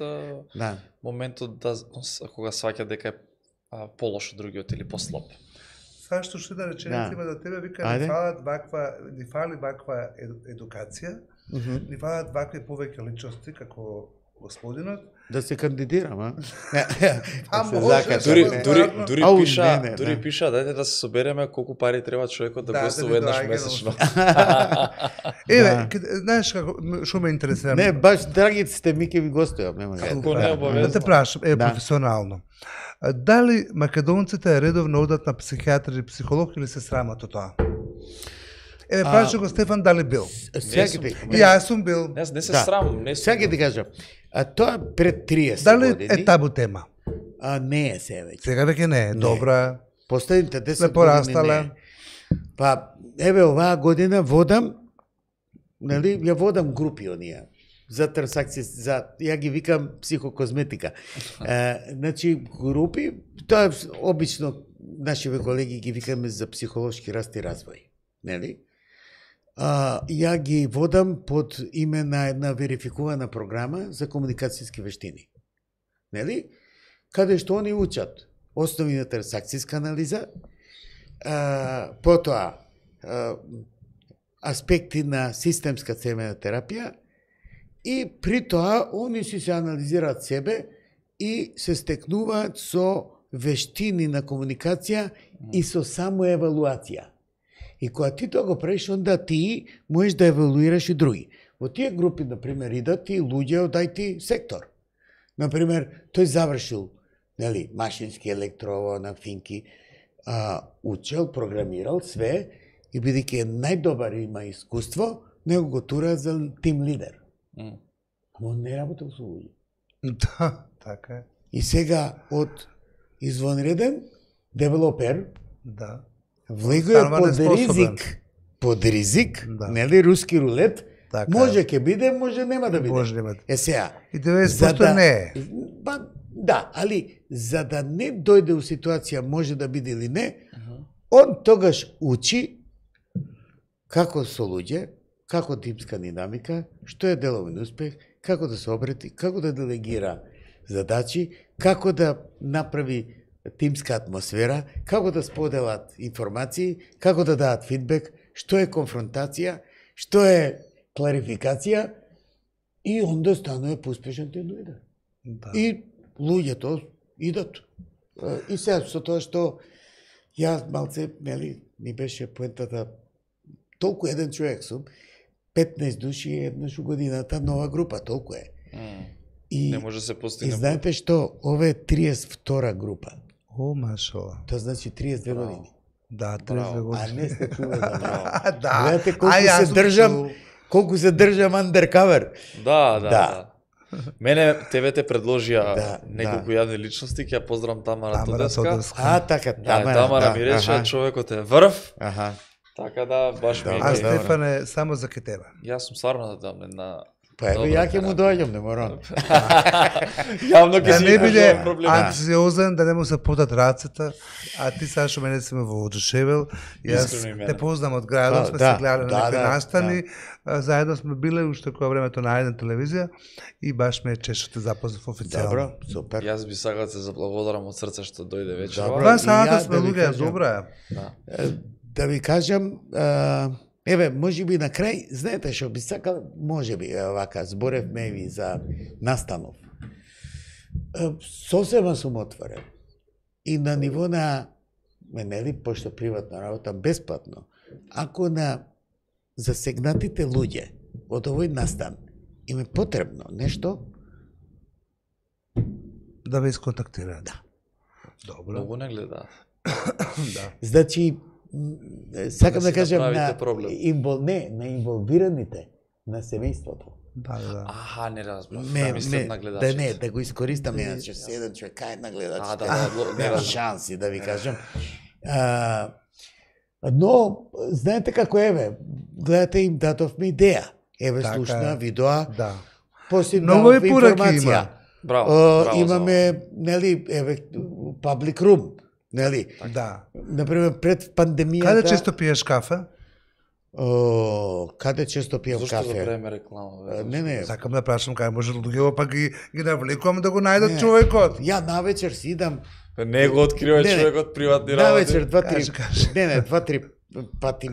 моментот да кога сваќа дека е полош од другиот или послаб. Сега што ще да реченица има до тебе, вика, ни фали ваква едукација, ни фалат вакви повеќе личности како господинот. Да се кандидирам, а? Дури пиша, дајте да се собереме колку пари треба човекот да гостува еднаш месечно. Еве, знаеш како што ме интересира? Не, баш драгите сте ми ќе ви гостувам, нема како не обавезно. Да те прашам, професионално. Дали македонците редовно одат на психијатар или психолог или се срамат од тоа? Еве, праша го Стефан дали бил? Јас сум бил. Не се срамам, не сум. Сега ќе ти кажам. А тоа пред 30 дали години. Дали е табу тема? Не е се веќе. Сега веќе не е, добра. Последните 10 години не. Па, еве оваа година водам, нели, ја водам групи оние за трансакции, ја ги викам психокозметика. Значи, групи, тоа обично нашиве колеги ги викаме за психолошки раст и развој, нели? Ја ги водам под име на една верификувана програма за комуникацијски вештини. Нели? каде што они учат основи на трансакцијска анализа, потоа аспекти на системска цемена терапија и при тоа они се анализираат себе и се стекнуваат со вештини на комуникација и со самоевалуација. И кога ти тоа го правиш, онда ти можеш да евалуираш и други. Во тие групи, например, идат и луѓе од IT сектор. Например, тој завршил, нели, машински електрово на финки, учел, програмирал све и бидејќи е најдобар и има искуство, него го тура за тим лидер. Ама он не работел со луѓе. Да, така е. И сега од извонреден девелопер, Да. влегува под ризик, Да. нели, руски рулет, Така може е. ќе биде, може нема да биде. Може нема да. Сега, И 90% не е. Да, али за да не дојде у ситуација може да биде или не, он тогаш учи како со луѓе, како тимска динамика, што е деловен успех, како да се обрети, како да делегира задачи, како да направи тимска атмосфера, како да споделат информации, како да дадат фидбек, што е конфронтација, што е кларификација и онда станува поуспешен тим лидер. Да. И луѓето идат. И сега со тоа што јас малце, нели, ми беше поентата, толку еден човек сум, 15 души еднаш у годината нова група, толку е. И, Не може да се и постигне. знаете што, ова е 32 група. О, машала. Тоа значи 32 години. Да, 32 Браво. А години. не сте чуле за мене. Да. Гледате колку Ај, јас се сум држам, чул. колку се држам undercover. Да. Да. Мене тебе те предложија Да, неколку јавни личности, ќе ја поздравам Тамара Тамара Тодеска. Тодеска. А, така, Да, Тамара. Тамара ми рече, човекот е врв, Аха. така да баш ми Добро, А е. добро. Стефане, само за ке тебе. Јас сум стварно да дам една Па ево, Добра ја ќе му терапија. доаѓам, не морам. Јавно ќе Да си не биде кажувам проблеми. анксиозен, да не му се потат рацете, а ти Сашо мене си ме воодушевил. Јас Искрено и мене. те познам од градот, сме Да, се гледали на да, некои да, настани, заедно сме биле уште кога времето на една телевизија и баш ме е чест што те запознав официјално. Добро, супер. Јас би сакал да се заблагодарам од срце што дојде вечерва. Добро. Два И сата ја сме да ви луѓе, кажам. добра е. Да. Да ви кажам, еве, може би на крај, знаете што би сакал, може би, вака, зборевме ви за настанов. Сосема сум отворен. И на ниво на, нели, пошто приватна работа, бесплатно, ако на засегнатите луѓе од овој настан им е потребно нешто, Да ве исконтактираат. Да. Добро. Многу не гледа. Да. значи, сакам Да да си кажам направите на, проблем. на инволвираните, на семејството. Да, да. Аха, не разбрав. Не, Мислам на да гледачите. не, да го искористам, иначе се еден човек, кај на гледачите. не Нема разбрав. шанси да ви кажам. Но, знаете како еве, гледате им дадовме идеја. Еве Така слушна, е. видоа, Да. после Многу дадов и пораки информација. има. Браво, браво. Имаме, нели, еве, public room, нели? Да. Например, пред пандемијата... Каде често пиеш кафе? Каде често пием Зошто кафе? да правиме реклама? Не, Сакам да прашам кај може луѓето па ги навлекувам да го најдат човекот. ја навечер си идам, Не го открива Не, не. човекот приватни работи. навечер два-три, Кажи. не, два-три пати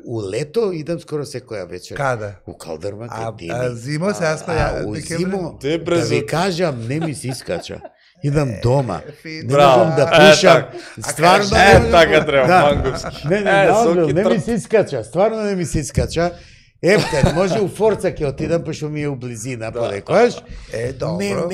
у лето идам скоро секоја вечер. Каде? У Калдърма, А кај зимо се јас у декември. зимо, Те да брзо. ви кажам, не ми се искача. Идам дома. фин. Не Браво. можам да Е, пушам. така. Стварно Е, не можам така да- треба, Да. мангупски. Не, не, Е, наодбил, соки не ми трп. се искача. Стварно не ми се искача. Ефтен, може у Форца ќе отидам, пошто ми е у близина, подекојаш. добро.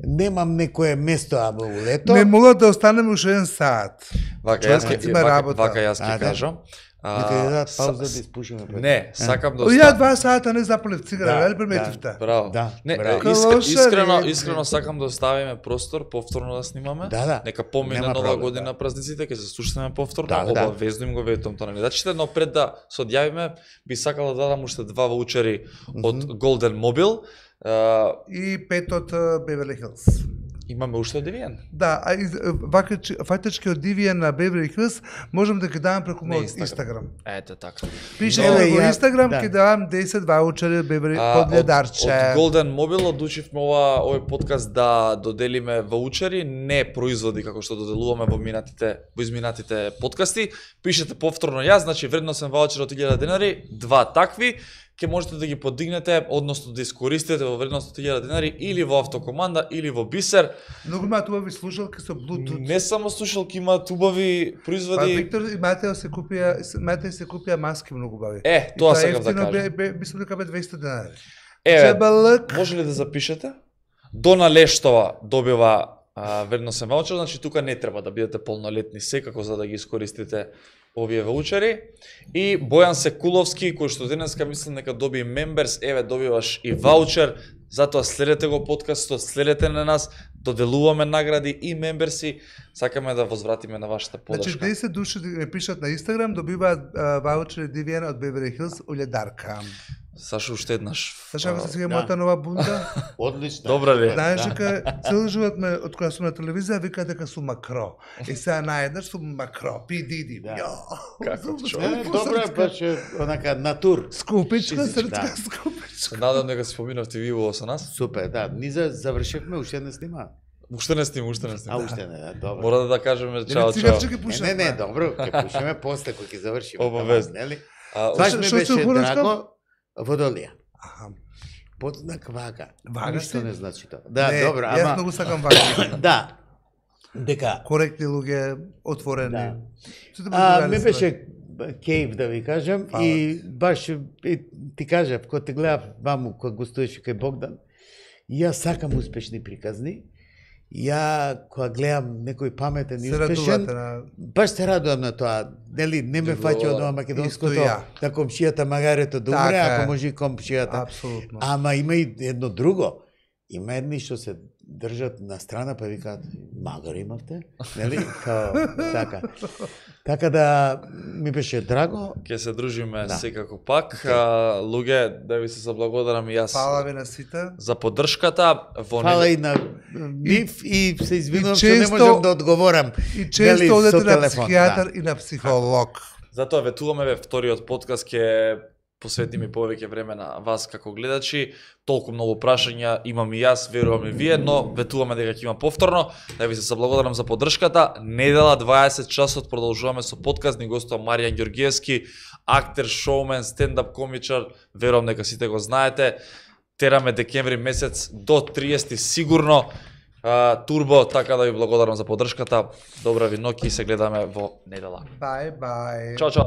Немам некое место, ама у лето. Не мога да останеме уште еден саат. Вака Човек јас ќе има работа. вака јас ќе А, да. кажам. Нека ја дадат са- пауза да испушиме. пред. Не, сакам да Ја оставам. 2 сата не запалив цигара, Да, нели приметивте? Браво. Да, Не, браво. Калошари. искрено сакам да оставиме простор повторно да снимаме. Да. Нека помине Нема нова проблем, година да. празниците, ќе се слушнеме повторно. Да, да. Обавезно им го ветувам тоа на гледачите, но пред да се одјавиме, би сакал да дадам уште 2 ваучери од Golden Mobile. И 5 од Beverly Hills. Имаме уште од Девијан. Да, а фактички од Девијан на Beverly Hills можам да ги давам преку На мојот Инстаграм. Ете така. Пишете Но, во ја- Инстаграм, да. ќе давам 10 ваучери Beverly под Од ледарче. Golden Mobile одлучивме овој подкаст да доделиме ваучери, не производи како што доделуваме во изминатите подкасти. Пишете повторно јас, значи вредносен ваучер од 1000 денари, 2 такви, ќе можете да ги подигнете, односно да искористите во вредност од 1000 денари или во автокоманда или во Бисер. Многу имаат убави слушалки со Bluetooth. Не само слушалки, имаат убави Па производи. Виктор и Матео се купија маски многу убави. Тоа сакам да кажам. Мислам дека бе 200 денари. Еве, Чебалък. може ли да запишете? Дона Лештова добива вредносен ваучер, значи тука не треба да бидете полнолетни секако за да ги искористите овие ваучери. И Бојан Секуловски, кој што денеска мислам дека доби мемберс, еве добиваш и ваучер, затоа следете го подкастот, следете на нас, доделуваме награди и мемберси, сакаме да возвратиме на вашата Значи подршка. 10 души ме пишат на Инстаграм, добиваат ваучери Девијан од Beverly Hills уледарка. Сашо уште еднаш. Знаеш како се сега да. мојата нова бунда? Одлично. Добра ли? Знаеш дека цел живот ме од кога сум на телевизија викаат дека сум макро. И сега наеднаш сум макро, пи диди. Да. Ја. Како Сум човек. Добро е баш онака натур. Скупичка, Физичка, срцка да. скупичка. Се надам дека се поминавте ви во со нас. Супер, да. Ние завршивме, уште не снима. Уште не снима, уште не А снима. уште не, да, добро. Мора да кажеме Или чао, чао. цигарче ќе Не, пушам. не, добро, ќе пушиме после кога ќе завршиме. Обавезно. Нели? А, Баш Што- ми што беше се хорачка? драго водолија. Аха. Подзнак вага. Вага Ништо си? не значи тоа. Да, Не, добро, Јас ама многу сакам вага. да. Дека Коректни луѓе, отворени. Да. Сите можат ми да беше кейв да ви кажам Фала и баш ти кажав кога те гледав ваму кога гостуваше кај Богдан, јас сакам успешни приказни. Ја кога гледам некој паметен и се успешен, радувате на баш се радувам на тоа. Нели не ме фаќа од ова македонското Исто ја. да комшијата магарето да умре, Така е. ако може и комшијата. апсолутно. Ама има и едно друго. Има едни што се држат на страна па викаат магар имавте, нели? Као така. Така да ми беше драго. Ќе се дружиме Да. секако пак. Луѓе, да ви се заблагодарам и јас Фала ви на сите. за поддршката. Во Фала недел- и на Нив и се извинувам И што не често- можам да одговорам. И Нели, често со одете на телефон, психијатар и на психолог. Затоа ветуваме ве вториот подкаст ќе посветиме повеќе време на вас како гледачи. Толку многу прашања имам и јас, верувам и вие, но ветуваме дека ќе има повторно. Да ви се заблагодарам за поддршката. Недела 20 часот продолжуваме со подкаст, ни гостува Маријан Ѓоргиевски, актер, шоумен, стендап комичар. Верувам дека сите го знаете. Тераме декември месец до 30 сигурно. Турбо, така да ви благодарам за поддршката. Добра ви ноќ и се гледаме во недела. Бај, бај. Чао, чао.